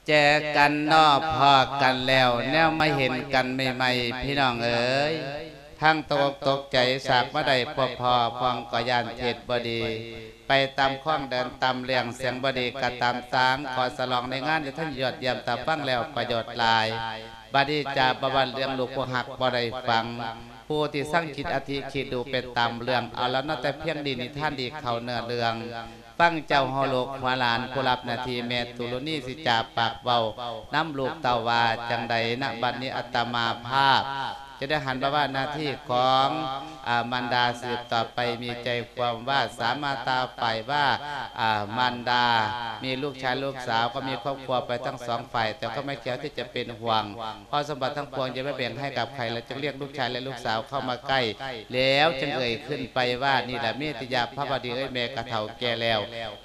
ເຈີກັນເນາະ ພໍ້ກັນແລ້ວ ແນວມາເຫັນກັນໃໝ່ໆ ພີ່ນ້ອງເອີຍ ທັງຕົກອົກຕົກໃຈ ສາກມາໄດ້ພົບພໍ້ ພວກກໍຢ້ານເຮັດບໍ່ດີ ໄປຕາມຄອງເດີນຕາມເລື່ອງ ສຽງບໍ່ດີກໍຕາມສາງ ຂໍສະຫຼອງໃນງານທີ່ທ່ານຍອດຢ້ຽມ ຖ້າຟັງແລ້ວປະໂຫຍດຫຼາຍ ບັດນີ້ຈະບໍ່ວ່າເລື່ອງລູກຜູ້ຮັກບໍ່ໄດ້ຟັງ ຜູ້ທີ່ສັງຄິດອະທິຄິດດູໄປຕາມເລື່ອງ ເອົາລະເນາະ ແຕ່ພຽງນີ້ນິທານດີເຂົ້າເນື້ອເລື່ອງ ຟັງເຈົ້າຫົວລູກຫົວຫຼານ ຜູ້ຮັບໜ້າທີ່ແມ່ຕຸລຸນີ ຊິຈາປາກເວົ້ານຳລູກເຕົ້າວ່າຈັ່ງໃດນະ ບັດນີ້ອາດຕະມາພາບ ຈະໄດ້ຫັນພາລະໜ້າທີ່ຂອງ ອາ ມານດາສືບຕໍ່ໄປ ມີໃຈຄວາມວ່າສາມາດຕາຝ່າຍວ່າ ອາ ມານດາ ມີລູກຊາຍລູກສາວ ກໍມີຄອບຄົວໄປທັງສອງຝ່າຍ ແຕ່ກໍໄມ່ກ່ຽວທີ່ຈະເປັນຫ່ວງ ເພາະສົມບັດທັງປວງຈະໄປແບ່ງໃຫ້ກັບໃຜ ແລະ ຈຶ່ງລຽກລູກຊາຍ ແລະ ລູກສາວເຂົ້າມາໃກ້ ແລ້ວຈຶ່ງເອີ່ຍຂຶ້ນໄປວ່າ ນີ້ລະເມຕິຍາພາວະດີເອີຍ ແມ່ກະເຖົ້າແກ່ແລ້ວ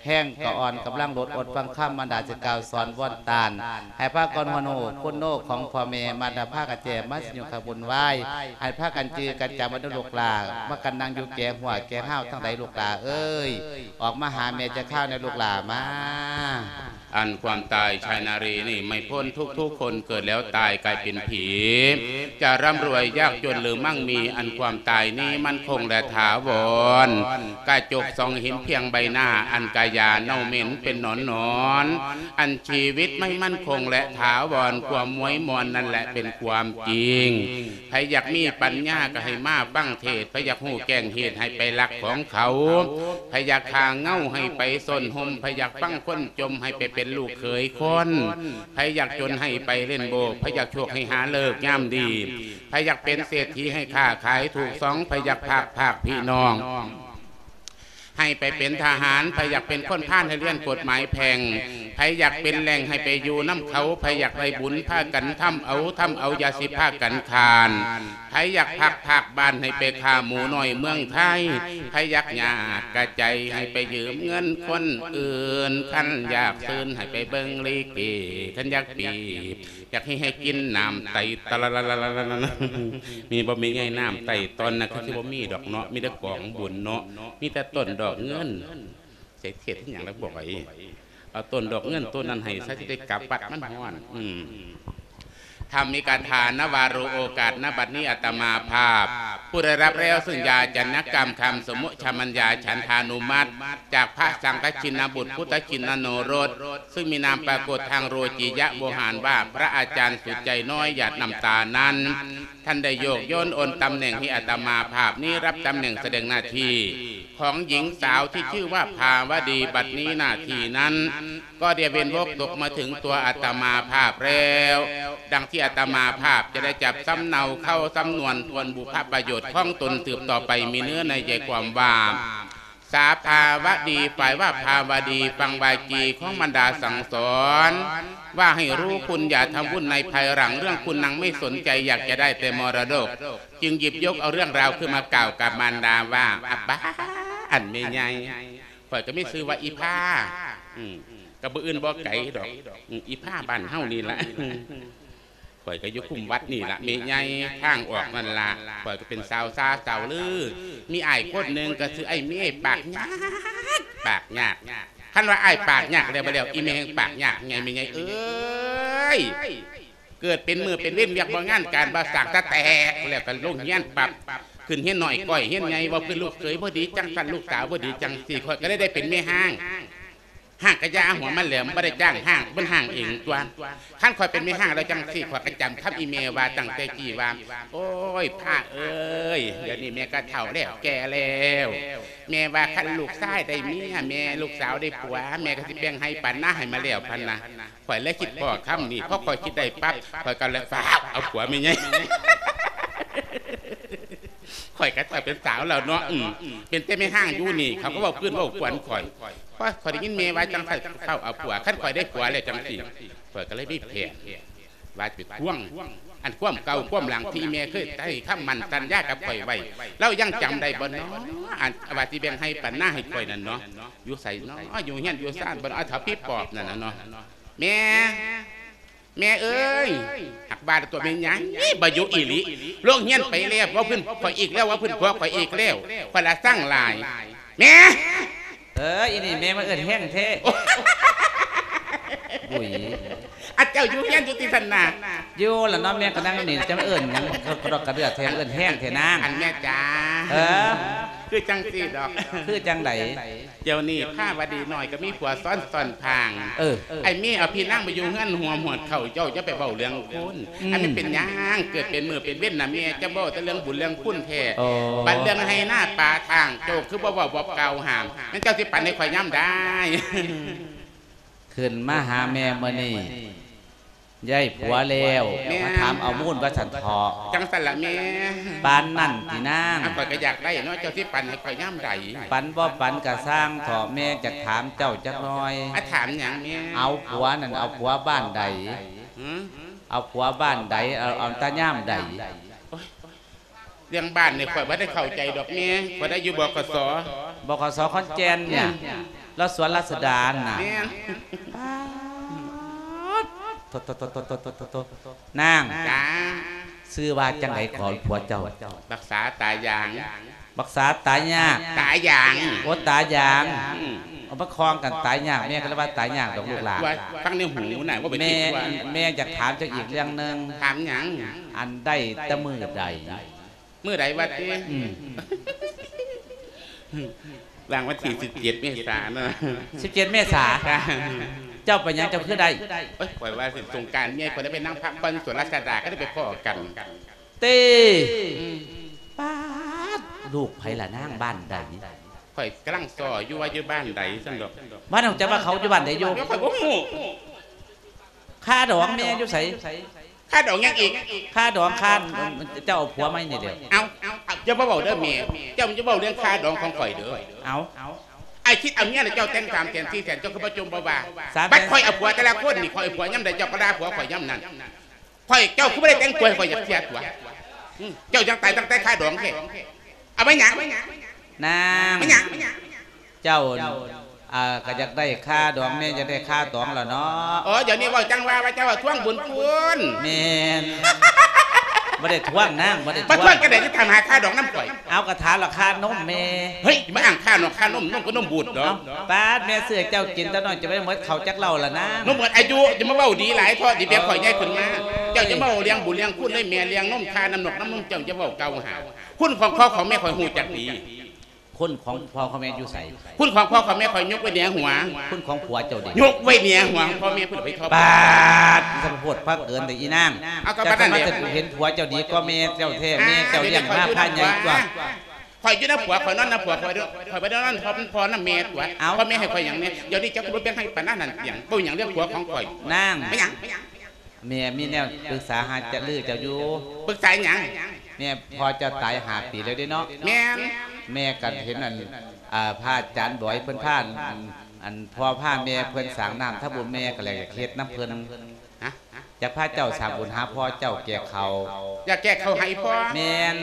ແຮງກະອ່ອນກຳລັງຫຼຸດ ອົດຟັງຄຳມານດາຊິກ່າວສອນວອນຕານ ໃຫ້ພາກັນຮູ້ຄຸນໂນຂອງພໍ່ແມ່ ມາດາພາກັນແຈມາຊິຫຍຸ້ງຂະບຸນວາຍ ໃຫ້ພາກັນຈື່ກັນຈຳວ່າເດີລູກຫຼ້າ ມາກັນນັ່ງຢູ່ແກ່ຫົວແກ່ຮາວທັງໃດລູກຫຼ້າເອີຍ ອອກມາຫາແມ່ຈັກຄາວແດ່ລູກຫຼ້າມາ. ອັນຄວາມຕາຍ ຊາຍນາຣີນີ້ໄມ່ພົ້ນ ທຸກໆຄົນເກີດແລ້ວຕາຍກາຍເປັນຜີ ຈະຮ່ຳລວຍຍາກຈົນຫຼືໝັ່ງມີ ອັນຄວາມຕາຍນີ້ໝັ້ນຄົງແລະຖາວອນ ກະຈົກສ່ອງເຫັນພຽງໃບໜ້າ ອັນກະຢາເນົ່າເໝັນເປັນໜອນໆ ອັນຊີວິດໄມ່ໝັ້ນຄົງແລະຖາວອນ ຄວາມມວຍມ່ວນນັ້ນແຫຼະເປັນຄວາມຈິງ ໃຜຢາກມີປັນຍາກໍໃຫ້ມາຟັງເທດ ໃຜຢາກຮູ້ແກ້ງເຫດໃຫ້ໄປລັກຂອງເຂົາ ໃຜຢາກຂ້າເຫງົາໃຫ້ໄປຊົນຮົ່ມ ໃຜຢາກຟັງຄົນຈົ່ມໃຫ້ໄປເປັນລູກເຂີຍຄົນ ໃຜຢາກຈົນໃຫ້ໄປຫຼິ້ນໂບ ໃຜຢາກໂຊກໃຫ້ຫາເລີກຍາມດີ ໃຜຢາກເປັນເສດຖີໃຫ້ຄ້າຂາຍຖືກຊ່ອງ ໃຜຢາກພາກພາກພີ່ນ້ອງ ໃຫ້ໄປເປັນທະຫານ ໃຜຢາກເປັນຄົນພານໃຫ້ຮຽນກົດໝາຍແພ່ງ ໃຜຢາກເປັນແຫຼ່ງໃຫ້ໄປຢູ່ນຳເຂົາ ໃຜຢາກໄດ້ບຸນພາກັນທຳເອົາ ທຳເອົາຢ່າຊິພາກັນຄ້ານ ໃຜຢາກພັກພາກບ້ານໃຫ້ໄປຂ້າໝູນ້ອຍເມືອງໄທ ໃຜຢາກຍາກກະໃຈໃຫ້ໄປຢືມເງິນຄົນອື່ນ ຄັນຢາກຊື່ນໃຫ້ໄປເບິ່ງລິເກ ຄັນຢາກປີບ ຢາກໃຫ້ ໃຫ້ກິນນ້ຳໄຕ ຕະລະລະລະລະລະລະ ມີບໍ່ແມ່ໃຫຍ່ ນ້ຳໄຕຕອນນັ້ນຄືຊິບໍ່ມີດອກເນາະ ມີແຕ່ກອງບຸນເນາະ ມີແຕ່ຕົ້ນດອກເງິນ ໃສ່ເທດອີຫຍັງລະບໍ່ໄຫວ ເອົາຕົ້ນດອກເງິນຕົ້ນນັ້ນໃຫ້ຊະ ຊິໄດ້ກັບວັດ ມັນຮ້ອນ ອືມ ທຳມີກາຖານະວາໂຣໂອກາດ ນະບັດນີ້ອາດຕະມາພາບ ຜູ້ໄດ້ຮັບແລ້ວຊຶ່ງຢາຈັນນະກຳຄຳສົມມຸດຊະມັນຍາ ສັນທານຸມັດ ຈາກພະສັງຄະຊິນນະບຸດ ພຸດທະຊິນນະໂນລົດ ຊຶ່ງມີນາມປາກົດທາງໂລກີຍະໂວຫານວ່າ ພະອາຈານສຸດໃຈນ້ອຍ ຫຍາດນ້ຳຕານັ້ນ ທ່ານໄດ້ໂຍກໂຍນໂອນຕຳແໜ່ງໃຫ້ອາດຕະມາພາບນີ້ ຮັບຕຳແໜ່ງສະແດງໜ້າທີ່ຂອງຍິງສາວທີ່ຊື່ວ່າພາວະດີ ບັດນີ້ໜ້າທີ່ນັ້ນ ກໍໄດ້ເວັນວົກຕົກມາເຖິງຕົວອາດຕະມາພາບແລ້ວ ດັ່ງທີ່ອາດຕະມາພາບຈະໄດ້ຈັບສຳເນົາເຂົ້າສຳນວນທວນບຸບພະປະໂຫຍດຂອງຕົນສືບຕໍ່ໄປ ມີເນື້ອໃນໃຈຄວາມວ່າ ສາພາວະດີ ຝ່າຍວ່າພາວະດີ ຟັງວາຈີຂອງມານດາສັ່ງສອນ ວ່າໃຫ້ຮູ້ຄຸນຢ່າທຳວຸນໃນພາຍຫຼັງ ເລື່ອງຄຸນນາງໄມ່ສົນໃຈ ຢາກຈະໄດ້ແຕ່ມໍລະດົກ ຈຶ່ງຫຍິບຍົກເອົາເລື່ອງລາວຂຶ້ນມາກ່າວກັບມານດາວ່າ ອາປາ ອັນແມ່ໃຫຍ່ ຂ້ອຍກໍມີຊື່ວ່າອີພາ ອືມ ກໍບໍ່ອື່ນບໍ່ໄກດອກ ອືມ ອີພາບ້ານເຮົານີ້ລະ ຂ້ອຍກໍຢູ່ຄຸ້ມວັດນີ້ລະແມ່ໃຫຍ່ ທາງອອກນັ້ນລະ ຂ້ອຍກໍເປັນສາວຊາສາວລື ມີອ້າຍຄົນໜຶ່ງກໍຊື່ອ້າຍເມ ປາກຍາກ ປາກຍາກ ຄັນວ່າອ້າຍປາກຍາກແລ້ວ ບໍ່ແລ້ວ ອີແມ່ແຮ່ງປາກຍາກໃຫຍ່ ແມ່ໃຫຍ່ເອີຍ ເກີດເປັນມື້ເປັນເວັນ ວຽກບໍ່ງານການບໍ່ສ້າງ ຕາແຕກແລ້ວກໍລົງຮຽນປັບ ຂຶ້ນຮຽນນ້ອຍກ້ອຍຮຽນໃຫຍ່ ເວົ້າຄືນລູກເຂີຍບໍ່ດີຈັ່ງຊັ້ນ ລູກສາວບໍ່ດີຈັ່ງຊີ້ ຂ້ອຍກໍເລີຍໄດ້ເປັນແມ່ຮ້າງ ຮ້າງກະຢ່າຫົວມັນແຫຼມ ບໍ່ໄດ້ຈ້າງຮ້າງ ມັນຮ້າງເອງຕົວະ ຄັນຂ້ອຍເປັນແມ່ຮ້າງແລ້ວຈັ່ງຊີ້ ຂ້ອຍກໍຈຳຄຳອີແມ່ວ່າຕັ້ງແຕ່ກີ້ວ່າ ໂອ້ຍ ພາເອີຍ ດຽວນີ້ແມ່ກໍເຖົ້າແລ້ວ ແກ່ແລ້ວ ແມ່ວ່າຄັນລູກຊາຍໄດ້ເມຍ ແມ່ ລູກສາວໄດ້ຜົວ ແມ່ກໍຊິແບ່ງໄຮ່ປັນນາໃຫ້ມາແລ້ວ ພັນນະ ຂ້ອຍເລີຍຄິດພໍ້ຄຳນີ້ ພໍຂ້ອຍຄິດໄດ້ປັບ ຂ້ອຍກໍເລີຍຟ້າວເອົາຜົວແມ່ໃຫຍ່ ຂ້ອຍກໍເປັນສາວແລ້ວເນາະ ອືມ ເປັນແຕ່ແມ່ຮ້າງຢູ່ນີ້ ເຂົາກໍເວົ້າພື້ນເວົ້າກວນຂ້ອຍ ພໍຂ້ອຍໄດ້ຍິນແມ່ວ່າຈັ່ງຊັ້ນ ຟ້າວເອົາຜົວ ຄັນຂ້ອຍໄດ້ຜົວແລ້ວຈັ່ງຊີ້ ຂ້ອຍກໍເລີຍມີແຜນ ວ່າຈະໄປທວງ ອັນຄວາມເກົ່າຄວາມຫຼັງທີ່ແມ່ເຄີຍໃຫ້ຄຳໝັ້ນສັນຍາກັບຂ້ອຍໄວ້ ລາວຍັງຈຳໄດ້ບໍ່ເນາະ ອັນວ່າຊິແບ່ງໄຮ່ປັນນາໃຫ້ຂ້ອຍນັ້ນເນາະ ຢູ່ໃສເນາະ ຢູ່ເຮືອນຢູ່ຊານບໍ່ເນາະ ເຖົ້າຜີປອບນັ້ນນະເນາະ ແມ່ ແມ່ເອີຍ ຫາກວ່າແຕ່ຕົວແມ່ໃຫຍ່ ບໍ່ຢູ່ອີ່ຫຼີ ໂລງຮຽນໄປແລ້ວ ເວົ້າພື້ນຂ້ອຍອີກແລ້ວ ເວົ້າພື້ນຜົວຂ້ອຍອີກແລ້ວ ຂ້ອຍລະຊັງຫຼາຍ ແມ່ ເອີ ອີນີ້ແມ່ມາເອີ້ນແຮງແທ້ ອຸ້ຍ ອາ ເຈົ້າຢູ່ເຮືອນຢູ່ຕິຊັ້ນນະ? ຢູ່ລະເນາະ ແມ່ກໍນັ່ງນີ້ ຈະເອີ້ນຫຍັງກະດອກກະເດືອແທ້ ເອີ້ນແຮງແທ້ນາງ. ອັນແມ່ຈ໋າ ເອີ ຄືຈັ່ງຊີ້ດອກ. ຄືຈັ່ງໃດ? ດຽວນີ້ພາວະດີນ້ອຍກໍມີຜົວຊ້ອນຊ້ອນພາງ. ເອີ ໄອ້ເມເອົາພີ່ນາງມາຢູ່ເຮືອນຮ່ວມຫວດເຂົ້າ ເຈົ້າຢ່າໄປເວົ້າເລື່ອງຄົນ. ອືມ ອັນມັນເປັນຫຍັງ ເກີດເປັນມື້ເປັນເວັນນະແມ່ ຈະເວົ້າແຕ່ເລື່ອງບຸນເລື່ອງຄຸນແທ້. ໂອ້ ບັດເລື່ອງໄຮ່ນາປາທາງ ເຈົ້າຄືບໍ່ເວົ້າບໍ່ກ່າວຫ້າມ ແມ່ນເຈົ້າຊິປັນໃຫ້ຂ້ອຍຍາມໃດ? ຂຶ້ນມາຫາແມ່ມື້ນີ້ ໄດ້ຜົວແລ້ວ ແມ່ ມາຖາມເອົາມູນວ່າຊັ້ນເຖາະ. ຈັ່ງຊັ້ນລະແມ່. ປານນັ້ນຕິນາງ? ອາ ຂ້ອຍກໍຢາກໄດ້ເນາະ ເຈົ້າຊິປັນໃຫ້ຂ້ອຍຍາມໃດ? ປັນບໍ່ປັນກະຊ່າງເຖາະ ແມ່ຈະຖາມເຈົ້າຈັກໜ່ອຍ. ອາ ຖາມຫຍັງແມ່? ເອົາຜົວນັ້ນ ເອົາຜົວບ້ານໃດ? ຫື? ເອົາຜົວບ້ານໃດ? ເອົາ ເອົາແຕ່ຍາມໃດ? ໂອ້ຍ ເລື່ອງບ້ານນີ້ຂ້ອຍບໍ່ໄດ້ເຂົ້າໃຈດອກແມ່ ຂ້ອຍໄດ້ຢູ່ ບກສ. ບກສ ຂອນແກ່ນເນຍ ແມ່ນ ລາວສວນລາຊະດານະ. ແມ່ນ. ປາດ ໂທ້ໆໆໆໆ ນາງ ຈ້າ ຊື່ວ່າຈັ່ງໃດກໍຜົວເຈົ້າ? ບັກສາຕາຢາງ. ບັກສາຕາຍາກ. ຕາຢາງ. ໂອ້ ຕາຢາງ. ອືມ ເອົາມາຄອງກັນຕາຍຍາກ ແມ່ກໍເລີຍວ່າຕາຍຍາກດອກລູກຫຼານ. ວ່າຟັງໃນຫູນະ ບໍ່ໄປຄິດວ່າ. ແມ່ ແມ່ຢາກຖາມເຈົ້າອີກເລື່ອງໜຶ່ງ. ຖາມຫຍັງ? ອັນໄດ້ແຕ່ມື້ໃດ? ມື້ໃດວະຕິ? ອືມ ຫຼັງວັນທີສິບເຈັດເມສາເນາະ. ສິບເຈັດເມສາ? ຈ້າ. ເຈົ້າໄປຫຍັງເຈົ້າຄືໄດ້? ໂອ້ຍ ຂ້ອຍວ່າຊິສົງການເມຍ ຂ້ອຍໄດ້ໄປນັ່ງພັກຜ່ອນສວນລາຊະດາ ກໍໄດ້ໄປພໍ້ກັນ. ເຕ້ ອືມ ປາດ ລູກໃຜລະນາງ ບ້ານໃດ? ຂ້ອຍກຳລັງຊໍຢູ່ວ່າຢູ່ບ້ານໃດຊັ້ນດອກ. ບ້ານຂອງເຈົ້າວ່າເຂົາຢູ່ບ້ານໃດຢູ່? ຂ້ອຍບໍ່ຮູ້. ຄາດອງແມ່ຢູ່ໃສ? ຄາດອງຫຍັງອີກ? ຄາດອງ ຄາ ເຈົ້າເອົາຜົວໃໝ່ນີ້ແຫຼ້ວ. ເອົ້າ ຢ່າມາເວົ້າເດີແມ່ ເຈົ້າຢ່າເວົ້າເລື່ອງຄາດອງຂອງຂ້ອຍເດີ. ເອົ້າ ອ້າຍຄິດເອົາເມຍແລ້ວເຈົ້າແຕ່ງສາມແສນສີ່ແສນ ເຈົ້າຄືບໍ່ຈົ່ມບໍ່ວ່າ? ສາມແສນ ບັດຂ້ອຍເອົາຜົວແຕ່ລະຄົນນີ້ ຂ້ອຍເອົາຜົວຍາມໃດ ເຈົ້າກໍດ່າຜົວຂ້ອຍຍາມນັ້ນ. ຂ້ອຍ ເຈົ້າຄືບໍ່ໄດ້ແຕ່ງຕົວໃຫ້ຂ້ອຍຈັກເທື່ອຕົວະ? ອືມ ເຈົ້າຈັ່ງຕາຍຕັ້ງແຕ່ຄາດອງແທ້. ເອົາໄປຫຍັງ? ນາງ ແມ່ນຫຍັງ? ເຈົ້າ ເອີ ກໍຢາກໄດ້ຄາດອງ ແມ່ຢາກໄດ້ຄາດອງລະເນາະ. ອໍ ດຽວນີ້ເວົ້າຈັ່ງວ່າ ວ່າເຈົ້າວ່າທວງບຸນຄຸນ. ແມ່ນ ບໍ່ໄດ້ທວງນາງ ບໍ່ໄດ້ທວງ. ມາທວງຈັ່ງໃດ ຊິຖາມຫາຄາດອງນຳຂ້ອຍ? ເອົາ ກໍຖາມລາຄານົມແມ່. ເຮີ້ຍ ມາອ້າງຄານົມ ຄານົມ ນົມກໍນົມບູດເນາະ. ເອົ້າ ປາດ ແມ່ຊື້ໃຫ້ເຈົ້າກິນແຕ່ນ້ອຍ ຈະໄປໝົດເຂົ້າຈັກເຫຼົ້າລະນາງ. ນົມໝົດອາຍຸ ຢ່າມາເວົ້າດີຫຼາຍເຖາະ ຊິແບບຂ້ອຍໃຫຍ່ຂຶ້ນມາ. ເອີ ເຈົ້າຢ່າມາເວົ້າເລື່ອງບຸນເລື່ອງຄຸນເລີຍແມ່ ເລື່ອງນົມ ຄານ້ຳນົກນ້ຳນົມ ເຈົ້າຢ່າເວົ້າກ່າວຫາ. ຄຸນຂອງພໍ່ຂອງແມ່ຂ້ອຍຮູ້ຈັກດີ. ຄຸນຂອງພໍ່ຂອງແມ່ຢູ່ໃສ? ຄຸນຂອງພໍ່ຂອງແມ່ຂ້ອຍຍົກໄວ້ເໜືອຫົວ. ຄຸນຂອງຜົວເຈົ້າເດ? ຍົກໄວ້ເໜືອຫົວຂອງພໍ່ແມ່ພຸ້ນໄປທອບ. ປາດ ມັນສະໂພດພາກເກີນແຕ່ອີນາງ. ເອົາ ກໍປານນັ້ນແຫຼະ ເຈົ້າກໍມາຈະເຫັນຜົວເຈົ້າດີກວ່າແມ່ເຈົ້າແທ້. ອ່າ ແມ່ເຈົ້າລ້ຽງມາພາໃຫຍ່ກວ່າ. ຂ້ອຍຢູ່ນຳຜົວ ຂ້ອຍນອນນຳຜົວ ຂ້ອຍ ຂ້ອຍບໍ່ໄດ້ນອນນຳພໍ່ນຳແມ່ຕົວະ. ເອົ້າ ພໍ່ແມ່ໃຫ້ຂ້ອຍຫຍັງແດ່? ດຽວນີ້ເຈົ້າຄືບໍ່ແບ່ງໃຫ້ປານນັ້ນຫຍັງ? ເວົ້າຫຍັງເລື່ອງຜົວຂອງຂ້ອຍ? ນາງ ແມ່ນຫຍັງ? ແມ່ມີແນວປຶກສາຫາລືເຈົ້າຢູ່. ປຶກສາຫຍັງ? ແມ່ ພໍ່ເຈົ້າຕາຍຫ້າປີແລ້ວເດ້ເນາະ. ແມ່ນ. ແມ່ກໍເຫັນອັນ ອ່າ ພະອາຈານບອຍເພິ່ນພາ ອັນ ພໍ່ພາແມ່ເພິ່ນສ້າງນ້ຳທຳບຸນ ແມ່ກໍເລີຍຢາກເຮັດນຳເພິ່ນ. ຮະ? ຢາກພາເຈົ້າສ້າງບຸນຫາພໍ່ເຈົ້າແກ່ເຂົາ. ຢາກແກ່ເຂົາໃຫ້ພໍ່? ແມ່ນ.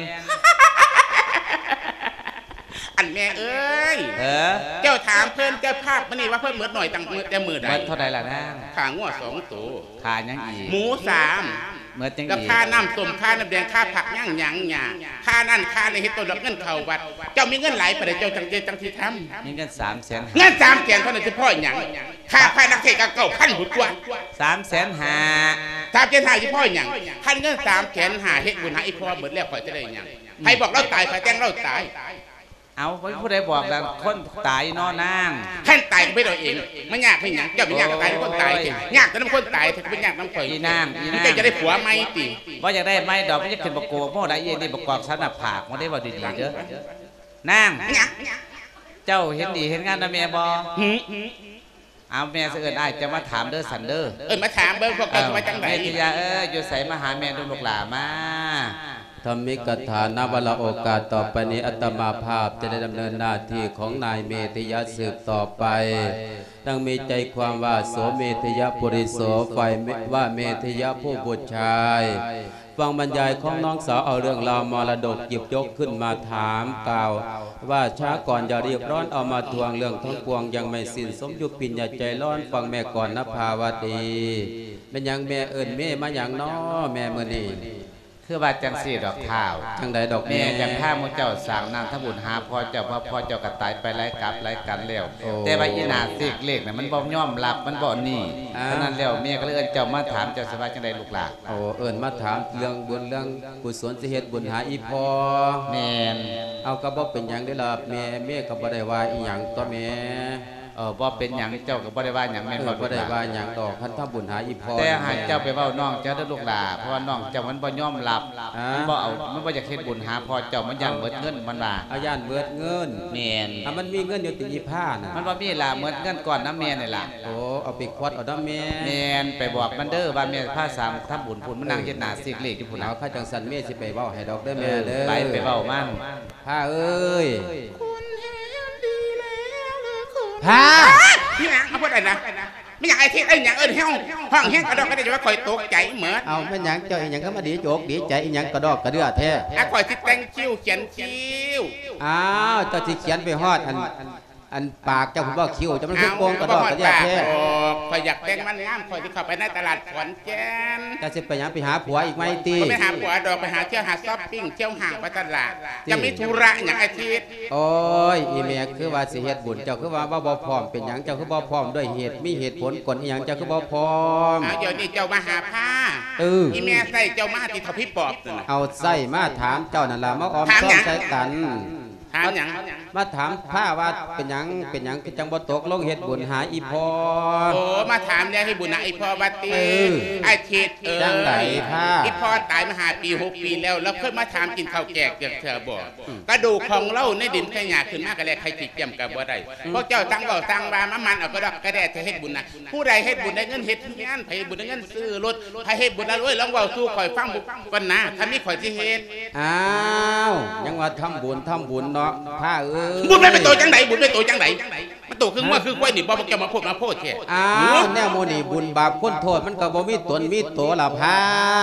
ອັນແມ່ເອີຍ ເອີ ເຈົ້າຖາມເພິ່ນເຈົ້າພາບມື້ນີ້ວ່າເພິ່ນໝົດໜ້ອຍຕັ້ງແຕ່ມື້ໃດ? ໝົດເທົ່າໃດລະນາງ? ຂ້າງົວສອງໂຕ. ຄ່າຫຍັງອີກ? ໝູສາມ. ໝົດຫຍັງອີກ? ແລ້ວຄ່ານ້ຳສົ້ມ ຄ່ານ້ຳແດງ ຄ່າຜັກຫຍັງຫຍັງຫຍັງ ຄ່ານັ້ນຄ່ານີ້ ເຮັດຕົວດອກເງິນເຂົ້າວັດ. ເຈົ້າມີເງິນຫຼາຍປານໃດ ເຈົ້າຈັ່ງ ຈັ່ງຊິທຳ? ມີເງິນສາມແສນຫ້າ. ເງິນສາມແສນເທົ່ານັ້ນຊິພໍຫຍັງ? ຄ່າພະນັກເທດກໍເກົ້າພັນພຸ້ນຕົວະ. ສາມແສນຫ້າ. ສາມແສນຫ້າຊິພໍຫຍັງ? ຄັນເງິນສາມແສນຫ້າ ເຮັດບຸນໃຫ້ອີ່ພໍ່ໝົດແລ້ວ ຂ້ອຍຈະໄດ້ຫຍັງ? ໃຜບອກລາວຕາຍ? ໃຜແຕ່ງລາວຕາຍ? ເອົ້າ ບໍ່ມີຜູ້ໃດບອກລະ ຄົນຕາຍເນາະນາງ. ຄັນຕາຍກໍເຮັດເອົາເອງ ມັນຍາກເປັນຫຍັງ? ເຈົ້າແມ່ນຍາກຕາຍ ຄົນຕາຍ ຍາກແຕ່ນຳຄົນຕາຍ ເປັນຍາກນຳຂ້ອຍ. ອີນາງ ອີນາງ ເຈົ້າຈະໄດ້ຜົວໃໝ່ຕິ? ບໍ່ຢາກໄດ້ໃໝ່ດອກ ມັນຈະຂຶ້ນບັກໂກກໂມໄດ້ອີນີ້ ບັກກອກສານະຜາກ ບໍ່ໄດ້ເວົ້າດີໆເດີ. ນາງ ເຈົ້າເຫັນດີເຫັນງາມນຳແມ່ບໍ່? ຫື? ເອົາ ແມ່ຊິເອີ້ນອ້າຍເຈົ້າມາຖາມເດີ ສັນເດີ. ເອີ້ນມາຖາມເບິ່ງ ພວກເຈົ້າຊິວ່າຈັ່ງໃດ? ເມດທິຍາເອີຍ ຢູ່ໃສ? ມາຫາແມ່ດູ ລູກຫຼ້າມາ. ທຳມິກະຖາ ນະ ວາລະໂອກາດຕໍ່ໄປນີ້ ອາດຕະມາພາບຈະໄດ້ດຳເນີນໜ້າທີ່ຂອງນາຍເມດທິຍາສືບຕໍ່ໄປ. ດັ່ງມີໃຈຄວາມວ່າ ໂສເມດທິຍະປຸລິໂສ ຝ່າຍ ວະເມດທິຍະຜູ້ບຸດຊາຍ ຟັງບັນຍາຍຂອງນ້ອງສາວ ເອົາເລື່ອງລາວມໍລະດົກຫຍິບຍົກຂຶ້ນມາຖາມກ່າວວ່າ ຊາກ່ອນຢ່າຣີບຮ້ອນເອົາມາທວງ ເລື່ອງທັງປວງຍັງໄມ່ສິ້ນ ສົມຢູ່ປິນຍາໃຈຮ້ອນ ຟັງແມ່ກ່ອນນະພາວະດີ. ແມ່ນຫຍັງແມ່ເອີ້ນເມມາຫຍັງນໍແມ່ມື້ນີ້? ຄືວ່າຈັ່ງຊີ້ດອກທ້າວ. ຈັ່ງໃດດອກແມ່? ແມ່ຢາກພາໝູ່ເຈົ້າສ້າງນ້ຳທຳບຸນຫາພໍ່ເຈົ້າ ເພາະພໍ່ເຈົ້າກໍຕາຍໄປຫຼາຍກັບຫຼາຍກັນແລ້ວ. ໂອ້ ແຕ່ວ່າອີໜ້າເສກເລກນະ ມັນບໍ່ຍອມຮັບ ມັນບໍ່ນີ້. ອ່າ ສະນັ້ນແລ້ວ ແມ່ກໍເລີຍເອີ້ນເຈົ້າມາຖາມ ເຈົ້າຊິວ່າຈັ່ງໃດລູກຫຼ້າ? ໂອ້ ເອີ້ນມາຖາມເລື່ອງບຸນເລື່ອງກຸສົນ ຊິເຮັດບຸນຫາອີ່ພໍ່. ແມ່ນ. ເອົາ ກໍບໍ່ເປັນຫຍັງເດ້ລະແມ່ ແມ່ກໍບໍ່ໄດ້ວ່າອີ່ຫຍັງຕົວະແມ່. ເອີ ບໍ່ເປັນຫຍັງ ເຈົ້າກໍບໍ່ໄດ້ວ່າຫຍັງແມ່ນບໍ່? ເອີ ບໍ່ໄດ້ວ່າຫຍັງດອກ ຄັນທຳບຸນຫາອີ່ພໍ່. ແຕ່ໃຫ້ເຈົ້າໄປເວົ້ານ້ອງເຈົ້າເດີລູກຫຼ້າ ເພາະວ່ານ້ອງເຈົ້າມັນບໍ່ຍອມຮັບ ອ່າ ມັນບໍ່ເອົາ ມັນບໍ່ຢາກເຮັດບຸນຫາພໍ່ເຈົ້າ ມັນຢ້ານເໝິດເງິນ ມັນວ່າ. ເອົາ ຢ້ານເໝິດເງິນ. ແມ່ນ. ເອົາ ມັນມີເງິນຢູ່ຕິອີ່ພ້ານະ? ມັນບໍ່ມີລະ ເໝິດເງິນກ້ອນນຳແມ່ນີ້ລະ. ໂອ້ ເອົາໄປຄວັດເອົານຳແມ່. ແມ່ນ. ໄປບອກມັນເດີວ່າແມ່ພາສ້າງທຳບຸນພຸ້ນ ມັນນັ່ງເຮັດໜ້າເສກເລກຢູ່ພຸ້ນນະ. ເອົາ ຄັນຈັ່ງຊັ້ນແມ່ຊິໄປເວົ້າໃຫ້ດອກເດີແມ່ເດີ. ເອີ ໄປ ໄປເວົ້າມັນ. ພ້າເອີຍ ຄົນແຮງດີແລ້ວເລີຍຄົນ. ພ້າ ອີຫຍັງ? ເອົາ ຜູ້ໃດນະ? ແມ່ນຫຍັງ? ໄອ້ທິດ ໄອ້ຫຍັງ? ເອີ້ນແຮງ ຮ້ອງແຮງກະດອກກະເດຍ ຈະວ່າຂ້ອຍຕົກໃຈເໝິດ. ເອົາ ແມ່ນຫຍັງ? ເຈົ້າອີຫຍັງຄືມາດີໂຈກດີໃຈອີຫຍັງກະດອກກະເດືອແທ້? ອ່ະ ຂ້ອຍຊິແຕ່ງຄິ້ວ ຂຽນຄິ້ວ. ອ້າວ ເຈົ້າຊິຂຽນໄປຮອດອັນ ອັນປາກເຈົ້າພຸ້ນບໍ່? ຄິ້ວເຈົ້າມັນຄືໂກງກະດອກກະເດຍແທ້. ເອົ້າ ຂ້ອຍຢາກແຕ່ງມັນງາມ ຂ້ອຍຊິເຂົ້າໄປໃນຕະຫຼາດຂອນແກ່ນ. ເຈົ້າຊິໄປຫຍັງ? ໄປຫາຜົວອີກໃໝ່ຕິ? ບໍ່ໄປຫາຜົວດອກ ໄປຫາທ່ຽວ ຫາຊັອບປິງ ທ່ຽວຫ້າງໄປຕະຫຼາດ. ເຈົ້າມີທຸລະຫຍັງ ອາທິດ? ໂອ້ຍ ອີ່ແມ່ຄືວ່າຊິເຮັດບຸນ ເຈົ້າຄືວ່າ ວ່າບໍ່ພ້ອມ ເປັນຫຍັງເຈົ້າຄືບໍ່ພ້ອມ? ດ້ວຍເຫດ ມີເຫດຜົນກົນອີ່ຫຍັງ ເຈົ້າຄືບໍ່ພ້ອມ? ອ້າວ ດຽວນີ້ເຈົ້າມາຫາພາ. ເອີ ອີ່ແມ່ໃສ່ເຈົ້າມາຕິເທົ່າຜີປອບນັ້ນນະ. ເອົາ ໃສ່ມາຖາມເຈົ້ານັ້ນລະ ມາອ້ອມຊອມໃສ່ກັນ. ຖາມຫຍັງ? ມາຖາມພາວ່າເປັນຫຍັງ ເປັນຫຍັງຄືຈັ່ງບໍ່ຕົກລົງເຮັດບຸນຫາອີ່ພໍ່? ໂອ້ ມາຖາມແລ້ວເຮັດບຸນຫາອີ່ພໍ່ວ່າຕິ? ເອີ ອາທິດເອີຍ ຈັ່ງໃດພາ? ອີ່ພໍ່ຕາຍມາຫ້າປີຫົກປີແລ້ວ ລາວເຄີຍມາຖາມກິນເຂົ້າແກງຈັກເທື່ອບໍ່? ອືມ ກະດູກຂອງລາວໃນດິນໃນຫຍ້າຂຶ້ນມາກະແລກໄຂ່ຂີ້ກຽມກະບໍ່ໄດ້. ອືມ ພວກເຈົ້າຕ່າງເວົ້າຕ່າງວ່າ ມາໝັ່ນເອົາກະດອກກະແດຈະເຮັດບຸນນະ. ຜູ້ໃດເຮັດບຸນໄດ້ເງິນເຮັດເຮືອນ ໃຜເຮັດບຸນໄດ້ເງິນຊື້ລົດ ໃຜເຮັດບຸນລະລວຍ ລອງເວົ້າສູ່ຂ້ອຍຟັງກ່ອນນາ ຄັນມີຂ້ອຍຊິເຮັດ. ອ້າວ ຍັງວ່າທຳບຸນ ທຳບຸນເນາະ ພາເອີຍ. ບຸນແມ່ນເປັນໂຕຈັ່ງໃດ? ບຸນເປັນໂຕຈັ່ງໃດ? ມັນໂຕຄືງົວຄືຄວາຍນີ້ບໍ່? ພວກເຈົ້າມາໂພດມາໂພດແທ້. ອ້າວ ແນວໝູ່ນີ້ບຸນບາບຄຸນໂທດ ມັນກໍບໍ່ມີຕົນມີໂຕລະພາ.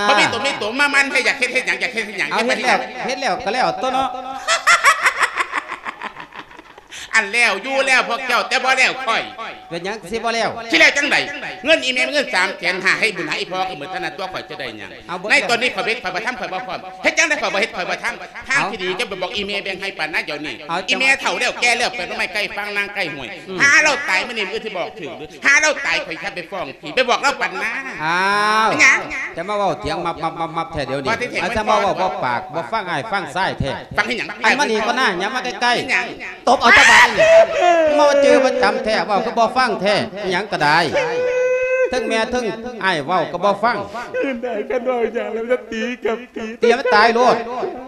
ບໍ່ມີຕົນມີໂຕ ມາໝັ່ນແທ້ ຢາກເຮັດ ເຮັດຫຍັງ? ຢາກເຮັດ ເຮັດຫຍັງ? ເອົາ ເຮັດແລ້ວ ເຮັດແລ້ວກໍແລ້ວຕົວະເນາະ. ອັນແລ້ວຢູ່ແລ້ວພວກເຈົ້າ ແຕ່ບໍ່ແລ້ວຂ້ອຍ. ເປັນຫຍັງຊິບໍ່ແລ້ວ? ຊິແລ້ວຈັ່ງໃດ? ເງິນອີ່ແມ່ເງິນສາມແສນຫ້າ ໃຫ້ບຸນໃຫ້ອີ່ພໍ່ກໍໝົດເທົ່ານັ້ນຕົວະ ຂ້ອຍຈະໄດ້ຫຍັງ? ເອົາ ໃນຕອນນີ້ຂ້ອຍເຮັດ ຂ້ອຍບໍ່ທຳ ຂ້ອຍບໍ່ພ້ອມ. ເຮັດຈັ່ງໃດຂ້ອຍບໍ່ເຮັດ ຂ້ອຍບໍ່ທຳ? ທາງທີ່ດີເຈົ້າໄປບອກອີ່ແມ່ແບ່ງໃຫ້ປານນາດຽວນີ້. ເອົາ ອີ່ແມ່ເຖົ້າແລ້ວແກ່ແລ້ວ ໄປໜໍ່ໄມ້ໃກ້ຟາງນາງໃກ້ຫ້ວຍ. ອືມ ຫາລາວຕາຍມື້ນີ້ມື້ອື່ນຊິບອກຖືກ ຫາລາວຕາຍຂ້ອຍຊິໄປຟ້ອງ ໄປບອກລາວປັນນາ. ອ້າວ ເປັນຫຍັງ? ຈະມາເວົ້າຖຽງມັບໆໆໆແທ້ດຽວນີ້. ອາດຈະມາເວົ້າບໍ່ປາກບໍ່ຟັງອ້າຍຟັງຊາຍແທ້. ຟັງອີ່ຫຍັງ? ອັນມານີ້ກ່ອນນາ ຫຍັງມາໃກ້ໆ. ເປັນຫຍັງ? ຕົບເອົາຈະບາດນີ້. ມາເຈີປະຈຳແທ້ ເວົ້າຄືບໍ່ຟັງແທ້. ອີ່ຫຍັງກໍໄດ້ ເຖິງແມ່ເຖິງອ້າຍເວົ້າກໍບໍ່ຟັງ. ອື່ນໄດ້ ຄັນເວົ້າຫຍັງແລ້ວຈະຕີກັບຕີ ຕີໃຫ້ມັນຕາຍໂລດ.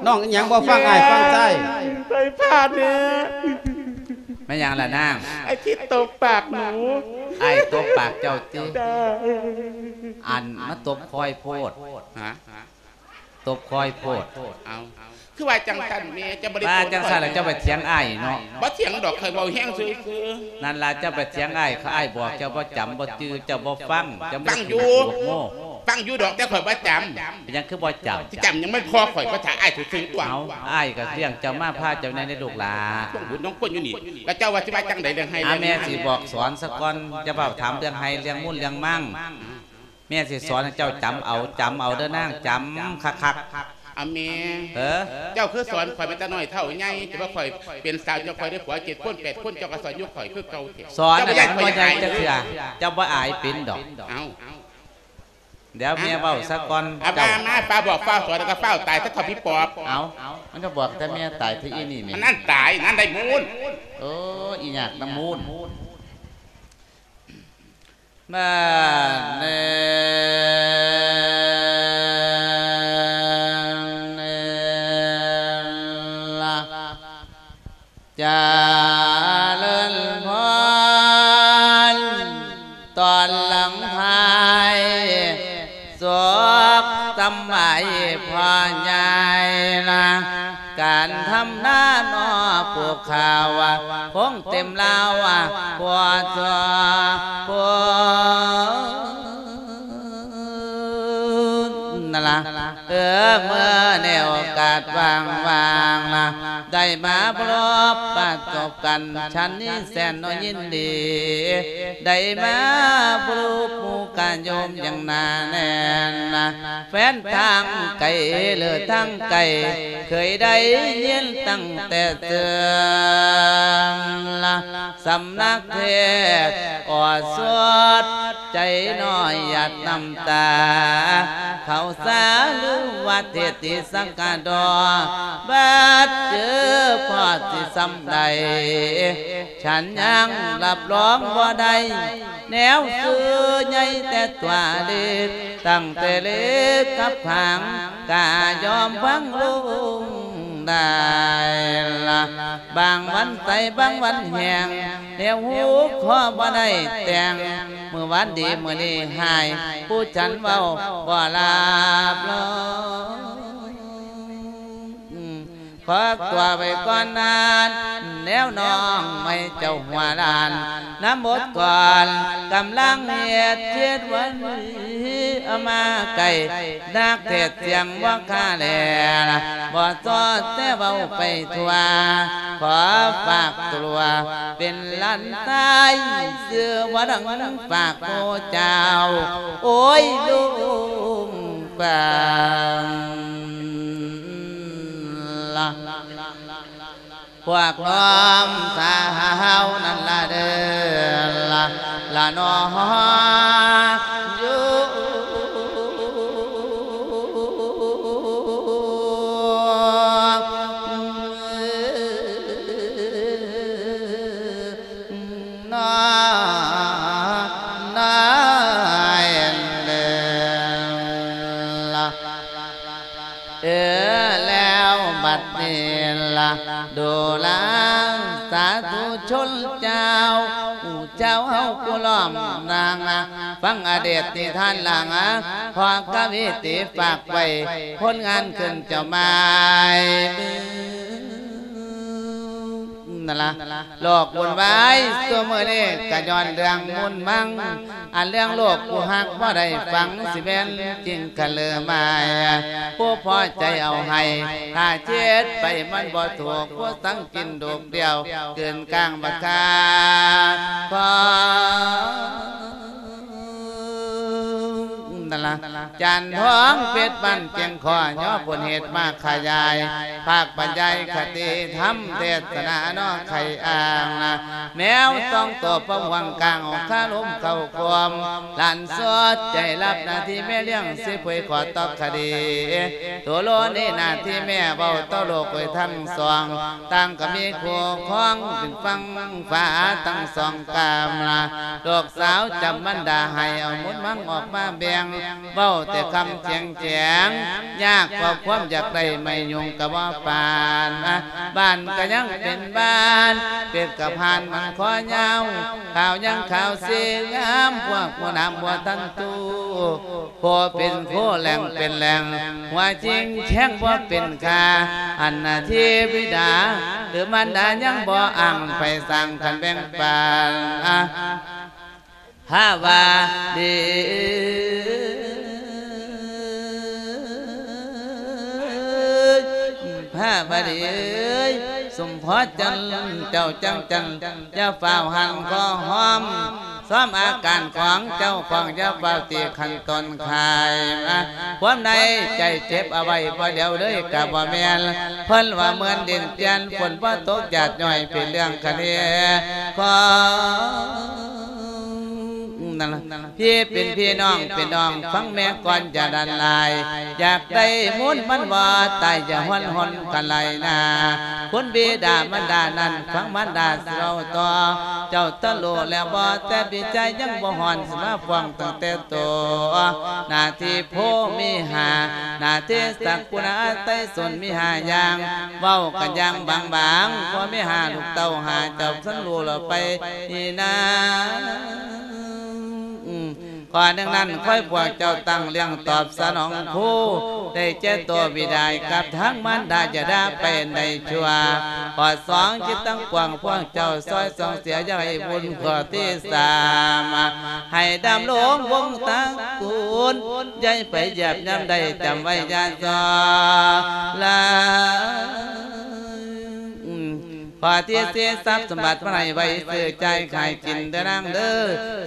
ນ້ອງອີ່ຫຍັງບໍ່ຟັງອ້າຍຟັງຊາຍ. ໄຟຟ້າແນ່. ແມ່ນຫຍັງລະນາງ? ອ້າຍຄິດຕົບປາກໜູ. ອ້າຍຕົບປາກເຈົ້າຕິ? ຈົ້າ. ອັນມາຕົບຄອຍໂພດ. ຮະ? ຕົບຄອຍໂພດ. ເອົາ ຄືວ່າຈັ່ງຊັ້ນແມ່ ເຈົ້າບໍ່ໄດ້ ວ່າຈັ່ງຊັ້ນລະເຈົ້າໄປຖຽງອ້າຍເນາະ. ບໍ່ຖຽງດອກ ຂ້ອຍເວົ້າແຮງຊື່ໆ. ນັ້ນລະ ເຈົ້າໄປຖຽງອ້າຍ ຂ້າອ້າຍບອກເຈົ້າບໍ່ຈຳ ບໍ່ຈື່ ເຈົ້າບໍ່ຟັງ ເຈົ້າມີແຕ່ ຟັງຢູ່ ຂີ້ໂມໂຫ. ຟັງຢູ່ດອກ ແຕ່ຂ້ອຍບໍ່ຈຳ. ເປັນຫຍັງຄືບໍ່ຈຳ? ຊິຈຳຫຍັງ? ມັນພໍ່ຂ້ອຍ ພາສາອ້າຍຊື່ໆຕົວະ. ເອົາ ອ້າຍກໍລ້ຽງເຈົ້າມາ ພາເຈົ້າແດ່ເດ້ລູກຫຼ້າ. ຕ້ອງບຸນຕ້ອງຄຸນຢູ່ນີ້ ແລ້ວເຈົ້າວ່າຊິວ່າຈັ່ງໃດເລື່ອງໄຮ່ເລື່ອງນາ? ແມ່ຊິບອກສອນສາກ່ອນ ຢ່າເວົ້າຖາມເລື່ອງໄຮ່ເລື່ອງມູນເລື່ອງມັງ. ແມ່ຊິສອນໃຫ້ເຈົ້າຈຳເອົາ ຈຳເອົາເດີນາງ ຈຳຄັກໆ. ອາ ແມ່ ເອີ ເຈົ້າຄືສອນຂ້ອຍມາແຕ່ນ້ອຍເຖົ້າໃຫຍ່ ແຕ່ວ່າຂ້ອຍເປັນສາວ ເຈົ້າຂ້ອຍໄດ້ຜົວເຈັດຄົນແປດຄົນ ເຈົ້າກໍສອນຢູ່ຂ້ອຍຄືເກົ່າແທ້. ສອນ ເຈົ້າບໍ່ຢ້ານຂ້ອຍອາຍຈັກເທື່ອ ເຈົ້າບໍ່ອາຍເປັນດອກ. ເອົ້າ ດຽວແມ່ເວົ້າສາກ່ອນ. ອາ ເຈົ້າ ມາ ມາ ຟ້າບອກຟ້າສອນ ແລ້ວກໍຟ້າຕາຍ ຖ້າເຂົາພີ່ປອບ. ເອົ້າ ມັນກໍບອກແຕ່ແມ່ຕາຍ ທີ່ອີ່ນີ້ແມ່ ອັນນັ້ນຕາຍ ນັ້ນໄດ້ມູນ. ໂອ້ ອີຫຍັກນຳມູນ. ມາເນີນລະ ຈະເລີນພອນ ຕອນຫຼັງທ້າຍ ສຸກສຳບາຍພໍ່ໃຫຍ່ນະ ການທຳນານອປູກຂ້າວ ຄົງເຕັມລາວ ບໍ່ຊົ່ວຄົນນັ້ນລະ. ເອີ ເມື່ອໃນໂອກາດວ່າງໆ ໄດ້ມາພົບປະສົບກັນ ສັນນີ້ແສນນ້ອຍຍິນດີ ໄດ້ມາພົບໝູ່ກະໂຍມຢ່າງໜາແໜ້ນ ແຟນທາງໄກ ຫຼືທາງໃກ້ ເຄີຍໄດ້ຍິນຕັ້ງແຕ່ເຊື່ອງ ສຳນັກເທດອໍສວດ ໃຈນ້ອຍຫຍາດນ້ຳຕາ ເຂົ້າສາລືວ່າເທດຕິສັກກະດໍ ບາດເຈີພໍດຊິສ່ຳໃດ ສັນຍັງຮັບຮອງບໍ່ໄດ້ ແນວຊື່ໃຫຍ່ແຕ່ຕົວເລັກ ຕັ້ງແຕ່ເລັກກັບຫາງ ກະຍອມຟັງລຸງໄດ້ລະ ບາງວັນໃສບາງວັນແຫ້ງ ແນວຮູ້ຂໍບໍ່ໄດ້ແຕ່ງ ມື້ວານດີມື້ນີ້ຮ້າຍ ຜູ້ສັນເວົ້າບໍ່ລາບລອງ ຂໍຕົວໄວ້ກ່ອນນານ ແນວນ້ອງໃໝ່ເຈົ້າຫົວລ້ານ ນຳບົດກ່ອນ ກຳລັງເຮັດເຈັດວັນ ເອົາມາໃກ້ ນັກເທດສຽງບໍ່ຄາແລ ບໍ່ຊອດແຕ່ເວົ້າໄປທົ່ວ ຂໍຝາກຕົວເປັນຫຼານຊາຍ ຊື່ວ່າດັງຝາກໂອເຈົ້າ ໂອ້ຍ ລຸງປາງລະ ພວກນ້ອງສາວນັ້ນລະເດີລະ ລະນໍຢູ່ນອ ນາຍເດີລະ ເອີ ແລ້ວບັດນີ້ລະ ດູລາສາທຸຊົນເຈົ້າ ເຈົ້າເຮົາຜູ້ລ້ອມນາງ ຟັງອະດີດນິທານລາງ ພໍ່ກະວີຕີຝາກໄວ້ ຜົນງານຂຶ້ນເຈົ້າໝາຍມື ນັ້ນລະ ໂລກວຸ່ນວາຍຊຸມື້ນີ້ກະຍ້ອນເລື່ອງມຸນມັງ ອັນເລື່ອງໂລກຜູ້ຮັກບໍ່ໄດ້ຟັງ ຊິແມ່ນຈິງກະເລີມາຍ ຜູ້ພໍໃຈເອົາໃຫ້ ຖ້າເຈັດໄປມັນບໍ່ຖືກ ຜູ້ສັງກິນດູກດຽວ ກືນກາງບັກຄາ ຂໍ ນັ້ນລະ ຈັນທອງເພັດບ້ານແກ່ງຂໍ ຍໍຜົນເຫດມາຂະຫຍາຍ ພາກບັນຍາຍຄະຕິທຳ ເທດສະໜາເນາະໄຂອ່າງນະ ແມວສອງໂຕພວມຫວ່າງກາງ ອອກຄາລົມເຂົ້າຄວາມ ຫຼານສອດໃຈຮັບໜ້າທີ່ແມ່ລ້ຽງ ຊິເຜີຍຂໍຕໍ່ຄະດີ ໂຕໂລນີ້ໜ້າທີ່ແມ່ເວົ້າຕໍ່ໂລກໄວ້ທັງສອງ ຕ່າງກໍມີຄູ່ຄອງ ເປັນຝັ່ງຟ້າທັງສອງກາມລະ ລູກສາວຈຳບັນດາໃຫ້ ເອົາມຸນມັງອອກມາແບ່ງ ເວົ້າແຕ່ຄຳແຈງແຈງ ຍາກເພາະຄວາມຢາກໄດ້ ໄມ່ຫຍຸ້ງກໍບໍ່ປານນະ ບ້ານກໍຍັງເປັນບ້ານ ເປັດກັບຫ່ານມັນຄໍຍາວ ຂາວຍັງຂາວສີງາມ ພວກຜູ້ນຳບໍ່ທັນຮູ້ ພໍເປັນໂຄແຫຼງເປັນແຫຼງ ຫົວຈິງແຂງບໍ່ເປັນຄ່າ ອັນໜ້າທີ່ບິດາ ຫຼືມານດາຍັງບໍ່ອ່າງ ໄປສ້າງຄັນແບ່ງປັນ ພາວາດີ ພາວາດີເອີຍ ສົມພໍຈັນ ເຈົ້າຈັງຈັນ ຢ່າຟ້າວຫັນຂໍຫອມ ຊອມອາການຂອງເຈົ້າຂອງ ຢ່າຟ້າວຕີຂັ້ນຕົ້ນຂາຍມາ ຄວາມໃນໃຈເຈັບເອົາໄວ້ ບໍ່ຫຼຽວເລີຍກະບໍ່ແມ່ນ ເພິ່ນວ່າເໝືອນດິນປ່ຽນ ຝົນບໍ່ຕົກ ຢາດຍ້ອຍເປັນເລື່ອງຄະເນ ຂໍ ນັ້ນລະ ພີ່ເປັນພີ່ ນ້ອງເປັນນ້ອງ ຟັງແມ່ກ່ອນຢ່າດັນຫຼາຍ ຢາກໄດ້ມູນມັນບໍ່ຕາຍ ຢ່າຮ້ອນຮົນກັນຫຼາຍໜ້າ ຄຸນບິດາມານດານັ້ນ ຟັງມານດາຊິເວົ້າຕໍ່ ເຈົ້າຕະໂລແລ້ວບໍ່ ແຕ່ພີ່ຊາຍຍັງບໍ່ຮ້ອນ ຊິມາຟ້ອງຕັ້ງແຕ່ໂຕ ໜ້າທີ່ໂພມີຫ້າ ໜ້າທີ່ສັກຄຸນາໄຕສົນມີຫ້າຢ່າງ ເວົ້າກັນຢ່າງບາງໆ ພໍ່ມີຫ້າ ລູກເຕົ້າຫ້າ ເຈົ້າສັນຮູ້ແລ້ວໄປນາ ອືມ ຂໍ້ໜຶ່ງນັ້ນ ຂໍໃຫ້ພວກເຈົ້າຕັ້ງລ້ຽງຕອບສະໜອງຄູ ໄດ້ແກ່ໂຕບິດາກັບທັງມານດາ ຢ່າໄດ້ໄປໃນຊົ່ວ. ຂໍ້ສອງ ຈິດທັງປວງພວກເຈົ້າຊ່ອຍສ່ອງເສຍ ຢ່າໃຫ້ບຸນ. ຂໍ້ທີສາມ ໃຫ້ດຳລົງວົງຕະກູນ ຢ່າໃຫ້ໄປຢຽບຍາມໃດ ຈຳໄວ້ຢ່າສໍລາ. ຂໍ້ທີສີ່ ຊັບສົມບັດມາໃຫ້ໄວ້ຊື້ຈ່າຍຂາຍກິນເດີນາງເດີ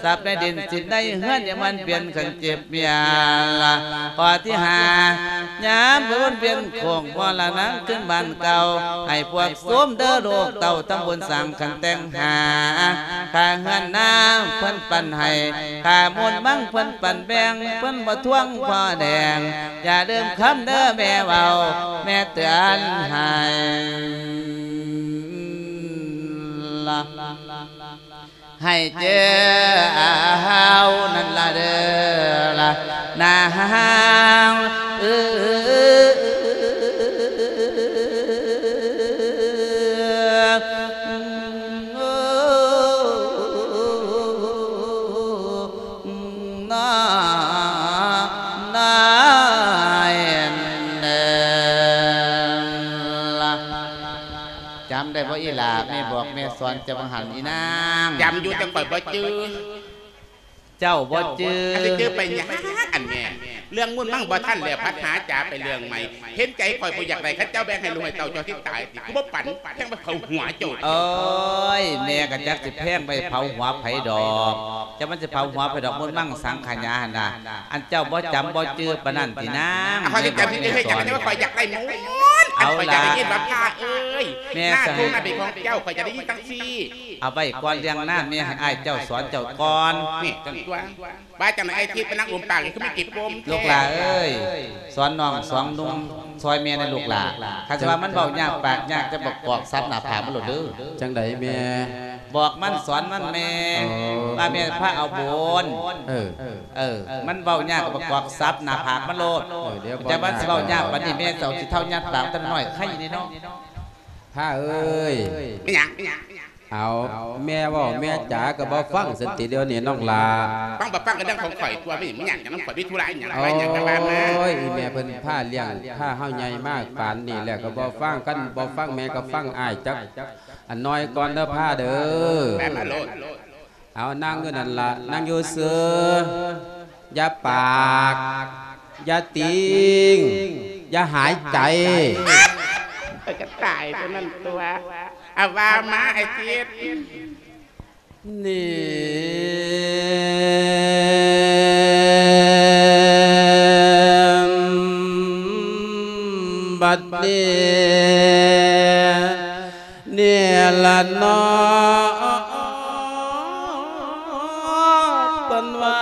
ຊັບໃນດິນສິນໃນເຮືອນ ຢ່າມັນປ່ຽນຄັນເຈັບມຽນລະ. ຂໍ້ທີຫ້າ ຍາມບຸນວຽນໂຄ້ງມໍລະນະຄືນບ້ານເກົ່າ ໃຫ້ພວກໂສມເດີລູກເຕົ້າ ທຳບຸນສ້າງຂັນແຕ່ງຫາ ຄ່າເຮືອນນາເພິ່ນປັນໃຫ້ ຄ່າມູນມັງເພິ່ນປັນແບ່ງ ເພິ່ນບໍ່ທວງພໍ່ແດງ ຢ່າລືມຄຳເດີແມ່ເວົ້າ ແມ່ເຕືອນໃຫ້ລະ ໃຫ້ເຈີເອົານັ້ນລະເດີລະນາງເອີ. ນາ ນາຍເອີຍ ຈຳໄດ້ບໍ່ອີ່ຫຼ້າ ແມ່ບອກແມ່ສອນເຈົ້າວ່າຫັ້ນອີນາງ? ຈຳຢູ່ ແຕ່ຂ້ອຍບໍ່ຈື່. ເຈົ້າບໍ່ຈື່? ອັນຊິຈື່ໄປຫຍັງອັນແມ່? ເລື່ອງມູນມັງບໍ່ທັນແລ້ວ ພັດຫາຈາໄປເລື່ອງໃໝ່. ເຫັນໃຈຂ້ອຍບໍ່ຢາກໄດ້ ຄັນເຈົ້າແບ່ງໃຫ້ລູກໃຫ້ເຕົ້າເຈົ້າຊິຕາຍຕິ? ກູບໍ່ປັນ ແພງໄປເຜົາຫົວເຈົ້າ. ໂອ້ຍ ແມ່ກໍຈັກຊິແພງໄປເຜົາຫົວໃຜດອກ. ຈະມັນຊິເຜົາຫົວໃຜດອກ ມຸນມັງສັງຂະຫຍາຫັ້ນນະ. ອັນເຈົ້າບໍ່ຈຳບໍ່ຈື່ປານນັ້ນຕິນາງ? ຂ້ອຍຈະຈຳຊື່ໃຫ້ຈັກ ແຕ່ວ່າຂ້ອຍຢາກໄດ້ໝົດ. ອັນ ເອົາ ຂ້ອຍຢາກໄດ້ຍິນວ່າ ລະ ພ້າເອີຍ ແມ່ ນາ ສະ ທົ່ງນາເປັນຂອງເຈົ້າ ຂ້ອຍຈະໄດ້ຍິນຈັ່ງຊີ້. ເອົາໄວ້ກ່ອນເລື່ອງນາ ແມ່ໃຫ້ອ້າຍເຈົ້າສອນເຈົ້າກ່ອນ. ນີ້ ຈັ່ງຕົວ ວ່າຈັ່ງໃດ ໄອ້ທິດ ໄປນັ່ງອຸມປາກ ຄືມີກິບປົມແທ້. ລູກຫຼ້າເອີຍ ສອນນ້ອງສອງໜຸ່ມຊ່ອຍແມ່ແດ່ລູກຫຼ້າ. ຄັນຊິວ່າມັນເວົ້າຍາກປາກຍາກ ຈະບອກ ກອກສັບໜ້າຜາກມັນໂລດເດີ. ຈັ່ງໃດແມ່? ບອກມັນ ສອນມັນແມ່. ອໍ ວ່າແມ່ພາເອົາບຸນ. ເອີ ເອີ ມັນເວົ້າຍາກກໍບອກ ກອກສັບໜ້າຜາກມັນໂລດ. ເອີ ດຽວ ຈະວ່າຊິເວົ້າຍາກປານນີ້ ແມ່ເຈົ້າຊິເທົາຍັດປາກແຕ່ນ້ອຍ ໄຄນີ້ເນາະ. ພ້າເອີຍ ແມ່ນຫຍັງ? ເອົາ ແມ່ເວົ້າແມ່ຈາກໍບໍ່ຟັງຊັ້ນຕິ ດຽວນີ້ນ້ອງຫຼ້າ. ຟັງບໍ່ຟັງກໍເລື່ອງຂອງຂ້ອຍຕົວະ ແມ່ນຫຍັງ? ມັນຫຍັງນຳຂ້ອຍ? ມີທຸລະອີຫຍັງ? ໂອ້ຍ ອີແມ່ເພິ່ນພາລ້ຽງ ພາເຮົາໃຫຍ່ມາປານນີ້ແລ້ວກໍບໍ່ຟັງ. ຄັນບໍ່ຟັງແມ່ກໍຟັງອ້າຍຈັກອັນໜ້ອຍກ່ອນເດີ ພ້າເດີ. ແມ່ມາໂລດ. ເອົາ ນັ່ງຢູ່ນັ້ນລະ ນັ່ງຢູ່ຊື່ ຢ່າປາກ ຢ່າຕິງ ຢ່າຫາຍໃຈ. ຂ້ອຍກໍຕາຍເທົ່ານັ້ນຕົວະ. ອາ ວ່າມາ ໄອ້ທິດ. ນີ້ ບັດນີ້ ນີ້ລະເນາະ ເພິ່ນວ່າ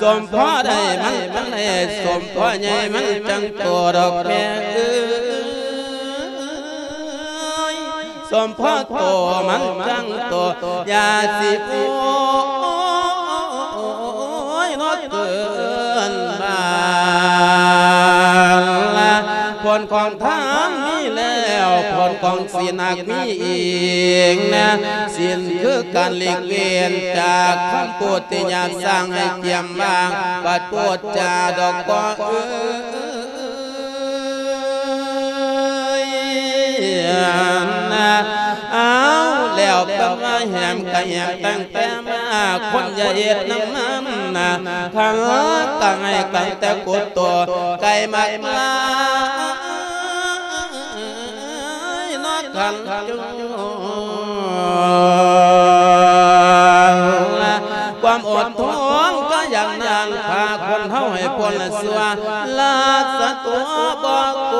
ສົມພໍໄດ້ມັນຈັ່ງໄດ້ ສົມພໍໃຫຍ່ມັນຈັ່ງໂຕດອກແມ່ເອີຍ ສົມພໍໂຕມັນຈັ່ງໂຕ ຢ່າຊິໂອຍເນາະ ເກີນບານລະ. ຜົນຂອງທານມີແລ້ວ ຜົນຂອງສິນຫາກມີອີກນະ. ສິນຄືການຫຼີກເວັ້ນຈາກຄຳພູດທີ່ຫຍາບຊ້າງໃຫ້ກຽມບາງ ບັດໂພດຈາດອກກໍເອີຍນະ. ເອົາ ແລ້ວເພິ່ນວ່າແຫມກະແຫມຕັ້ງແຕ່ມາ ຄົນຢ່າເຮັດນຳມັນນະ. ຄັນກະໃຫ້ກັນແຕ່ກົດໂຕ ໄກ່ມັກມາ ນອກຄັນຈຸ ຄວາມອົດທົນກໍຢ່າງນັ້ນ ພາຄົນເຮົາໃຫ້ພົ້ນຊົ່ວ ລັກສະຕົວບໍ່ໂກ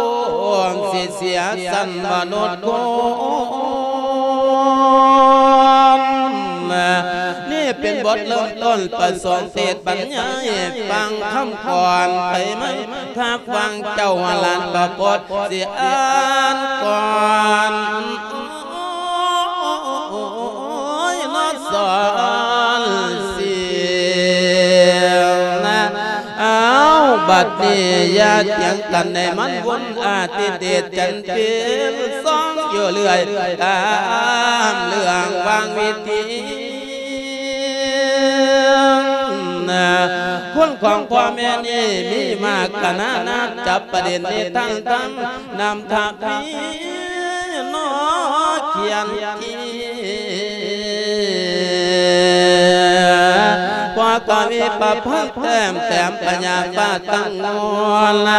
ງ ຊິເສຍຊັ້ນມະນຸດຄົນ. ນີ້ເປັນບົດເລີ່ມຕົ້ນ ປະສົງເທດບັນຍາຍ ຟັງຄຳກ່ອນໄປມາ ຖ້າຟັງເຈົ້າຫຼານປະກົດ ຊິອ່ານກ່ອນ ໂອ້ຍ ນອດສອນສິນນະ. ເອົາ ບັດນີ້ຢ່າຖຽງກັນ ໃຫ້ມັນວົນອາທິເດດຈັນເປັນສອງຢູ່ເລື້ອຍ ຕາມເລື່ອງວາງວິທີ ຄຸນຂອງພໍ່ແມ່ນີ້ມີມາກຂະໜາດນັ້ນ ຈັບປະເດັນນິທານທຳ ນຳທະວີນອກຂຽນກີ ພວກກະວີປະພັນແຕ້ມແຕ້ມພະຍາຟ້າຕັ້ງງວນ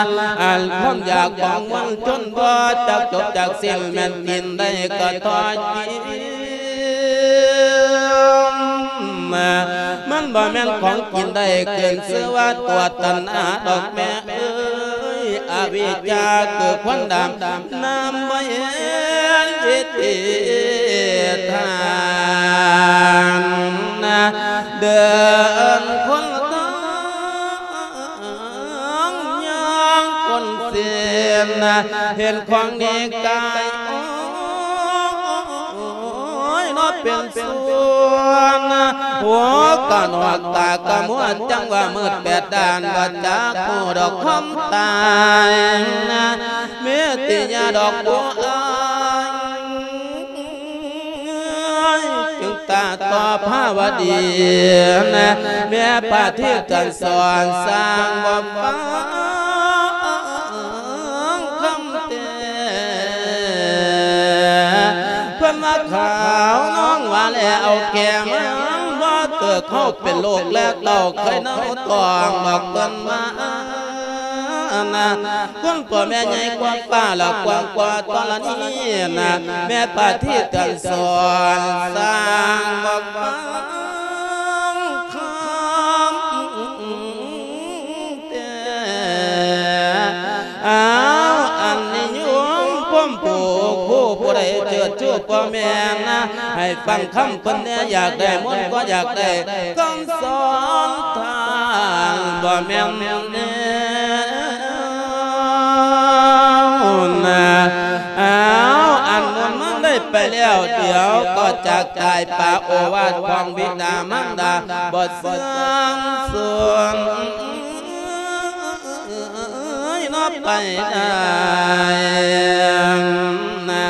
ອັນຄວາມຢາກຂອງມວນຊົນບໍ່ຈັກຈົບຈັກສິ້ນ ແມ່ນກິນໄດ້ກໍພໍກິນ ມັນບໍ່ແມ່ນຂອງກິນໄດ້ຂຶ້ນຊື່ວ່າຕົວຕັນຫາດອກແມ່ເອີຍ ອະວິດຈາຄືຄວັນດຳ ນຳມາເຮັດວິທີທານ ເດີນຄົນທາງຍ່າງຄົນເສັ້ນ ເຫັນຂອງນີ້ກາຍໂອ້ຍເນາະເປັນສ່ວນ ຫົວກະໜອກຕາກະມົວ ຈັ່ງວ່າມືດແປດດ້ານ ບໍ່ຈັກຮູ້ດອກຄວາມຕາຍ ເມດຕິຍາດອກບົວອາຍ ຈຶ່ງຕາຕໍ່ພາວະດີ ແມ່ພາທິເຕືອນສອນ ສ້າງບໍ່ຟັງຄຳແຕ່ ເພິ່ນວ່າຂາວນ້ອງວ່າແລເອົາແກ່ມາ ບໍ່ເກີດເຮົາເປັນລູກແລເຕົ້າ ເຄີຍເນົ່າຕອງດອກເພິ່ນວ່າ ນະ ຄົນພໍ່ແມ່ໃຫຍ່ກວ່າຟ້າ ລະກວ້າງກວ່າທໍລະນີນະ ແມ່ພາທິເຕືອນສອນ ສ້າງບໍ່ຟັງຄຳແຕ່ ອ້າວ ອັນນິຍົມພົມຜູ້ຄູ ຜູ້ໃດເຈີດຊູພໍ່ແມ່ນະ ໃຫ້ຟັງຄຳເພິ່ນແດ່ ຢາກໄດ້ມົນກໍຢາກໄດ້ ຄຳສອນທ່ານບໍ່ແມ່ນແນວນະ ອ້າວ ອັນບຸນມັນໄດ້ໄປແລ້ວ ດຽວກໍຈາກຕາຍ ປາໂອວາດຂອງບິດາມານດາ ບໍ່ເຊື່ອງສູນເນາະໄປໄດ້ນະ.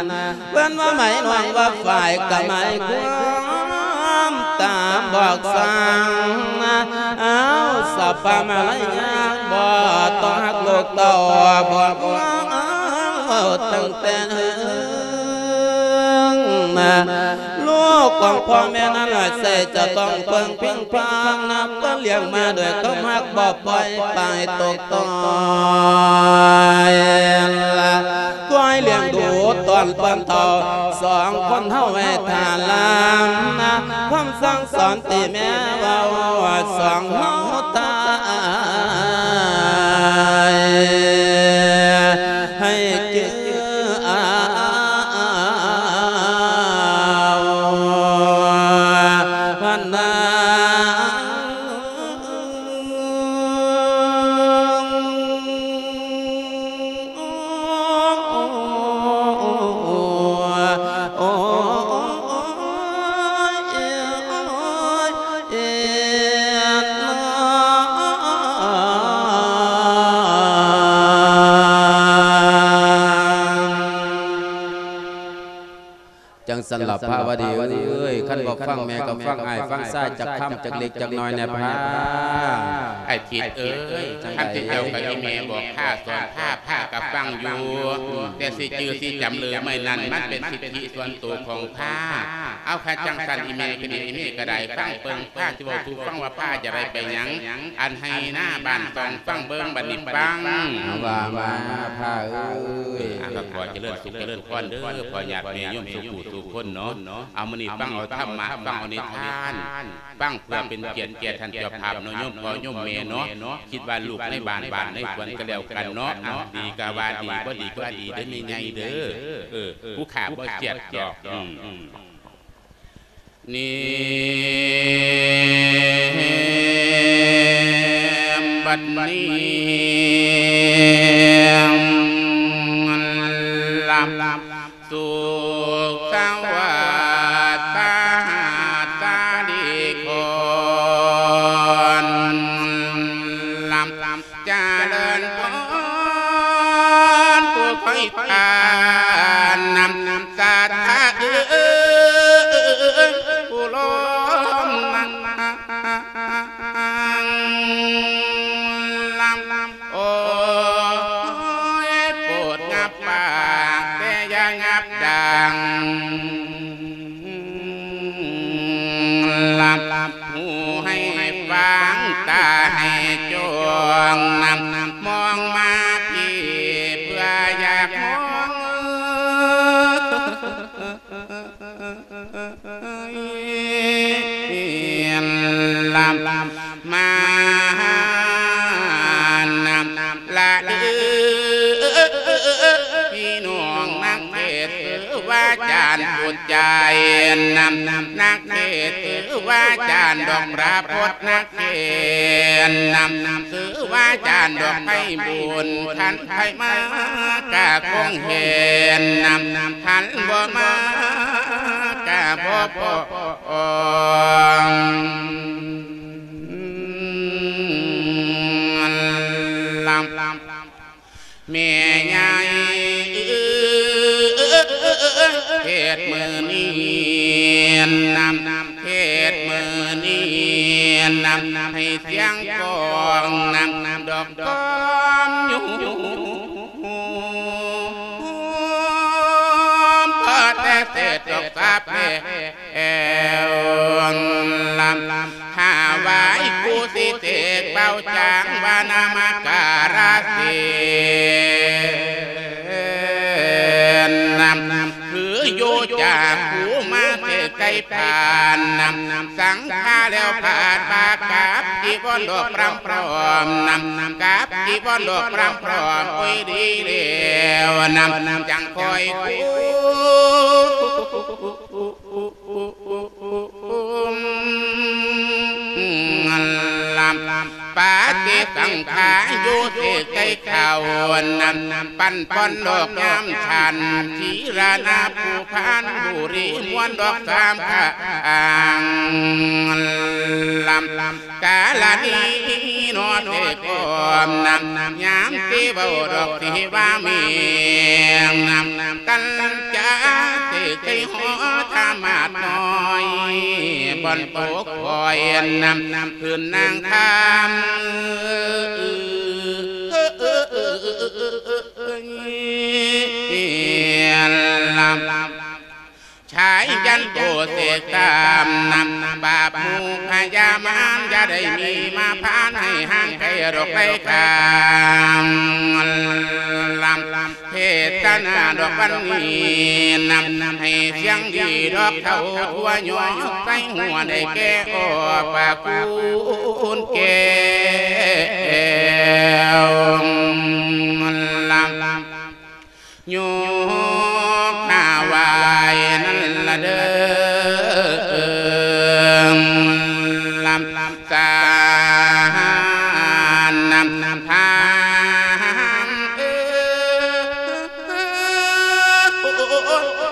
ເພິ່ນວ່າໝາຍນ້ອງວ່າຝ້າຍກະໝາຍຄວາມຕາມບອກສັ່ງ ອ້າວ ສະພາມາລະຍາ ບໍ່ຕ້ອງຮັກລູກເຕົ້າ ບອກວ່າຕັ້ງແຕ່ເນີ່ນ ລູກຂອງພໍ່ແມ່ນັ້ນລະ ໃສ່ຈະຕ້ອງເພິ່ງພິງພານະ ເພິ່ນລ້ຽງມາດ້ວຍຄວາມຮັກ ບໍ່ປ່ອຍປາຍຕົກ ຕ້ອຍລະ ຊ່ວຍລ້ຽງດູຕ້ອນເພິ່ນເຖົ້າ ສອງຄົນເຮົາໄວ້ທ່າລານະ ຄຳສັ່ງສອນທີ່ແມ່ເວົ້າ ສອງເຮົາທ່ານ ໃຫ້ຈື່ເອົາພັນນາ. ຈັ່ງຊັ້ນລະພາວະດີເອີຍ ຄັນບໍ່ຟັງແມ່ກໍຟັງອ້າຍຟັງຊາຍຈັກຄຳຈັກເລັກຈັກນ້ອຍແດ່ພາ. ອ້າຍທິດເອີຍ ຄັນທີ່ເຈົ້າກັບອີ່ແມ່ບອກພາສອນພາ ພາກໍຟັງຢູ່ ແຕ່ຊິຈື່ຊິຈຳເລີໄມ້ນັ້ນ ມັນເປັນສິດທິສ່ວນໂຕຂອງພາ. ເອົາ ຄັນຈັ່ງຊັ້ນອີ່ແມ່ກໍດີ ອີ່ແມ່ກໍໄດ້ຟັງເບິ່ງພາຊິເວົ້າສູ່ຟັງວ່າພາຈະໄດ້ໄປຫຍັງ ອັນໄຮ່ນາບ້ານຊ່ອງ ຟັງເບິ່ງບັດນີ້ຟັງ. ເອົາ ວ່າມາພາເອີຍ. ອ່າ ກໍຂໍຈະເລີນສຸກຈະເລີນພອນເດີ ພໍ່ຍາດແມ່ໂຍມສູ່ຜູ້ສູ່ຄົນເນາະ. ເອົາ ມື້ນີ້ຟັງເອົາທຳມະ ຟັງເອົານິທານ ຟັງເພື່ອເປັນກຽດແກ່ທ່ານເຈົ້າພາບເນາະ ໂຍມພໍ່ໂຍມແມ່ເນາະ. ຄິດວ່າລູກໃນບ້ານ ບ້ານໃນສວນກໍແລ້ວກັນເນາະ. ອ່າ ດີກໍວ່າດີ ບໍ່ດີກໍວ່າດີເດີ ແມ່ໃຫຍ່ເດີ. ເອີ ຜູ້ຂ້າບໍ່ເສຍດດອກ. ນີ້ບັດນີ້ ລັບ ສຸກສະຫວັດສະຫັດສະດີຄອນ ລຳຈະເລີນພອນ ຜູ້ຄອຍທານນຳສັດທາເອີຍ ຜູ້ລ້ອມນາງ ຫູໃຫ້ຟັງ ຕາໃຫ້ຈ້ອງ ມອງມາພີ້ ເພື່ອຢາກມອງ ມາລະເດີ ພີ່ນ້ອງນັກເທດ ຄືວ່າຈານຜູ້ໃຈນຳ ນັກເທດ ຄືວ່າຈານດອກ ພະພົດນັກເທດນຳ ຄືວ່າຈານດອກ ໄພບຸນ ຄັນໃຜມາກະຄົງເຫັນນຳ ຄັນບໍ່ມາກະບໍ່ພໍ້ ແມ່ໃຫຍ່ເທດມື້ນີ້ນຳ ເທດມື້ນີ້ນຳ ໃຫ້ສຽງກ້ອງນຳ ດອກກອມຢູ່ ພໍແຕ່ເສດດອກສາບແລ້ວ ຖວາຍກູ່ສິເສກເປົ່າຈາງ ວ່ານະມະກາລະສິນນຳ ຄືຢູ່ຈາກກູ່ມາເສກໄກ່ຜ່ານນຳ ສັງຄາແລ້ວພາດບາກກັບຈີວອນດອກພຣຳພ້ອມນຳ ກັບຈີວອນດອກພຣຳພ້ອມ ໂອ້ຍ ດີແລ້ວນຳ ຈັ່ງຄ່ອຍກຸ້ມ ປະຕິສັງຂາຢູ່ເສກໄກ່ເຂົ້ານຳ ປັ້ນປ່ອນດອກຍາມທັນ ທີລະນາພູພານບູລີ ມ່ວນດອກສາມຂ້າງ ກາລະນີນໍເສກພ້ອມນຳ ຍາມທີ່ເວົ້າດອກທີ່ວ່າແມ່ນນຳ ຕັນຈາເສກໄກ່ຫໍທາມາດນ້ອຍ ບ່ອນໂຕຄອຍນຳ ຄືນນາງທາມ ຊາຍຢັນໂຕເສກຕາມນຳ ບາບໝູ່ພະຍາມານ ຢ່າໄດ້ມີມາພານ ໃຫ້ຫ່າງໄກດອກໄກກາມ ເທດສະໜາດອກວັນນີ້ນຳ ໃຫ້ສຽງດີດອກເທົ້າທົ່ວ ຍອກໃສ່ຫົວໄດ້ແກ່ອອກປາກຄູນແກ້ວ ລຳ ຍົກໜ້າໄຫວ້ນັ້ນລະເດີ ລຳ ສານນຳພານເອີ ໂອ້ຍ ໂອ້ຍ ໂອ້ຍ ໂອ້ຍ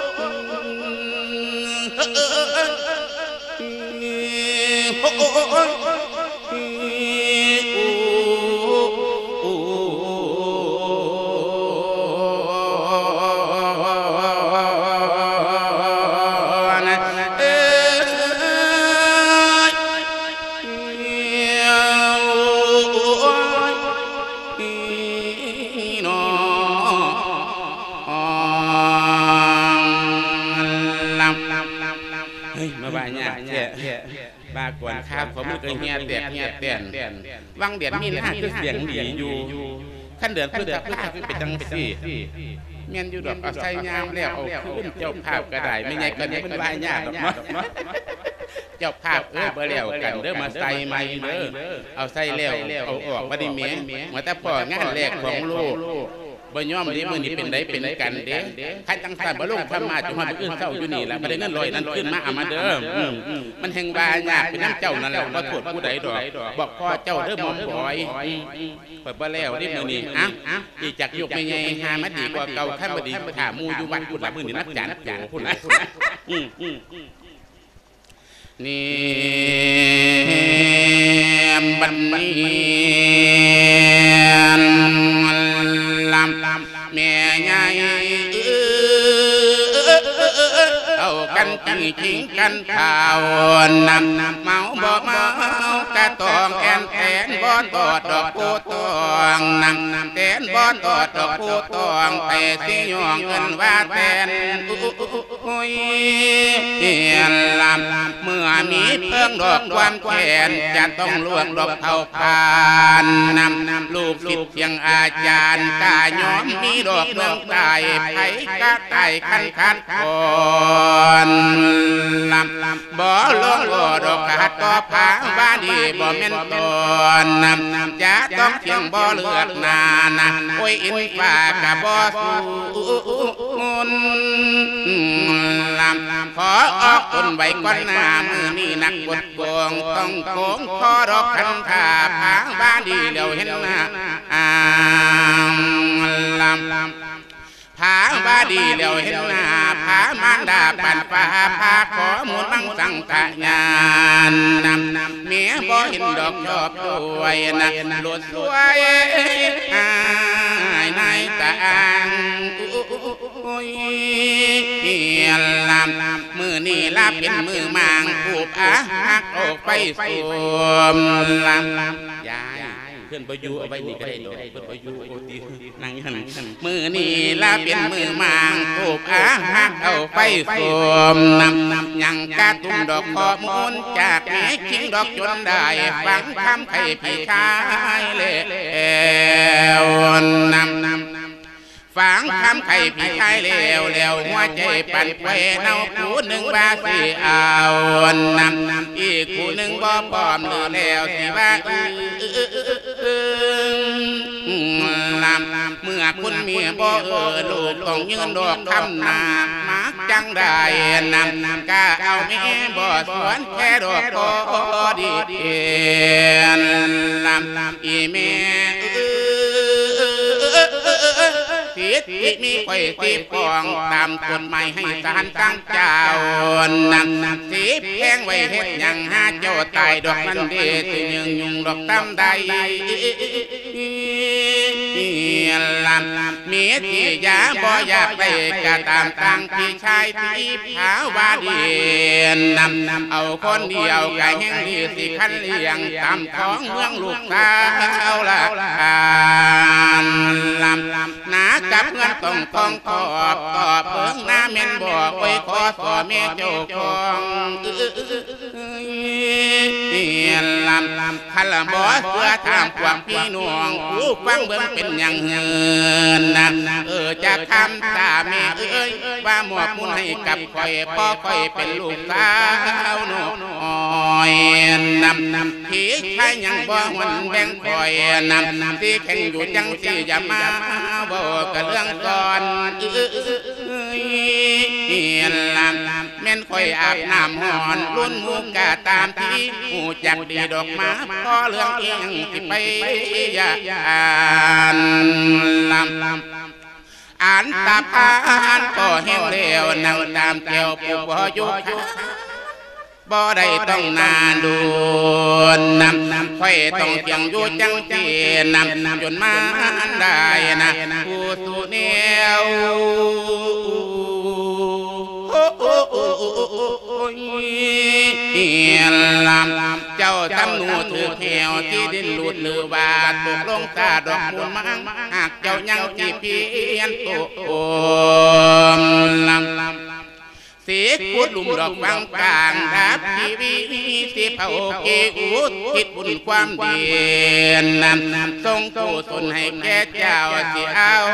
ເຮີ້ຍ ມາວ່າຍາກແທ້ ວ່າກ່ອນຄາວຂອງມັນກໍເຫື່ອແຕກເຫື່ອແຕນ ຫວ່າງເດືອນມີນາຄືສຽງດີຢູ່ ຄັນເດືອນພຶດສະພາຄືເປັນຈັ່ງຊີ້ ແມ່ນຢູ່ດອກ ເອົາໃສ່ຍາມແລ້ວເອົາຄືນ ເຈົ້າພາບກໍໄດ້ ແມ່ໃຫຍ່ກໍນີ້ມັນວ່າຍາກດອກເນາະ ເຈົ້າພາບເອີຍ ບໍ່ແລ້ວກັນເດີ ມາໃສ່ໃໝ່ເດີ ເອົາໃສ່ແລ້ວເອົາອອກ ບັດນີ້ແໝ ວ່າແຕ່ພໍງານແລກຂອງໂລກ ບໍ່ຍອມເດ້ ມື້ນີ້ເປັນໃດເປັນກັນເດ້ ຄັນຈັ່ງຊັ້ນບໍ່ລົງທຳມາ ຈົນຮອດມື້ອື່ນເຊົ້າຢູ່ນີ້ລະ ບໍ່ໄດ້ເງິນຮ້ອຍນັ້ນຄືນມາເອົາມາເດີ ອືມ ມັນແຮ່ງວ່າຍາກເປັນນຳເຈົ້ານັ້ນລະ ບໍ່ໂທດຜູ້ໃດດອກ ບອກພໍ່ເຈົ້າເດີໝອມບອຍ ອືມ ຂ້ອຍບໍ່ແລ້ວເດ້ມື້ນີ້ ອະ ອີກຈັກຍົກແມ່ໃຫຍ່ຫາມາດີກວ່າເກົ່າ ຄັນບໍ່ດີຖ້າໝູ່ຢູ່ວັດພຸ້ນລະ ມື້ນີ້ນັດຈານໂຈພຸ້ນລະ ອືມ ນີ້ ບັດນີ້ ລຳ ແມ່ໃຫຍ່ເອີ ເອົາກັນຈິງຈິງກັນເຜົານຳ ເມົາບໍ່ເມົາກ ກະຕອງແອ່ນແຕນ ບໍ່ຕອດດອກຜູ້ຕອງນຳ ແຕນບໍ່ຕອດດອກຜູ້ຕອງ ແຕ່ຊິຍ້ອງເອີ້ນວ່າແຕນ ໂອ້ຍ ລຳ ເມື່ອມີເພິ່ງດອກຄວາມແຄ້ນ ຈະຕ້ອງລວກດອກເຜົາຜານນຳ ລູກສິດສຽງອາຈານ ກະຍອມມີດອກເມືອງໃຕ້ ໃຜກະໄດ້ຄັນຂັດຂ້ອນ ລຳ ບໍ່ລົງບໍ່ດອກຂັດຕໍ່ພາວາດີ ບໍ່ແມ່ນຕອນນຳ ຈະຕ້ອງທ່ຽງບໍ່ເລືອກໜ້ານະ ໂອ້ຍ ອິນຟ້າກະບໍ່ສູນນຳ ຂໍອອກຕົນໄວ້ກ່ອນໜ້າ ມື້ນີ້ນັກບົດໂກງ ຕ້ອງໂກງຂໍດອກຄັນຖ້າພາວາດີແລ້ວເຫັນໜ້າ ລຳ ພາວາດີແລ້ວເຫັນໜ້າ ພາມານດາປານຟ້າ ພາຂໍມູນມັງສັງຂະຍານນຳ ແມ່ບໍ່ເຫັນດອກຊອບດ້ວຍນະ ໂລດສວຍອາຍນາຍຕາງ ໂອ້ຍ ລຳ ມື້ນີ້ລະເປັນມື້ໝາງ ທູບອາຮັກອອກໄປສວມ ລຳ ຍາຍ ເພິ່ນບໍ່ຢູ່ ເອົາໄວ້ນີ້ກະໄດ້ດອກ ເພິ່ນບໍ່ຢູ່ ໂອຕິ ນັ່ງຫັ້ນ ມື້ນີ້ລະເປັນມື້ໝາງ ທູບອາຮັກເອົາໄປສວມນຳ ຍັງກະຕຸ້ມດອກຂໍ້ມູນ ຈາກແມ່ຄິງດອກຈົນໄດ້ ຟັງຄຳໄຂ້ພີ່ຊາຍແລ້ວນຳ ຟັງຄຳໄຂ້ພີ່ຊາຍແລ້ວ ແລ້ວຫົວໃຈປັ່ນໄປເນົາ ຜູ້ໜຶ່ງວ່າຊິເອົານຳ ອີກຜູ້ໜຶ່ງບໍ່ພ້ອມ ຫຼືແລ້ວຊິວ່າອຶງ ລຳ ເມື່ອຄຸນແມ່ບໍ່ເອີ ລູກຕ້ອງຍື່ນດອກຄຳໜ້າ ມັກຈັ່ງໃດນຳ ກະເອົາແມ່ບໍ່ສວນແຄ່ດອກພໍດີນ ລຳ ອີແມ່ເອີຍ ສິດທີ່ມີຂ້ອຍຕິດຂ້ອງ ຕາມກົດໝາຍໃຫ້ສານຕັ້ງເຈົ້ານຳ ສິບແພງໄວ້ເຮັດຫຍັງ ຫາເຈົ້າຕາຍດອກນັ້ນເດ ຊິຍືງຍຸງດອກຕາມໃດ ລຳ ມີທີ່ຢາບໍ່ຢາກໄດ້ກະຕາມ ຕັ້ງພີ່ຊາຍທີ່ພາວາດີນຳ ເອົາຄົນດຽວກະແຮງດີ ຊິຄັນລ້ຽງຕາມຂອງເມືອງລູກສາວລະ ລຳ ນາກັບເຮືອນຕ້ອງຂອງຂອບ ຕອບເບິ່ງນາແມ່ນບໍ່ ໂອ້ຍ ຂໍສອແມ່ເຈົ້າຂອງ ເອີຍ ລຳ ຄັນລະບໍ່ເຊື່ອຖາມພວກພີ່ນ້ອງ ຜູ້ຟັງເບິ່ງເປັນຫຍັງເຫີນນະ ເອີ ຈະຄຳຕາແມ່ເອີຍ ວ່າມອບບຸນໃຫ້ກັບຂ້ອຍ ເພາະຂ້ອຍເປັນລູກສາວນ້ອຍນຳ ພີ່ຊາຍຍັງບໍ່ຫວນແບ່ງຂ້ອຍນຳ ທີ່ແຂງຢູ່ຈັ່ງຊີ້ ຢ່າມາເວົ້າກະເລື່ອງກ່ອນ ເອີຍ ລຳ ແມ່ນຂ້ອຍອາບນ້ຳຮ້ອນລຸນໝູກະຕາມທີ່ ຮູ້ຈັກດີດອກໝາ ພໍເລື່ອງອີ່ຫຍັງຊິໄປຢ້ານ ລຳ ອັນຕະພານກໍແຫ້ງແລ້ວ ນັ່ງຕາມແກ້ວຜູ້ບໍ່ຢູ່ ບໍ່ໄດ້ຕ້ອງນານດົນນຳ ຂ້ອຍຕ້ອງທ່ຽງຢູ່ຈັ່ງຊີ້ນຳ ຈົນມາໄດ້ນະ ຜູ້ສູ່ແນວ ລຳ ເຈົ້າທຳນູຖືກແຫ້ວ ທີ່ດິນຫຼຸດ ຫຼືວ່າຕົກລົງຕາດອກມູນມັງ ຫາກເຈົ້າຍັງຊິພຽນໂຕ ລຳ ຊິຂຸດຫຼຸມດອກຝັງກາງ ດັບຊີວິດ ຊິເຜົາກີ້ອຸທິດບຸນຄວາມດີນຳ ສົ່ງກຸສົນໃຫ້ແກ່ເຈົ້າ ຊິເອົາ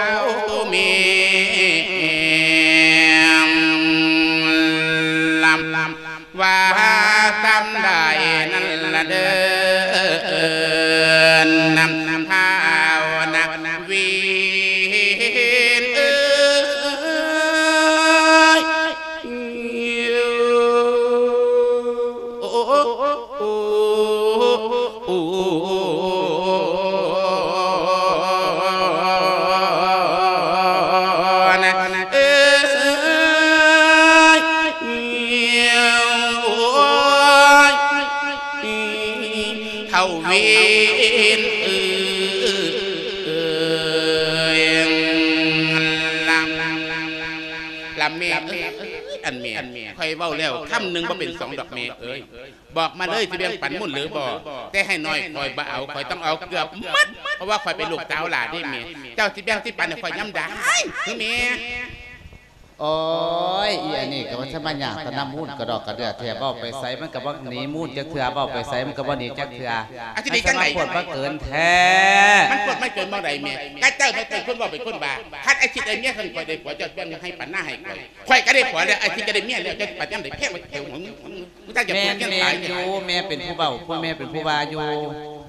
ເມ ລຳ ວ່າຊ່ຳໃດນັ້ນລະເດີ ນຳ ທ້າວນະວີນເອີຍ ໂອ້ ໂອ້ ໂອ້ ນະເອີຍ ໂອ້ຍ ເຖົ້າວິນເອີຍ ລຳ ລຳແມ່ເອີຍ ອັນແມ່ ຂ້ອຍເວົ້າແລ້ວຄຳໜຶ່ງບໍ່ເປັນສອງດອກແມ່ເອີຍ. ບອກມາເລີຍ ຊິແບ່ງປັນມູນຫຼືບໍ່? ແຕ່ໃຫ້ໜ້ອຍຂ້ອຍບໍ່ເອົາ ຂ້ອຍຕ້ອງເອົາເກືອບໝົດ ເພາະວ່າຂ້ອຍເປັນລູກສາວຫຼ້າເດ້ແມ່. ເຈົ້າຊິແບ່ງຊິປັນໃຫ້ຂ້ອຍຍາມໃດ ຄືແມ່? ໂອ້ຍ ອີອັນນີ້ກໍວ່າສະມາຍາກຕະນຳມູນກະດອກກະເດືອແທ້ ເວົ້າໄປໃສມັນກໍບໍ່ໜີມູນຈັກເທື່ອ ເວົ້າໄປໃສມັນກໍບໍ່ໜີຈັກເທື່ອ. ອາ ຊິໜີຈັ່ງໃດ? ມັນສະມາໂພດມາເກີນແທ້. ມັນໂພດມາເກີນໝ່ອງໃດແມ່? ກະເຈົ້າແມ່ນເປັນຄົນເວົ້າເປັນຄົນວ່າ ຄັນອາທິດໄດ້ເມຍ ຄັນຂ້ອຍໄດ້ຜົວ ເຈົ້າແບ່ງໃຫ້ປັນນາໃຫ້ຂ້ອຍ ຂ້ອຍກໍໄດ້ຜົວແລ້ວ ອາທິດກໍໄດ້ເມຍແລ້ວ ເຈົ້າຊິປັນຍາມໃດ ແພງໄວ້ແຖວຫົວ ແມ່ນ ແມ່ນຢູ່ ແມ່ເປັນຜູ້ເວົ້າ ຜູ້ແມ່ເປັນຜູ້ວ່າຢູ່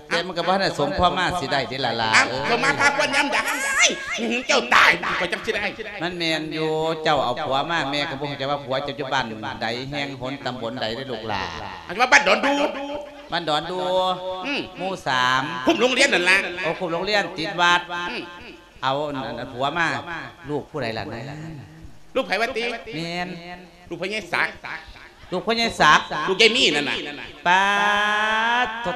ແຕ່ມັນກໍບໍ່ທັນໄດ້ສົມຄວາມມາຊິໄດ້ເດ້ລະຫຼ້າເອີຍ. ສົມມາພາຄວນຍາມໃດ ເຈົ້າຕາຍຂ້ອຍຈັ່ງຊິໄດ້. ມັນແມ່ນຢູ່ ເຈົ້າເອົາຜົວມາ ແມ່ກໍບໍ່ຮູ້ຈັກວ່າຜົວເຈົ້າຢູ່ບ້ານໃດ ແຫ່ງຫົນຕຳບົນໃດເດ້ລູກຫຼ້າ. ອັນວ່າບ້ານດອນດູ ບ້ານດອນດູ ອືມ ໝູ່ສາມ ຄຸ້ມໂຮງຮຽນນັ້ນລະ. ໂອ້ ຄຸ້ມໂຮງຮຽນຕິດວັດ. ອືມ ເອົາອັນ ອັນ ອັນຜົວມາ ລູກຜູ້ໃດລະນະ? ລູກໃຜວະຕິ? ແມ່ນ ລູກພໍ່ໃຫຍ່ສັກ. ລູກພໍ່ໃຫຍ່ສັກ ລູກຍາຍມີນັ້ນນະ. ປາດໂທ້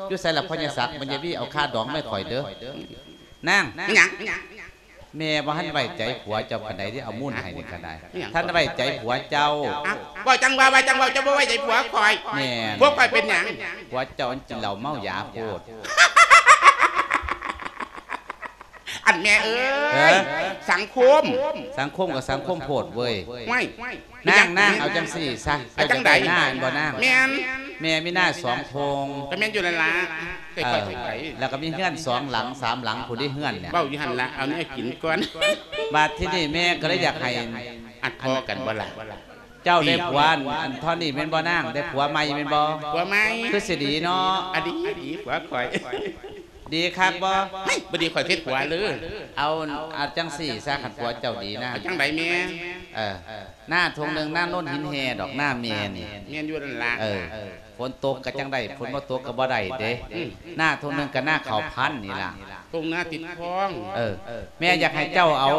ຢູ່ໃສລະພໍ່ໃຫຍ່ສັກ? ແມ່ນຍາຍມີເອົາຄ່າດອງມາໃຫ້ຂ້ອຍເດີ. ນາງ ແມ່ນຫຍັງ? ແມ່ບໍ່ທັນໄວ້ໃຈຜົວເຈົ້າປານໃດເດ້ ເອົາມູນໃຫ້ນີ້ກໍໄດ້. ແມ່ນຫຍັງ? ທັນໄວ້ໃຈຜົວເຈົ້າ. ອ້າວ ເວົ້າຈັ່ງວ່າ ເວົ້າຈັ່ງເວົ້າ ເຈົ້າບໍ່ໄວ້ໃຈຜົວຂ້ອຍ. ແມ່ນ. ຜົວຂ້ອຍເປັນຫຍັງ? ຜົວເຈົ້າມັນກິນເຫຼົ້າເມົາຢາໂພດ. ອັນແມ່ເອີຍ ເອີ ສັງຄົມ ສັງຄົມກໍສັງຄົມໂພດເວີຍ. ຫ້ວຍ ນາງ ນາງ ເອົາຈັ່ງຊີ້ຊະ ເອົາຈັ່ງໃດນາ ແມ່ນບໍ່ນາງ? ແມ່ນ ແມ່ມີນາສອງທົ່ງ. ກໍແມ່ນຢູ່ນັ້ນລະ ເອີ ແລ້ວກໍມີເຮືອນສອງຫຼັງສາມຫຼັງພຸ້ນເດ້ເຮືອນນີ້. ເວົ້າຢູ່ຫັ້ນລະ ເອົາແນວກິນກ່ອນ. ບາດທີນີ້ແມ່ກໍເລີຍຢາກໃຫ້ ອັດພໍ້ກັນບໍ່ລະ? ເຈົ້າໄດ້ຜົວ ອັນ ອັນເທົ່ານີ້ແມ່ນບໍ່ນາງ? ໄດ້ຜົວໃໝ່ແມ່ນບໍ່? ຜົວໃໝ່ ຄືຊິດີເນາະ. ອາ ດີ ດີ ຜົວຂ້ອຍ ດີຄັກບໍ່? ເຮີ້ຍ ບໍ່ດີຂ້ອຍເຮັດຜົວເລີຍ. ເອົາ ເອົາຈັ່ງຊີ້ຊະ ຄັນຜົວເຈົ້າດີນະ. ເອົາຈັ່ງໃດແມ່? ເອີ ນາທົ່ງໜຶ່ງ ນາໂນນຫີນແຮ່ດອກ ນາແມ່ນີ້. ແມ່ນຢູ່ນັ້ນລະ. ເອີ ຝົນຕົກກໍຈັ່ງໄດ້ ຝົນບໍ່ຕົກກໍບໍ່ໄດ້ເດ້. ອືມ ນາທົ່ງໜຶ່ງກໍນາເຂົ້າພັນນີ້ລະ ທົ່ງນາຕິດຄອງ. ເອີ ແມ່ຢາກໃຫ້ເຈົ້າເອົາ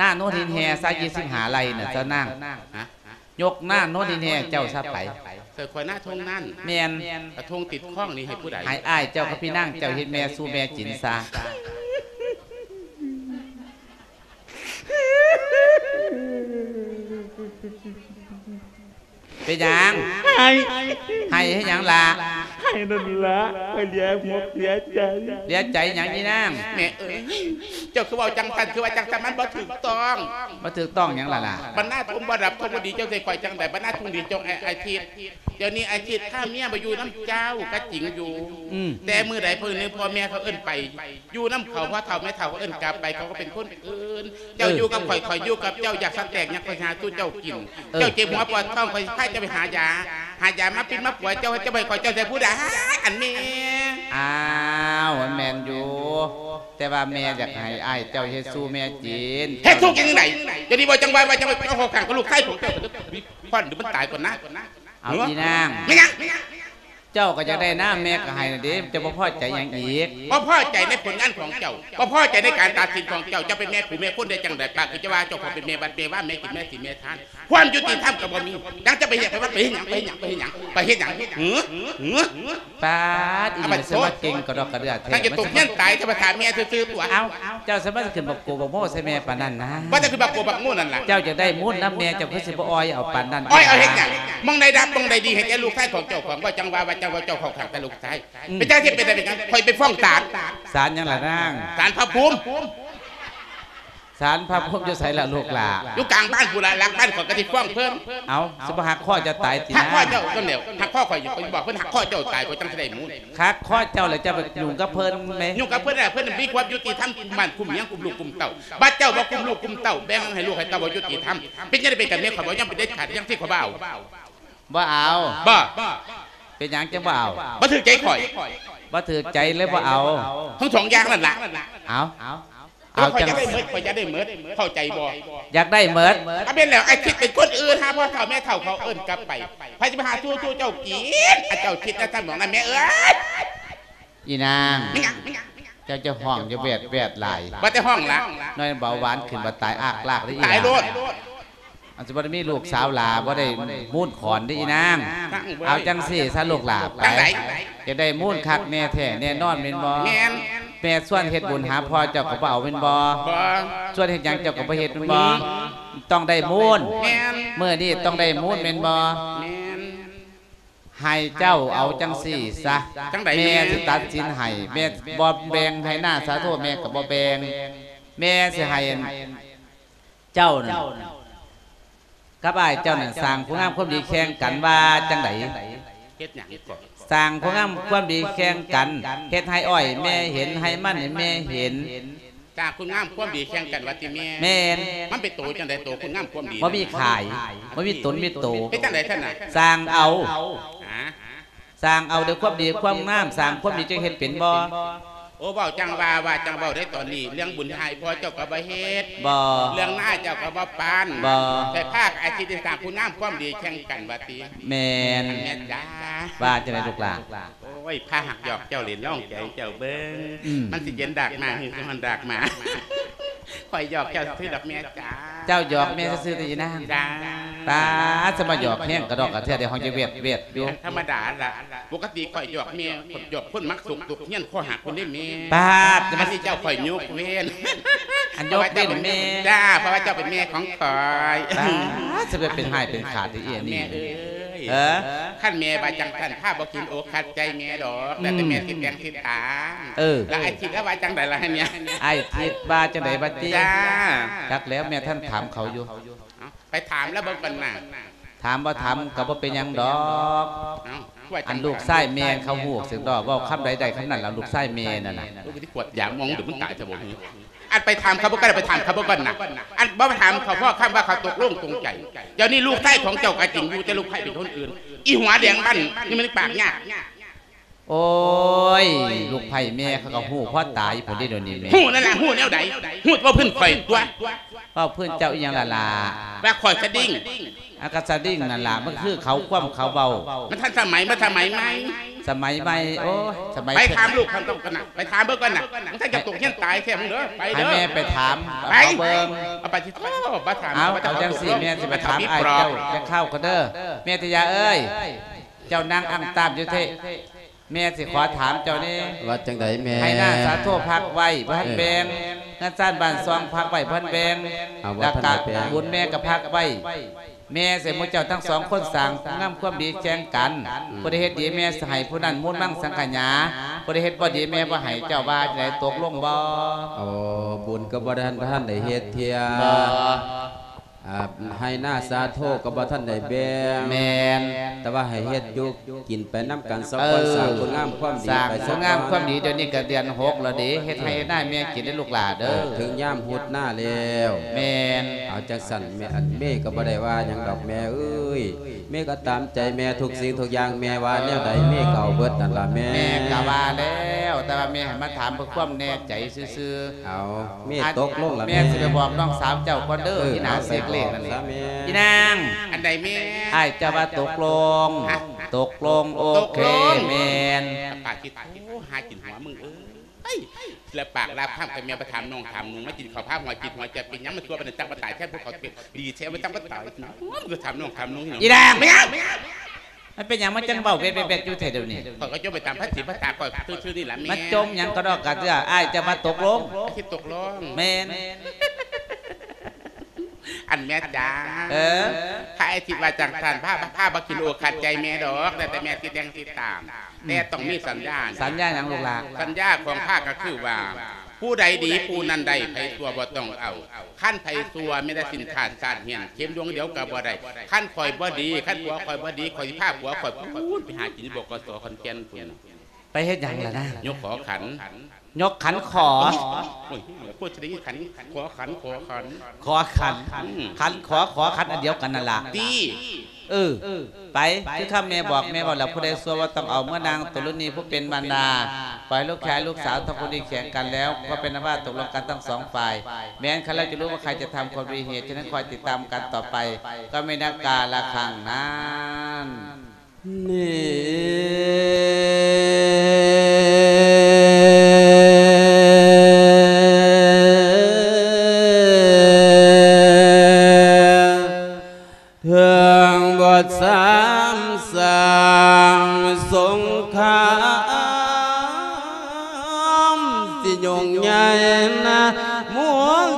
ນາໂນນຫີນແຮ່ຊະ ຊາວຫ້າໄຮ່ນະ ຊະນາງ. ຮະ? ຍົກນາໂນນຫີນແຮ່ເຈົ້າຊະໄປ. ໃສ່ຂ້ອຍນາທົ່ງນັ້ນ. ແມ່ນ. ກະທົ່ງຕິດຄອງນີ້ໃຫ້ຜູ້ໃດ? ໃຫ້ອ້າຍເຈົ້າກັບພີ່ນາງເຈົ້າເຮັດແມ່ສູ່ແມ່ກິນຊະ. ເປັນຫຍັງ? ໄຫ້ ໄຫ້ເຮັດຫຍັງລະ? ໄຫ້ນັ້ນລະ ຂ້ອຍເຫຼືອຫົວເຫຼືອໃຈ. ເຫຼືອໃຈຫຍັງອີນາງ? ແມ່ເອີຍ ເຈົ້າຄືເວົ້າຈັ່ງຊັ້ນ ຄືວ່າຈັ່ງຊັ້ນ ມັນບໍ່ຖືກຕ້ອງ. ບໍ່ຖືກຕ້ອງຫຍັງລະລະ? ບັນດາທຸ່ງບໍ່ດັບທຸ່ງບໍ່ດີ ເຈົ້າໃສ່ຂ້ອຍຈັ່ງໃດ? ບັນດາທຸ່ງດີ ເຈົ້າອາ ອາທິດ ດຽວນີ້ອາທິດພາເມຍມາຢູ່ນຳເຈົ້າກໍຈິງຢູ່. ອືມ ແຕ່ມື້ໃດເພິ່ນ ພໍ່ແມ່ເຂົາເອີ້ນໄປ ຢູ່ນຳເຂົາ ພໍ່ເຖົ້າແມ່ເຖົ້າເຂົາເອີ້ນກັບໄປ ເຂົາກໍເປັນຄົນອື່ນ. ເຈົ້າ ເອີ ຢູ່ກັບຂ້ອຍ ຂ້ອຍຢູ່ກັບເຈົ້າ ຢາກສະແຕກຫຍັງ ຂ້ອຍຫາສູ່ເຈົ້າກິນ. ເອີ ເຈົ້າເຈັບຫົວປວດທ້ອງ ຂ້ອຍພາເຈົ້າໄປຫາຢາ ຫາຢາມາປິ່ນມາປົວເຈົ້າ ເຈົ້າບໍ່ໃຫ້ຂ້ອຍ ເຈົ້າໃສ່ຜູ້ໃດ? ອັນແມ່. ອ້າວ ມັນແມ່ນຢູ່ ແຕ່ວ່າແມ່ຢາກໃຫ້ອ້າຍເຈົ້າເຮັດສູ່ແມ່ກິນ. ເຮັດສູ່ກິນຈັ່ງໃດ? ດຽວນີ້ເວົ້າຈັ່ງວ່າ ວ່າຈັ່ງວ່າ ເອົາເຂົ້າຂ້າງກັບລູກຊາຍຂອງເຈົ້າ ຄວັນ ດຽວມັນຕາຍກ່ອນນະ. ເອົາ ເນາະ ອີນາງ ແມ່ນຫຍັງ? ເຈົ້າກໍຢາກໄດ້ນາ ແມ່ກໍໃຫ້ນະເດ້ ເຈົ້າບໍ່ພໍໃຈຫຍັງອີກ? ບໍ່ພໍໃຈໃນຜົນງານຂອງເຈົ້າ ບໍ່ພໍໃຈໃນການຕັດສິນຂອງເຈົ້າ. ເຈົ້າເປັນແມ່ຜູ້ແມ່ຄົນໄດ້ຈັ່ງໃດ? ປາກຄືຈະວ່າເຈົ້າຂອງເປັນແມ່ວັດແມ່ວາ ແມ່ກິນແມ່ສິນແມ່ທານ ຄວາມຍຸຕິທຳກໍບໍ່ມີ. ຍັງຈະໄປເຮັດ ໄປວັດ ໄປເຮັດຫຍັງ? ໄປເຮັດຫຍັງ? ໄປເຮັດຫຍັງ? ຫື? ຫື? ປາດ ອີນີ້ມັນສະມາເກັ່ງກະດອກກະເດືອແທ້. ຖ້າຈະຕົກຮຽນຕາຍ ທຳມະດາແມ່ຊື່ໆຕົວະ. ເອົ້າ ເຈົ້າສາມາດຂຶ້ນບັກໂກບັກໂມໃສ່ແມ່ປານນັ້ນນະ? ບໍ່ໄດ້ຂຶ້ນບັກໂກບັກໂມນັ້ນລະ. ເຈົ້າຢາກໄດ້ມູນນຳແມ່ ເຈົ້າຄືຊິບໍ່ອ້ອຍເອົາປານນັ້ນ? ອ້ອຍເອົາເຮັດຫຍັງ? ໝ່ອງໃດດັບ ໝ່ອງໃດດີ ໃຫ້ແກ່ລູກຊາຍຂອງເຈົ້າຂອງ. ເວົ້າຈັ່ງວ່າ ວ່າຈັ່ງວ່າເຈົ້າເຂົ້າຂ້າງແຕ່ລູກຊາຍ. ອືມ ເປັນຈັ່ງຊິເປັນໄດ້ເປັນຫຍັງ? ຂ້ອຍໄປຟ້ອງສານ. ສານຫຍັງລະນາງ? ສານພະພູມ. ສານພະພູມຢູ່ໃສລະລູກຫຼ້າ? ຢູ່ກາງບ້ານພຸ້ນລະ ຫຼັງບ້ານຂ້ອຍກໍຊິຟ້ອງເພິ່ນ. ເອົ້າ ຊິບໍ່ຫັກຄໍເຈົ້າຕາຍຕິນາ? ຫັກຄໍເຈົ້າ ຈັ່ງແລ້ວ ຫັກຄໍຂ້ອຍ ຂ້ອຍບອກເພິ່ນຫັກຄໍເຈົ້າຕາຍ ຂ້ອຍຈັ່ງຊິໄດ້ມູນ. ຫັກຄໍເຈົ້າແລ້ວເຈົ້າໄປຫຍຸ້ງກັບເພິ່ນແມ? ຫຍຸ້ງກັບເພິ່ນແລ້ວ ເພິ່ນມີຄວາມຍຸຕິທຳ ກຸມບ້ານກຸມເມືອງ ກຸມລູກກຸມເຕົ້າ. ບັດເຈົ້າບໍ່ກຸມລູກກຸມເຕົ້າ ແບ່ງໃຫ້ລູກໃຫ້ເຕົ້າ ບໍ່ຍຸຕິທຳ. ເປັນຈັ່ງໃດ ເປັນກັນແມ່ ຂ້ອຍບໍ່ຍອມ ເປັນເດັດຂາດ ຈັ່ງຊີ້ຂ້ອຍບໍ່ເອົາ. ບໍ່ເອົາ. ບໍ່. ເປັນຫຍັງຈຶ່ງບໍ່ເອົາ? ບໍ່ຖືກໃຈຂ້ອຍ. ບໍ່ຖືກໃຈເລີຍບໍ່ເອົາ. ທັງສອງຢ່າງນັ້ນລະ. ເອົາ. ເອົາ ຂ້ອຍຢາກໄດ້ໝົດ ຂ້ອຍຢາກໄດ້ໝົດ ເຂົ້າໃຈບໍ່? ຢາກໄດ້ໝົດ. ກໍແມ່ນແລ້ວ ອາທິດເປັນຄົນອື່ນ ຫາພໍ່ເຖົ້າແມ່ເຖົ້າເຂົາເອີ້ນກັບໄປ. ໃຜຊິມາຫາສູ່ໆເຈົ້າກິນ? ອາ ເຈົ້າຄິດນະ ທຳນອງນັ້ນແມ່ເອີຍ. ອີນາງ ແມ່ນຫຍັງ? ເຈົ້າຈະຮ້ອງຢູ່ແວດໆຫຼາຍ. ບໍ່ໄດ້ຮ້ອງລະ ນ້ອຍເບົາຫວານຂຶ້ນ ບໍ່ຕາຍອາກລາກເດ້ອີນາງ. ຕາຍໂລດ. ອັນຊິບໍ່ໄດ້ມີລູກສາວຫຼ້າ ບໍ່ໄດ້ມູນຂອນເດ້ອີນາງ. ເອົາຈັ່ງຊີ້ຊະລູກຫຼ້າ ໄປ. ຈັ່ງໃດ? ຢາກໄດ້ມູນຄັກແນ່ແທ້ແນ່ນອນແມ່ນບໍ່? ແມ່ນ. ແມ່ຊວນເຮັດບຸນຫາພໍ່ເຈົ້າກໍບໍ່ເອົາແມ່ນບໍ່? ບໍ່. ຊວນເຮັດຫຍັງເຈົ້າກໍບໍ່ເຮັດແມ່ນບໍ່? ອືມ. ຕ້ອງໄດ້ມູນ. ແມ່ນ. ມື້ນີ້ຕ້ອງໄດ້ມູນແມ່ນບໍ່? ແມ່ນ. ໃຫ້ເຈົ້າເອົາຈັ່ງຊີ້ຊະ. ຈັ່ງໃດແມ່? ແມ່ຊິຕັດສິນໃຫ້. ແມ່ບໍ່ແບ່ງໃຫ້ນາງສາໂທ ແມ່ກໍບໍ່ແບ່ງ. ແມ່ຊິໃຫ້ເຈົ້ານັ້ນ ກັບອ້າຍເຈົ້ານັ້ນ ສ້າງຄຸນງາມຄວາມດີແຂ່ງກັນ ວ່າຈັ່ງໃດ? ເຮັດຫຍັງກໍ? ສ້າງຄຸນງາມຄວາມດີແຂ່ງກັນ ເຮັດໄຮ່ອ້ອຍແມ່ເຫັນ ໄຮ່ມັນໃຫ້ແມ່ເຫັນ. ສ້າງຄຸນງາມຄວາມດີແຂ່ງກັນວ່າຕິແມ່? ແມ່ນ. ມັນເປັນໂຕຈັ່ງໃດ ໂຕຄຸນງາມຄວາມດີ? ບໍ່ມີຂາຍ ບໍ່ມີຕົນມີໂຕ. ເຮັດຈັ່ງໃດຊັ້ນນະ? ສ້າງເອົາ. ຫາ? ສ້າງເອົາດ້ວຍຄວາມດີຄວາມງາມ. ສ້າງຄວາມດີ ເຈົ້າເຮັດເປັນບໍ່? ໂອ້ ເວົ້າຈັ່ງວ່າ ວ່າຈັ່ງເວົ້າໄດ້ຕອນນີ້ ເລື່ອງບຸນໃຫ້ພໍ່ເຈົ້າກໍບໍ່ເຮັດ. ບໍ່. ເລື່ອງນາເຈົ້າກໍບໍ່ປານ. ບໍ່. ແຕ່ພາກອາຊີບສ້າງຄຸນງາມຄວາມດີແຂ່ງກັນວ່າຕິ? ແມ່ນ. ແມ່ນຈ້າ. ວ່າຈັ່ງໃດລູກຫຼ້າ? ໂອ້ຍ ພາຫັກຢອກເຈົ້າເຫຼັ້ນລອງໃຈເຈົ້າເບິ່ງ. ອືມ. ມັນຊິເຢັນດາກມາ ຫຼືຊິຮ້ອນດາກມາ? ຂ້ອຍຢອກເຈົ້າຊື່ດອກແມ່. ເຈົ້າຢອກແມ່ຊື່ໆ ຕິອີນາງ? ຈ້າ. ປາດ ສະມາຢອກແຮງກະດອກກະເທືອ ໄດ້ຮ້ອງຈະແວດໆຢູ່. ທຳມະດາລະ ປົກກະຕິຂ້ອຍຢອກແມ່ ຂ້ອຍຢອກຄົນມັກສົກຕົກຮຽນ ຂໍ້ຫັກພຸ້ນເດ້ແມ່. ປາດ ອັນນີ້ເຈົ້າຂ້ອຍຍົກເວັ້ນ. ອັນຍົກເວັ້ນແມ່. ຈ້າ ເພາະວ່າເຈົ້າເປັນແມ່ຂອງຂ້ອຍ. ປາດ ຊິໄປເປັນຮ້າຍເປັນຂາດອີ່ອັນນີ້. ແມ່ເອີຍ. ເອີ? ຄັນແມ່ວ່າຈັ່ງຊັ້ນ ພາບໍ່ກິນອົກຂັດໃຈແມ່ດອກ ແລ້ວແຕ່ແມ່ ອືມ ຊິແຕ່ງຊິຕາງ. ເອີ. ແລ້ວອ້າຍທິດລະວ່າຈັ່ງໃດລະຫັ້ນເນຍ? ອ້າຍທິດວ່າຈັ່ງໃດບັດນີ້? ຈ້າ. ຈັກແລ້ວ ແມ່ທັນຖາມເຂົາຢູ່. ເອົ້າ ໄປຖາມລະເບິ່ງກ່ອນນະ. ຖາມບໍ່ຖາມກໍບໍ່ເປັນຫຍັງດອກ. ເອົ້າ ອັນລູກຊາຍແມ່ເຂົາຮູ້ເສຍດອກ ເວົ້າຄຳໃດໄດ້ຄຳນັ້ນລະ ລູກຊາຍແມ່ນັ້ນນະ. ໂອ້ຍ ຊິກວດຢາມອງ ດຽວມັນຕາຍຊະບໍ່? ອັນໄປຖາມເຂົາບໍ່ກໍໄດ້ ໄປຖາມເຂົາເບິ່ງກ່ອນນະ. ອັນບໍ່ຖາມເຂົາພໍຄຳວ່າເຂົາຕົກລົງປົງໃຈ. ດຽວນີ້ລູກຊາຍຂອງເຈົ້າກໍຈິງຢູ່ ແຕ່ລູກໃຜເປັນຄົນອື່ນ. ອີຫົວແດງບ້ານນີ້ມັນປາກຍາກ. ໂອ້ຍ ລູກໃພ້ແມ່ເຂົາກໍຮູ້ພໍຕາຍພຸ້ນເດ້ດຽວນີ້ແມ່. ຮູ້ນັ້ນລະ ຮູ້ແນວໃດ? ຮູ້ເວົ້າພື້ນຂ້ອຍຕົວະ. ເວົ້າພື້ນເຈົ້າອີ່ຫຍັງລະຫຼ້າ? ວ່າຂ້ອຍສະດິ້ງ. ອາ ກໍສະດິ້ງນັ້ນລະ ມັນຄືເຂົາ ຄວາມເຂົາເວົ້າ. ມັນທັນສະໄໝ ມັນສະໄໝໃໝ່. ສະໄໝໃໝ່ ໂອ້ຍ ສະໄໝ. ໄປຖາມລູກເຂົາກ່ອນນະ ໄປຖາມເບິ່ງກ່ອນນະ. ມັນຈະຕົກຮຽນຕາຍແທ້ມຶງເດີ. ໄປເດີ ໃຫ້ແມ່ໄປຖາມ ໄປ ເອົາເບິ່ງ. ເອົາໄປ ໂອ້ ບໍ່ຖາມ. ເອົາ ເອົາຈັ່ງຊີ້ ແມ່ຊິໄປຖາມອ້າຍເຈົ້າຈັກຄາວກ່ອນເດີ. ແມ່ທະຍາເອີຍ ເຈົ້ານັ່ງອ້ຳຕາມຢູ່ເທະ. ແມ່ຊິຂໍຖາມເຈົ້າແດ່. ວ່າຈັ່ງໃດແມ່? ໄຮ່ນາສາໂທພັກໄວ້ບໍ່ທັນແບ່ງ. ເອີ. ເຮືອນຊານບ້ານຊ່ອງພັກໄວ້ບໍ່ທັນແບ່ງ. ເອົາ ແລ້ວກະ ບໍ່ທັນໄດ້ແບ່ງ. ບຸນແມ່ກະພັກໄວ້. ແມ່ຊິໃຫ້ໝູ່ເຈົ້າທັງສອງຄົນສ້າງຄຸນງາມຄວາມດີແຂ່ງກັນ. ອືມ. ຜູ້ໃດເຮັດດີແມ່ຊິໃຫ້ຜູ້ນັ້ນມູນມັງສັງຂະຫຍາ. ຜູ້ໃດເຮັດບໍ່ດີແມ່ບໍ່ໃຫ້. ເຈົ້າວ່າຈັ່ງໃດ ຕົກລົງບໍ່? ໂອ້ ບຸນກໍບໍ່ທັນ ບໍ່ທັນໄດ້ເຮັດເທື່ອ. ບໍ່. ອ່າ ໄຮ່ນາສາໂທກໍບໍ່ທັນໄດ້ແບ່ງ. ແມ່ນ. ແຕ່ວ່າໃຫ້ເຮັດຢູ່ກິນໄປນຳກັນສອງຄົນ. ເອີ ສ້າງຄຸນງາມຄວາມດີ ສ້າງຄຸນງາມຄວາມດີ. ດຽວນີ້ກໍເດືອນຫົກແລ້ວເດ້ ເຮັດໄຮ່ເຮັດນາແມ່ກິນເດ້ລູກຫຼ້າເດີ. ເອີ ເຖິງຍາມຮຸດນາແລ້ວ. ແມ່ນ. ເອົາຈັ່ງຊັ້ນແມ່ ອັນແມ່ກໍບໍ່ໄດ້ວ່າຫຍັງດອກແມ່ເອີຍ. ແມ່ກໍຕາມໃຈແມ່ທຸກສິ່ງທຸກຢ່າງ. ແມ່ວ່າແນວໃດແມ່ກໍເອົາເບິດນັ້ນລະແມ່. ແມ່ກໍວ່າແລ້ວ ແຕ່ວ່າແມ່ໃຫ້ມາຖາມເພື່ອຄວາມແນ່ໃຈຊື່ໆ. ເອົາ ແມ່ຕົກລົງລະແມ່. ແມ່ຊິໄປບອກນ້ອງສາວເຈົ້າກ່ອນເດີ. ເອີ ອີ່ນາງເຊັກເລກນັ້ນ. ເອົາ ໄປບອກຊະແມ່. ອີ່ນາງ. ອັນໃດແມ່? ອ້າຍເຈົ້າວ່າຕົກລົງ. ຮະ? ຕົກລົງ. ໂອເຄ. ຕົກລົງ. ແມ່ນ. ປາກຊິໂທຫາກິນຫົວມຶງເອີຍ. ລະປາກລາບຄຳກັບແມ່ ໄປຖາມນ້ອງຖາມນຸ່ງ ມາກິນເຂົ້າພາຫົວກິນຫົວ ຈະເປັນຫຍັງມັນຊົ່ວປານນັ້ນ ຈັກມາຕາຍແທນພວກເຂົາເປັນ ດີແທ້ ມັນຈັກມາຕາຍ. ໂອ້ຍ ມັນກໍຖາມນ້ອງຖາມນຸ່ງ. ອີ່ນາງ. ແມ່ນຫຍັງ? ມັນເປັນຫຍັງມັນຈັ່ງເວົ້າແວະໆຢູ່ແທ້ດຽວນີ້? ຂ້ອຍກໍຈົ່ມໄປຕາມພາສີພາສາຂ້ອຍຊື່ໆນີ້ລະແມ່. ມາຈົ່ມຫຍັງກະດອກກະເທື່ອ. ອ້າຍຈະມາຕົກລົງ. ຊິຕົກລົງ. ແມ່ນ. ອັນແມ່ຈ໋າ. ເອີ. ພະອາທິດວ່າຈັ່ງຊັ້ນ ພາ ພາບໍ່ກິນໂອຄັດໃຈແມ່ດອກ ແລ້ວແຕ່ແມ່ຊິແຕ່ງຊິຕາມ. ອືມ. ແຕ່ຕ້ອງມີສັນຍານະ. ສັນຍາຫຍັງລູກຫຼ້າ? ສັນຍາຂອງພະກໍຄືວ່າ ຜູ້ໃດດີຜູ້ນັ້ນໄດ້ ໃຜຊົ່ວບໍ່ຕ້ອງເອົາ. ຄັນໃຜຊົ່ວແມ່ນແຕ່ສິ້ນຂາດຊາດເຫື່ອນ ເຂັມດວງດຽວກໍບໍ່ໄດ້. ຄັນຂ້ອຍບໍ່ດີ ຄັນຜົວຂ້ອຍບໍ່ດີ ຂ້ອຍຊິພາຜົວຂ້ອຍພຸ້ນໄປຫາກິນຢູ່ ບກສ ຂອນແກ່ນພຸ້ນ. ໄປເຮັດຫຍັງລະນາ? ຍົກຂໍຂັນ. ຍົກຂັນຂໍ. ໂອ້ຍ ໂອ້ຍ ໂຄດຈະໄດ້ຍິນຂັນ ຂໍຂັນ ຂໍຂັນ ຂໍຂັນ. ອືມ. ຂັນຂໍ ຂໍຂັນອັນດຽວກັນນັ້ນລະ. ຕິ. ເອີ ໄປ ຄືຄຳແມ່ບອກ ແມ່ເວົ້າແລ້ວ ຜູ້ໃດຊົ່ວບໍ່ຕ້ອງເອົາ. ເມື່ອນາງຕະລຸນີຜູ້ເປັນມານດາ ປ່ອຍໃຫ້ລູກຊາຍລູກສາວທັງຄູ່ນີ້ແຂ່ງກັນແລ້ວ ກໍເປັນອັນວ່າຕົກລົງກັນທັງສອງຝ່າຍ. ແມ່ນຄັນແລ້ວຈະຮູ້ວ່າໃຄຈະທຳຄວາມດີເຫດ. ສະນັ້ນ ຄອຍຕິດຕາມກັນຕໍ່ໄປ ກໍແມ່ນກາລະຄັ້ງນັ້ນ. ນີ້ ເຖິງບົດສາມສ້າງສົງຄາມ ຊິຫຍຸ້ງໃຫຍ່ນະ ໝູ່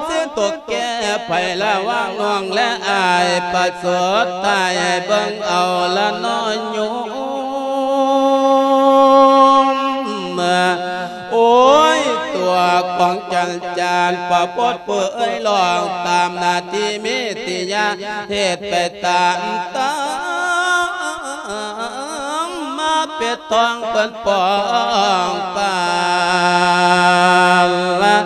ຊິຕົກແກ່ ໃຜລະຫວ່າງນ້ອງແລະອ້າຍ ປະເສີດຕາຍເບິ່ງເອົາລະເນາະໂຍມ. ໂອ້ຍ ຕົວຂອງຈັນຈານປະບົດເປີເອີຍ ຮ້ອງຕາມໜ້າທີ່ມີຕິຍາ ເຮັດໄປຕາມຕາມມາເປັດ ຕ້ອງເພິ່ນປ້ອງປານລະ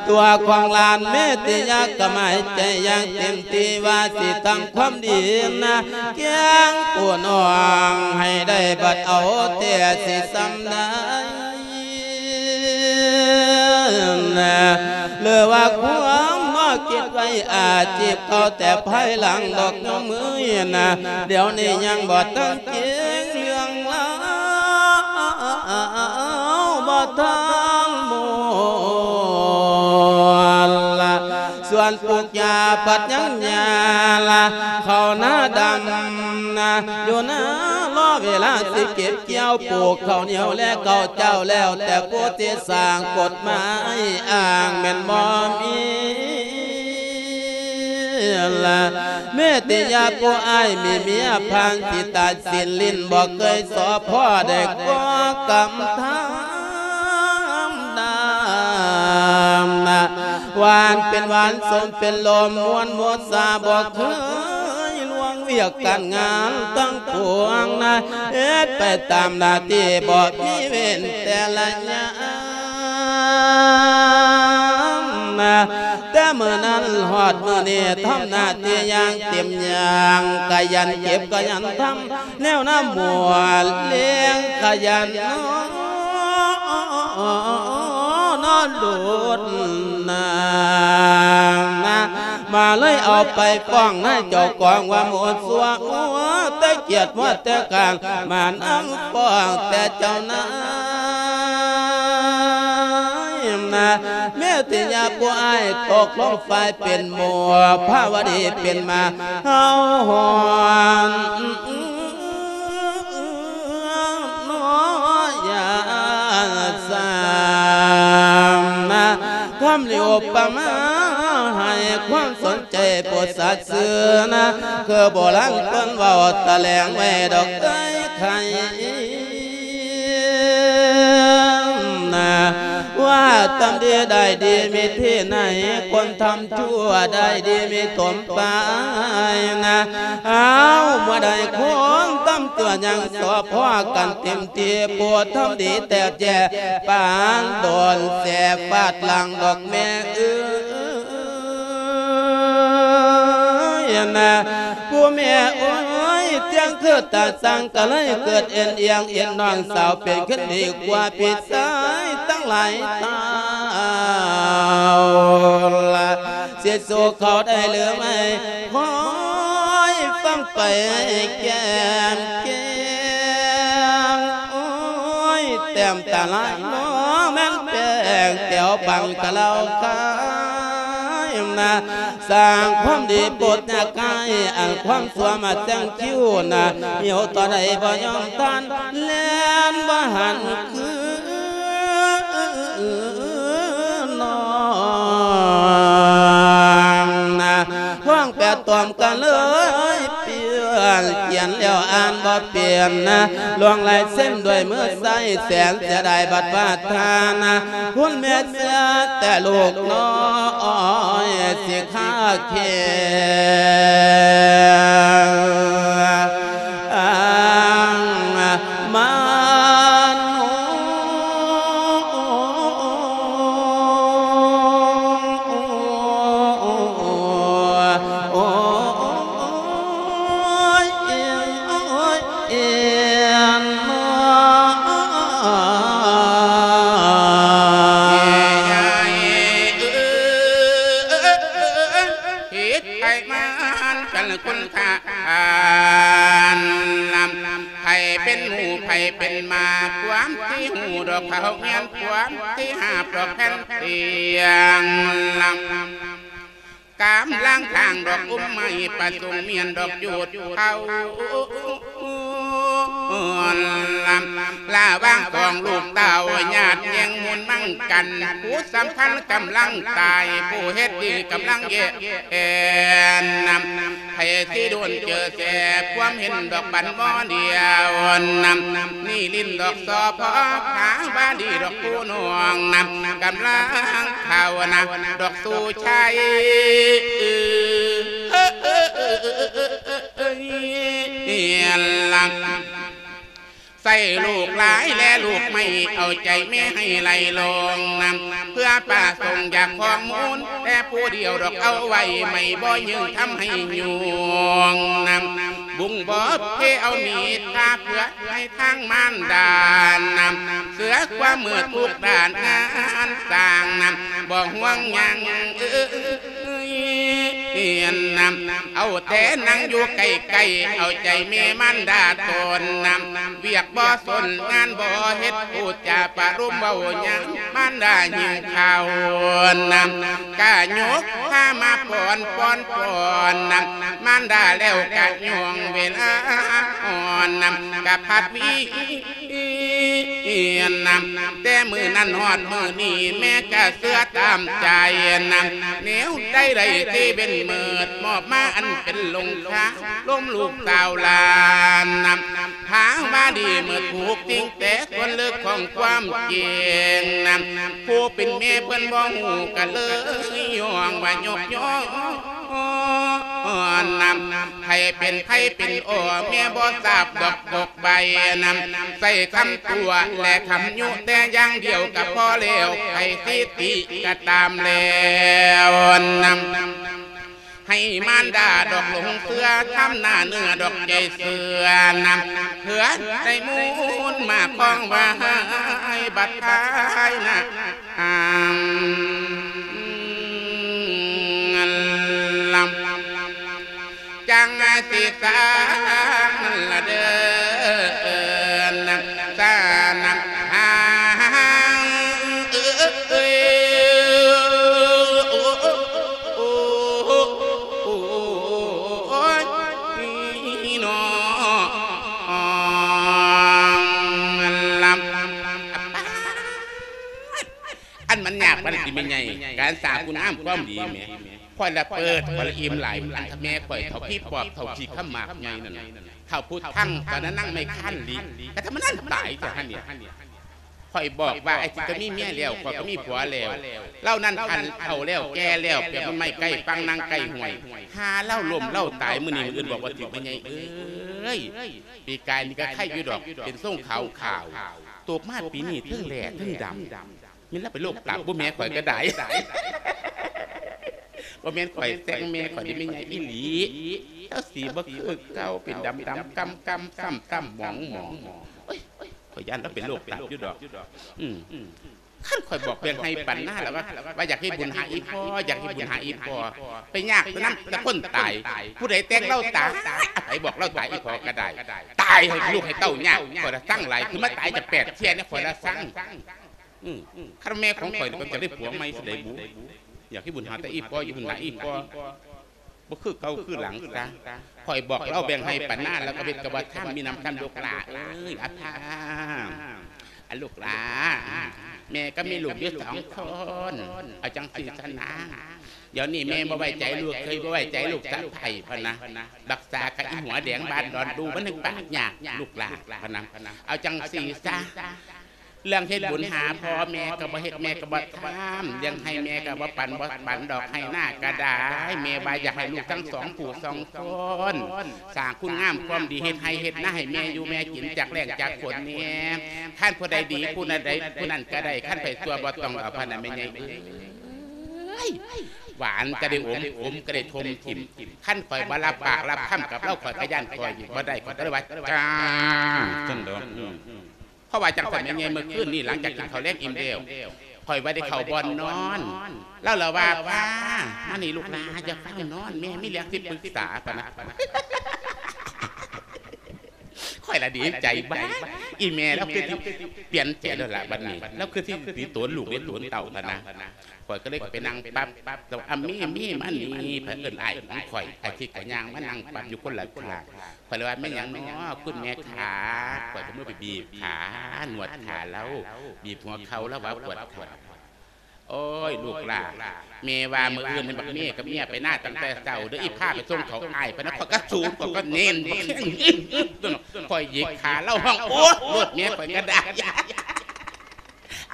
ຕົວຂອງຫຼານເມດຕິຍາກະໝາຍໃຈຢ່າງເຕັມທີ່ວ່າຊິທຳຄວາມດີນະ ແກງຜູ້ນ້ອງໃຫ້ໄດ້ບັດເອົາແຕ່ຊິສ່ຳໃດ ຫຼືວ່າຄວາມມາຄິດໄວ້ອາຊີບເກົ່າແຕ່ພາຍຫຼັງດອກໂຍມເອີຍນະ ດຽວນີ້ຍັງບໍ່ທັນ ເກັ່ງເລື່ອງລາວບໍ່ທັນໝົດລະ ສວນປູກຫຍ້າພັດຍັງຫຍ້າລະ ເຂົ້ານາດຳນະ ຢູ່ນາລໍເວລາຊິເກັບກ່ຽວ ປູກເຂົ້າໜຽວແລເຂົ້າເຈົ້າ ແລ້ວແຕ່ຜູ້ທີ່ສ້າງກົດໝາຍອ້າງແມ່ນບໍ່ມີ ລະ ເມດຕິຍາຜູ້ອ້າຍມີເມຍຜ່ານ ຊິຕາຍສິ້ນຫຼິ້ນບໍ່ເຄີຍສໍ່ພໍ້ ໄດ້ກໍ່ກຳທຳນາມນະ ຫວານເປັນຫວານ ສົມເປັນລົມ ມ່ວນໝົດສາ ບໍ່ເຄີຍລ່ວງວຽກການງານທັງປວງນະ ເຮັດໄປຕາມໜ້າທີ່ ບໍ່ມີເວັ້ນແຕ່ລະຍາມນະ ແຕ່ມື້ນັ້ນຮອດມື້ນີ້ ທຳໜ້າທີ່ຢ່າງເຕັມຢ່າງ ຂະຫຍັນເກັບຂະຫຍັນທຳ ແນວນຳໝວດລ້ຽງຂະຫຍັນນອນໂດດນາ ມາເລີຍເອົາໄປຟ້ອງນາຍເຈົ້າກອງວ່າໝົດຊົ່ວ ຫົວແຕ່ກຽດຫົວແຕ່ການ ມານຳຟ້ອງແຕ່ເຈົ້ານາຍນະ ເມດຕິຍາຜູ້ອ້າຍຕົກລົງຝ່າຍເປັນໝູ່ ພາວະດີເປັນໝາ ເຮົາຫອນນ້ອຍຢ່າສາມນະ ຄຳລິໂອປະມາໃຫ້ຄວາມສົນໃຈໂປດສັດຊື່ນະ ຄືໂບລານເພິ່ນເວົ້າຕະແຫຼງໄວ້ດອກເອີຍໄຂ່ ນະ ວ່າທຳດີໄດ້ດີມີທີ່ໃນ ຄົນທຳຊົ່ວໄດ້ດີມີຖົມປາຍນະ ເອົາ ເມື່ອໃດຄົນທຳຊົ່ວຍັງຊອບພໍ້ກັນເຕັມທີ່ ຜູ້ທຳດີແຕກແຍກປານໂດນແສບຟາດຫຼັງດອກແມ່ເອີຍ. ນະ ຜູ້ແມ່ເອີຍ ຕຽງຄືຕາສັງກະເລີຍເກີດເອັນອຽງ ເອັນນ້ອງສາວເປັນຂຶ້ນດີກວ່າພີ່ຊາຍທັງຫຼາຍເທົ່າລະ ຊິສູ້ເຂົາໄດ້ຫຼືໄມ່ ຄອຍຟັງໄປແກ້ມແກ້ມ ໂອ້ຍ ແຕ້ມຕາລາຍນ້ອງແມ່ນແປ້ງແກ້ວບັງກະເລົ່າຄາຍນະ ສ້າງຄວາມດີໂປດຍາກາຍ ອັນຄວາມຊົ່ວມາແຊງຄິວນະ ຫິວຕໍ່ໃດບໍ່ຍອມທານ ແລ່ນບໍ່ຫັນຄືນອງນະ ທ້ອງແປດຕອມກັນເລີຍ ປ່ຽນຂຽນແລ້ວອ່ານບໍ່ເປັນນະ ລວງລາຍເຊັນດ້ວຍມືຊ້າຍ ແສນເສຍດາຍບັດວ່າທ່ານນະ ຄຸນແມ່ເສຍແຕ່ລູກນ້ອຍ ຊິຄາເຄມານ ໂອ້ຍ ໂອ້ຍ ເອີຍ ຜິດໄປມານກັນຄຸນຄ່າ ອັນນຳ ໃຜເປັນໝູ່ໃຜເປັນໝາ ຄວາມທີ່ຮູ້ດອກເຂົາແມ່ນຄວາມທີ່ຫາບດອກແຜ່ນຕຽງນຳ ກຳລັງທາງດອກອຸມໄມ້ປະສົງມຽນດອກຈູດເຂົາ ລະຫວ່າງຂອງລູກເຕົ້າຍາດແຍ່ງມູນມັງ ກັນ ຜູ້ສຳພັນກຳລັງຕາຍ ຜູ້ເຮັດດີກຳລັງແຍ່ແອນນຳ ໃຜຊິດົນເຈີແສ ຄວາມເຫັນດອກບັນບໍ່ດຽວນຳ ນີ້ຫຼິ້ນດອກສອພ ພາວາດີດອກຜູ້ນ້ອງນຳ ກຳລັງພາວນາດອກສູ່ໄຊ ເອີ ເອີ ເອີ ເອີ ເອີ ເອີ ເອີ ເອີ ເອີ ເອີ ໃສ່ລູກຫຼາຍແລລູກໄມ້ ເອົາໃຈແມ່ໃຫ້ໄຫຼລົງນຳ ເພື່ອປະສົງຢາກຂອງມູນ ແຕ່ຜູ້ດຽວດອກເອົາໄວ້ ໄມ້ບໍ່ຍືງທຳໃຫ້ຍວງນຳ ບຸງບໍ່ເພເອົາມີດ ພາເພື່ອໃຫ້ທາງມານດານຳ ເສືອຄວາມມືດທຸກດ້ານງານສ້າງນຳ ບໍ່ຫ່ວງຫຍັງເອີ ເອີຍນນຳ ເອົາແຕ່ນັ່ງຢູ່ໃກ້ໆ ເອົາໃຈແມ່ມານດາຕົນນຳ ວຽກບໍ່ສົນງານບໍ່ເຮັດ ຜູ້ຈາປະລົມເວົ້າຫຍັງ ມານດາຫິວເຂົ້ານຳ ກະຍົກພາມາປ້ອນ ປ້ອນ ປ້ອນນຳ ມານດາແລ້ວກະຍ່ວງເວລາອ່ອນນຳ ກະພັດວຽນນຳ ແຕ່ມື້ນັ້ນຮອດມື້ນີ້ ແມ່ກະເຊື່ອຕາມໃຈນຳ ແນວໃດໄດ້ທີ່ເປັນມືດ ມອບມາອັນເປັນລົງຄາ ລົມລູກສາວຫຼານນຳ ພາວາດີເໝິດທຸກສິ່ງ ແຕ່ສ່ວນເລິກຂອງຄວາມຈິງນຳ ຜູ້ເປັນແມ່ເພິ່ນບໍ່ຮູ້ ກະເລີຍຍ້ອງວ່າຍົກຍ້ອນນຳ ໃຜເປັນໃຜເປັນອໍ ແມ່ບໍ່ຊາບດອກ ດອກໃບນຳ ໃສ່ຄຳຕົວະແລະຄຳຍຸແຕ່ຢ່າງດຽວກະພໍແລ້ວ ໃຜສິຕິກະຕາມແລ້ວນຳ ໃຫ້ມານດາດອກຫຼົງເຊື່ອ ທຳໜ້າເໜືອດອກໃຈເຊື່ອນຳ ເພື່ອໄດ້ມູນມາຄອງໄວ້ບັດທ້າຍນະ ອາ ລຳ ຈັ່ງສິສ້າງລະເດີນະ ສານະ ຫາງ ເອີ ເອີ ເອີ ໂອ ໂອ ໂອ ໂອຍ ນີ້ເນາະ ລຳ ອັນມັນຍາກປານໃດຕິແມ່ໃຫຍ່ ການສ້າງຄຸນງາມຄວາມດີແໝ່ ຂ້ອຍລະເປີດ ຂ້ອຍລະອີ່ມຫຼາຍ ອັນຖ້າແມ່ຂ້ອຍເຖົ້າຜີປອບ ເຖົ້າຂີ້ຂ້າໝາກໃຫຍ່ນັ້ນ ເຖົ້າພຸດທັງ ຕອນນັ້ນນາງໄມ້ຄານລິ ກະທຳມະນັ້ນຕາຍແທ້ຫັ້ນນີ້ ຂ້ອຍບອກວ່າ ໄອ້ຊິກະມີເມຍແລ້ວ ຂ້ອຍກະມີຜົວແລ້ວ ລາວນັ້ນອັນເຖົ້າແລ້ວ ແກ່ແລ້ວ ປຽບເໝືອນໄມ້ໃກ້ຝັ່ງ ນາງໃກ້ຫ້ວຍ ຫາລາວລົ້ມລາວຕາຍ ມື້ນີ້ມື້ອື່ນບອກວ່າຖືກແມ່ໃຫຍ່ເອີຍ ປີກາຍນີ້ກະໄຄຢູ່ດອກ ເປັນຊົງຂາວຂາວ ຕົກມາປີນີ້ເທິງແຫຼ້ເທິງດຳ ແມ່ນລາວເປັນໂລກຕາບບໍ່ ແມ່ຂ້ອຍກະໄດ້ ບໍ່ແມ່ນຂ້ອຍແຊ່ງແມ່ຂ້ອຍເດ້ ແມ່ໃຫຍ່ອີ່ຫຼີ ລາວສີບໍ່ຄືເກົ່າ ເປັນດຳໆ ກຳໆ ຊ້ຳໆ ໝອງໆ ໂອ້ຍ ຂ້ອຍຢ້ານລາວເປັນໂລກຕາບຢູ່ດອກ ອືມ ຄັນຂ້ອຍບອກແບ່ງໄຮ່ປັນນາແລ້ວວ່າ ວ່າຢາກເຮັດບຸນຫາອີ່ພໍ່ ຢາກເຮັດບຸນຫາອີ່ພໍ່ ໄປຍາກແຕ່ນຳແຕ່ຄົນຕາຍ ຜູ້ໃດແຕ່ງລາວຕາຍ ໃຜບອກລາວຕາຍ ອີ່ພໍ່ກະໄດ້ ຕາຍໃຫ້ລູກໃຫ້ເຕົ້າຍາກ ຂ້ອຍລະຊັງຫຼາຍ ຄືມາຕາຍຈະແປດເທື່ອນີ້ ຂ້ອຍລະຊັງ ອືມ ຄັນແມ່ຂອງຂ້ອຍນີ້ ຂ້ອຍຈະໄດ້ຜົວໃໝ່ຊິໄດ້ບຸ ຢາກເຮັດບຸນຫາແຕ່ອີ່ພໍ່ ເຮັດບຸນຫາອີ່ພໍ່ ບໍ່ຄືເກົ່າຄືຫຼັງຊະ ຂ້ອຍບອກລາວແບ່ງໄຮ່ປັນນາ ລາວກະເຮັດກະບໍ່ທຳ ມີນຳຄຳລູກຫຼ້າເອີຍ ອາພາ ອາ ລູກຫຼ້າ ແມ່ກະມີລູກຢູ່ສອງຄົນ ເອົາຈັ່ງຊີ້ຊະນາ ດຽວນີ້ແມ່ບໍ່ໄວ້ໃຈລູກເຂີຍ ບໍ່ໄວ້ໃຈລູກສະໃພ້ ພະນະ ບັກສາກະອີ່ຫົວແດງບ້ານດອນດູ ມັນຈັ່ງປາກຍາກ ລູກຫຼ້າ ພະນະ ເອົາຈັ່ງຊີ້ຊະ ເລື່ອງເຮັດບຸນຫາພໍ່ແມ່ກະບໍ່ເຮັດ ແມ່ກະບໍ່ທຳ ລ້ຽງໄຮ່ແມ່ກະບໍ່ປັນ ບໍ່ປັນດອກໄຮ່ນາກະໄດ້ ແມ່ວ່າຢາກໃຫ້ລູກທັງສອງຜູ້ສອງຄົນ ສ້າງຄຸນງາມຄວາມດີ ເຮັດໄຮ່ເຮັດນາໃຫ້ແມ່ຢູ່ແມ່ກິນ ຈາກແລ້ງຈາກຝົນແນ່ ຄັນຜູ້ໃດດີຜູ້ນັ້ນໃດ ຜູ້ນັ້ນກະໄດ້ ຄັນໃຜຊົ່ວບໍ່ຕ້ອງເອົາ ພະນະແມ່ໃຫຍ່ເອີຍ ຫວານກະໄດ້ອົມ ຂົມກະໄດ້ຖົມຖິ້ມ ຄັນຂ້ອຍບໍ່ຮັບປາກຮັບຄຳກັບລາວ ຂ້ອຍກະຢ້ານຂ້ອຍບໍ່ໄດ້ ຂ້ອຍກະເລີຍວ່າ ຈ້າ ຊັ້ນດອກ ເພາະວ່າຈັ່ງຊັ້ນແມ່ໃຫຍ່ ເມື່ອຄືນນີ້ຫຼັງຈາກກິນເຂົ້າແລງອີ່ມແລ້ວ ຂ້ອຍວ່າໄດ້ເຂົ້າບ່ອນນອນ ລາວລະວ່າ ພາ ມານີ້ລູກຫຼ້າ ຢ່າຟ້າວນອນ ແມ່ມີເລື່ອງຊິປຶກສາ ພະນະ ຂ້ ຂ້ອຍລະດີໃຈ ບ້າ ອີ່ແມ່ລາວຄືຊິປ່ຽນໃຈແລ້ວລະບັດນີ້ ລາວຄືຊິມີໂຕນລູກມີໂຕນເຕົ້າຫັ້ນນະ. ຂ້ອຍກໍເລີຍໄປນັ່ງປັບ ແລ້ວ ອາ ເມ ເມ ມານີ້ ເພິ່ນເອີ້ນອ້າຍຂອງຂ້ອຍ ອາທິດກໍຍ່າງມານັ່ງປັບຢູ່ຄົນລະຂ້າງ. ຂ້ອຍເລີຍວ່າ ແມ່ນຫຍັງນໍ ຄຸນແມ່ຂາ? ຂ້ອຍກໍມືໄປບີບຂາ ນວດຂາລາວ ບີບຫົວເຂົ່າ ລາວວ່າປວດຂາ. ໂອ້ຍ ລູກຫຼ້າ ແມ່ວ່າມື້ອື່ນໃຫ້ບັກເມກັບເມຍໄປນາຕັ້ງແຕ່ເຊົ້າເດີ້ ອີພາໄປສົ່ງເຂົ້າອ້າຍ ປານນັ້ນ ຂ້ອຍກໍສູນ ຂ້ອຍກໍເນັ້ນ ຂ້ອຍຫຍິກຂາລາວ ຮ້ອງໂອດໂອດ ແມ່ ຂ້ອຍກໍໄດ້.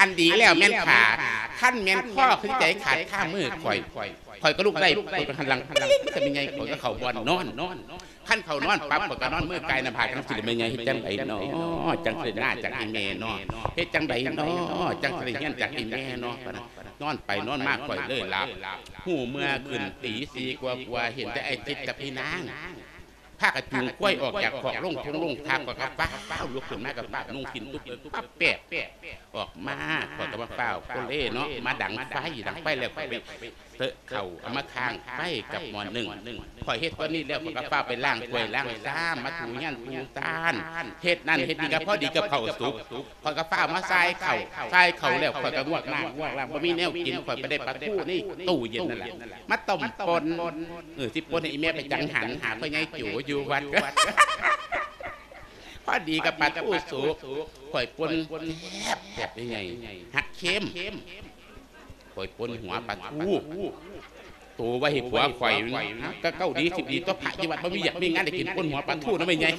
ອັນດີແລ້ວແມ່ນຂາ ຄັນແມ່ນຄໍຄືໃຈຂາດຄາມືຂ້ອຍ ຂ້ອຍກໍລຸກໄດ້ ຂ້ອຍກໍຫັນຫຼັງ ແມ່ໃຫຍ່ ຂ້ອຍກໍເຂົ້າບ່ອນນອນ. ຄັນເຂົ້ານອນປັບ ຂ້ອຍກໍນອນມືກ່າຍໜ້າຜາກຈັ່ງຊີ້ແມ່ໃຫຍ່ ເຮັດຈັ່ງໃດນໍ ຈັ່ງຊິໄດ້ນາຈາກອີ່ແມ່ນໍ ເຮັດຈັ່ງໃດນໍ ຈັ່ງຊິໄດ້ຮຽນຈາກອີ່ແມ່ນໍ ປານນັ້ນ. ນອນໄປນອນມາຂ້ອຍເລີຍຫຼັບ ຮູ້ເມື່ອຂຶ້ນຕີສີ່ກວ່າໆ ເຫັນແຕ່ອ້າຍທິດກັບພີ່ນາງ ພາກັນຈູງຄວາຍອອກຈາກຄອກ ລົງທົ່ງລົງທາ ຂ້ອຍກໍຟ້າວລຸກຂຶ້ນມາ ກໍຟ້າວນຸ່ງສິ້ນຕຸບ ປັບແປບອອກມາ ຂ້ອຍກໍມາຟ້າວໂກເລເນາະ ມາດັງໄຟ ດັງໄຟແລ້ວ ຂ້ອຍໄປເຕີເຂົ້າ ເອົາມາຄ້າງໄຟກັບໝໍ້ໜຶ້ງ. ຂ້ອຍເຮັດຕອນນີ້ແລ້ວ ຂ້ອຍກໍຟ້າວໄປລ້າງຖ້ວຍລ້າງຊາມ ມາຖູເຮືອນຖູຊານ ເຮັດນັ້ນເຮັດນີ້ ກໍພໍດີກັບເຂົ້າສຸກ ຂ້ອຍກໍຟ້າວມາຊາຍເຂົ້າ ຊາຍເຂົ້າແລ້ວ ຂ້ອຍກໍງວກໜ້າງວກຫຼັງ ບໍ່ມີແນວກິນ ຂ້ອຍໄປໄດ້ປາທູໃນຕູ້ເຢັນນັ້ນແຫຼະ ມາຕົ້ມປົ່ນ ເອີ ຊິປົ່ນໃຫ້ອີ່ແມ່ໄປຈັງຫັນ ຫາພໍ່ໃຫຍ່ໂຈຢູ່ວັດ. ພໍດີກັບປາທູສຸກ ຂ້ອຍປົ່ນແຊບໆ ໃຫຍ່ໆ ຮັກເຄັມ ຂ້ອຍປົ່ນຫົວປາທູ ໂຕໄວ້ໃຫ້ຜົວຂ້ອຍ ກໍເກົ້າດີສິບດີຕົວະ ພະຢູ່ວັດບໍ່ມີວຽກມີງານໄດ້ກິນ ປົ່ນຫົວປາທູນຳແມ່ໃຫຍ່.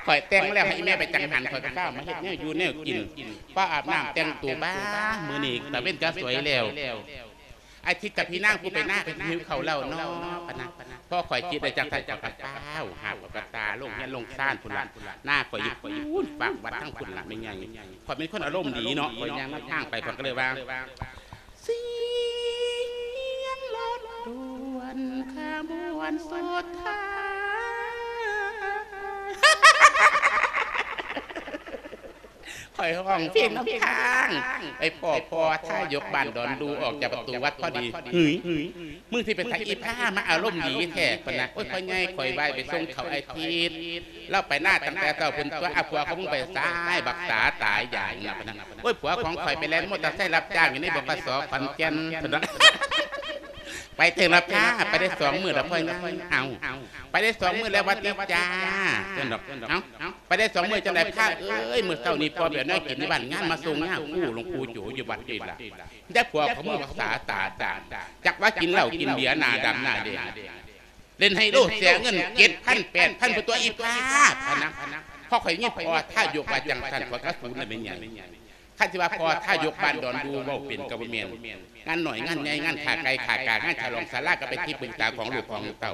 ຂ້ອຍແຕ່ງແລ້ວໃຫ້ອີ່ແມ່ໄປຈັງຫັນ ຂ້ອຍກໍເຂົ້າມາເຮັດແນວຢູ່ແນວກິນ ພໍອາບນ້ຳແຕ່ງໂຕ ບ້າ ມື້ນີ້ຕາເວັນກໍສວຍແລ້ວ ອາທິດກັບພີ່ນາງຜູ້ໄປນາກໍຫິວເຂົ້າແລ້ວເນາະ ປານນັ້ນ. ພໍຂ້ອຍຄິດໄດ້ຈັ່ງຊັ້ນ ຂ້ອຍກໍຟ້າວຫາບເອົາກະຕ່າລົງເຮືອນລົງຊານພຸ້ນລະ ນາຂ້ອຍຢູ່ພຸ້ນ ຟາກວັດທາງພຸ້ນລະແມ່ໃຫຍ່. ຂ້ອຍເປັນຄົນອາລົມດີເນາະ ຂ້ອຍຍ່າງນຳທາງໄປ ຂ້ອຍກໍເລີຍວ່າ ສຽງລົດດ່ວນຂະບວນສຸດທ້າຍ ຂ້ອຍຮ້ອງເພງນຳທາງ ໄປພໍ້ພໍ່ທາຍົກບ້ານດອນດູ ອອກຈາກປະຕູວັດພໍດີ. ຫຶຍ ມຶງຊິໄປໃສອີພາ ມາອາລົມດີແທ້ ປານນັ້ນ. ໂອ້ຍ ພໍ່ໃຫຍ່ ຂ້ອຍວ່າໄປສົ່ງເຂົ້າອາທິດ ລາວໄປນາຕັ້ງແຕ່ເຊົ້າພຸ້ນຕົວະ ອາ ຜົວຂອງມຶງໄປໃສ ບັກສາຕາຍຢາງນະ ປານນັ້ນ. ໂອ້ຍ ຜົວຂອງຂ້ອຍໄປແລ່ນມໍເຕີໄຊຮັບຈ້າງຢູ່ໃນ ບຂສ ຂອນແກ່ນ ຊັ້ນເນາະ. ໄປເຖິງລະພາ ໄປໄດ້ສອງມື້ລະພໍ່ໃຫຍ່. ເອົ້າ ໄປໄດ້ສອງມື້ແລ້ວຫວັດດີຈ້າ ຊັ້ນດອກ. ເອົ້າ ໄປໄດ້ສອງມື້ຈັ່ງໃດພາເອີຍ ມື້ເຊົ້ານີ້ພໍ່ໄປເອົາແນວກິນຢູ່ບ້ານງານມາສົ່ງຍາຄູ່ ຫຼວງປູ່ໂຈຢູ່ວັດນີ້ລະ. ແຕ່ຜົວຂອງມຶງບັກສາຕາດານ ຈັກວ່າກິນເຫຼົ້າກິນເບຍ ໜ້າດຳໜ້າແດງ ຫຼິ້ນໄຮໂລເສຍເງິນເຈັດພັນແປດພັນ ພຸ້ນຕົວະອີພາ ພະນະ. ພໍຂ້ອຍຍິນພໍ່ທາຍົກວ່າຈັ່ງຊັ້ນ ຂ້ອຍກໍສູນລະແມ່ໃຫຍ່. ຄັນຊິວ່າພໍ່ທາຍົກບ້ານດອນດູເວົ້າເປັນກໍບໍ່ແມ່ນ ງານນ້ອຍງານໃຫຍ່ ງານຂ້າໄກ່ຂ້າກາ ງານສະຫຼອງສາລາ ກໍເປັນທີ່ປຶກສາຂອງລູກຂອງເຕົ້າ.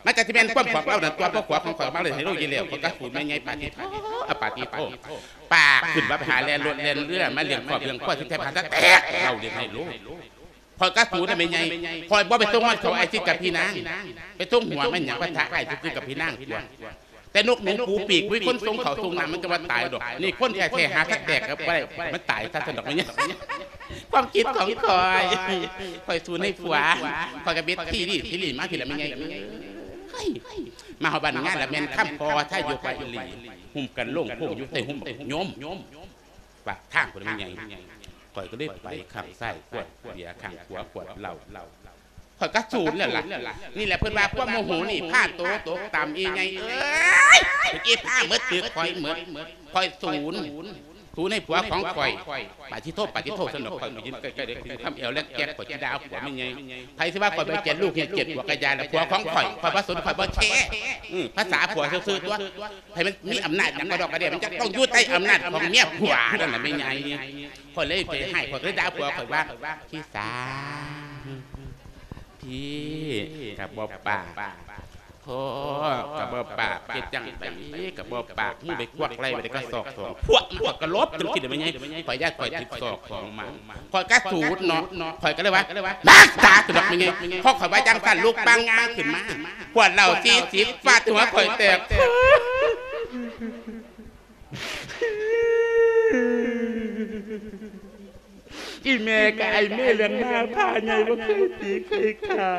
ມັນກໍຊິແມ່ນຄວາມຂອງລາວນັ້ນຕົວະ ພໍ່ຜົວຂອງຂ້ອຍມາເລີຍໃຫ້ໂລກຢູ່ແລ້ວ. ຂ້ອຍກໍສູນແມ່ໃຫຍ່ ປາຕິໂທ ອາ ປາຕິໂທ ປາກຂຶ້ນວ່າໄປຫາແລ່ນລົດແລ່ນເຮືອ ມາລ້ຽງຄອບລ້ຽງຄົວ ຊິແທບຫາສະແຕກ ເວົ້າເລື່ອງໃຫ້ໂລກ. ຂ້ອຍກໍສູນນະແມ່ໃຫຍ່ ຂ້ອຍບໍ່ໄປສົ່ງມັນເຂົ້າອາທິດກັບພີ່ນາງ ໄປສົ່ງຫົວມັນຫຍັງ ປະທະອ້າຍຊື່ໆກັບພີ່ນາງຕົວະ. ແຕ່ນົກໜູປູປີກ ມີຄົນສົ່ງເຂົ້າສົ່ງນ້ຳ ມັນຈະວ່າຕາຍດອກ. ນີ້ຄົນແທ້ໆ ຫາສະແຕກກໍບໍ່ໄດ້ ມັນຕາຍຊະຊັ້ນດອກແມ່ໃຫຍ່. ຄວາມຄິດຂອງຂ້ອຍ ຂ້ອຍສູນໃຫ້ຜົວ ຂ້ອຍກໍເບັດທີ່ນີ້ທີ່ນີ້ມາພີ້ລະແມ່ໃຫຍ່ເອີຍ. ມາຮອດບ້ານງານລະແມ່ນຄຳພໍ່ທາຍົກວ່າອີ່ຫຼີ ຫຸ້ມກັນໂລ່ງໂຄ້ງຢູ່ໃຕ້ຫຸ້ມບັກຍົມ ປາກທາງພຸ້ນແມ່ໃຫຍ່. ຂ້ອຍກໍເລີຍໄປຂ້າງຊ້າຍຂວດເບຍ ຂ້າງຂວາຂວດເຫຼົ້າ ຂ້ອຍກໍສູນແລ້ວລະ. ນີ້ແຫຼະເພິ່ນວ່າຄວາມໂມໂຫນີ້ພາໂຕຕົກຕ່ຳ ອີ່ໃຫຍ່ເອີຍ. ອີ່ພາໝົດຖືກຂ້ອຍໝົດ ຂ້ອຍສູນ ສູນໃຫ້ຜົວຂອງຂ້ອຍ. ປາທິໂທ ປາທິໂທ ຊັ້ນດອກ. ຂ້ອຍໄປຢືນໃກ້ໆ ໄດ້ກິນຄຳແອວແລກແຈກ ຂ້ອຍຊິດ່າຜົວແມ່ໃຫຍ່. ໃຜຊິວ່າຂ້ອຍໄປກຽດລູກເຮັດກຽດຜົວກະຢ່າລະ ຜົວຂອງຂ້ອຍ ຂ້ອຍບໍ່ສົນ ຂ້ອຍບໍ່ແຄ. ອື ພາສາຜົວຊື່ໆຕົວະ ໃຜມັນມີອຳນາດຫຍັງກະດອກກະເດຍ ມັນຈະຕ້ອງຢູ່ໃຕ້ອຳນາດຂອງເມຍຜົວນັ້ນລະແມ່ໃຫຍ່. ຂ້ອຍເລີຍໄປຮ້າຍ ຂ້ອຍເລີຍດ່າຜົວຂ້ອຍວ່າ ພີ່ສາວ ພີ່ກະບໍ່ປາກ ພໍ່ກະບໍ່ປາກ ເຮັດຈັ່ງໃດກະບໍ່ປາກ ມຶງໄປກວັກໄລ່ໄປໄດ້ກະສອກສອງ ພວກມັນກະຫຼົບ ຈັ່ງຊີ້ລະແມ່ໃຫຍ່. ຂ້ອຍຢ້ານຂ້ອຍຖືກສອກຂອງມາ ຂ້ອຍກະສູນເນາະ ຂ້ອຍກະເລີຍວ່າ ນາງຕາຕົວະ ແມ່ໃຫຍ່. ພໍຂ້ອຍວ່າຈັ່ງຊັ້ນ ລຸກປາງງາຂຶ້ນມາ ຂວດເຫຼົ້າສີ່ສິບຟາດໃສ່ຫົວຂ້ອຍແຕກ. ອີ່ແມ່ກະໄອເມເລື່ອງໜ້າຜາໃຫຍ່ ບໍ່ເຄີຍຕີເຄີຍຂາ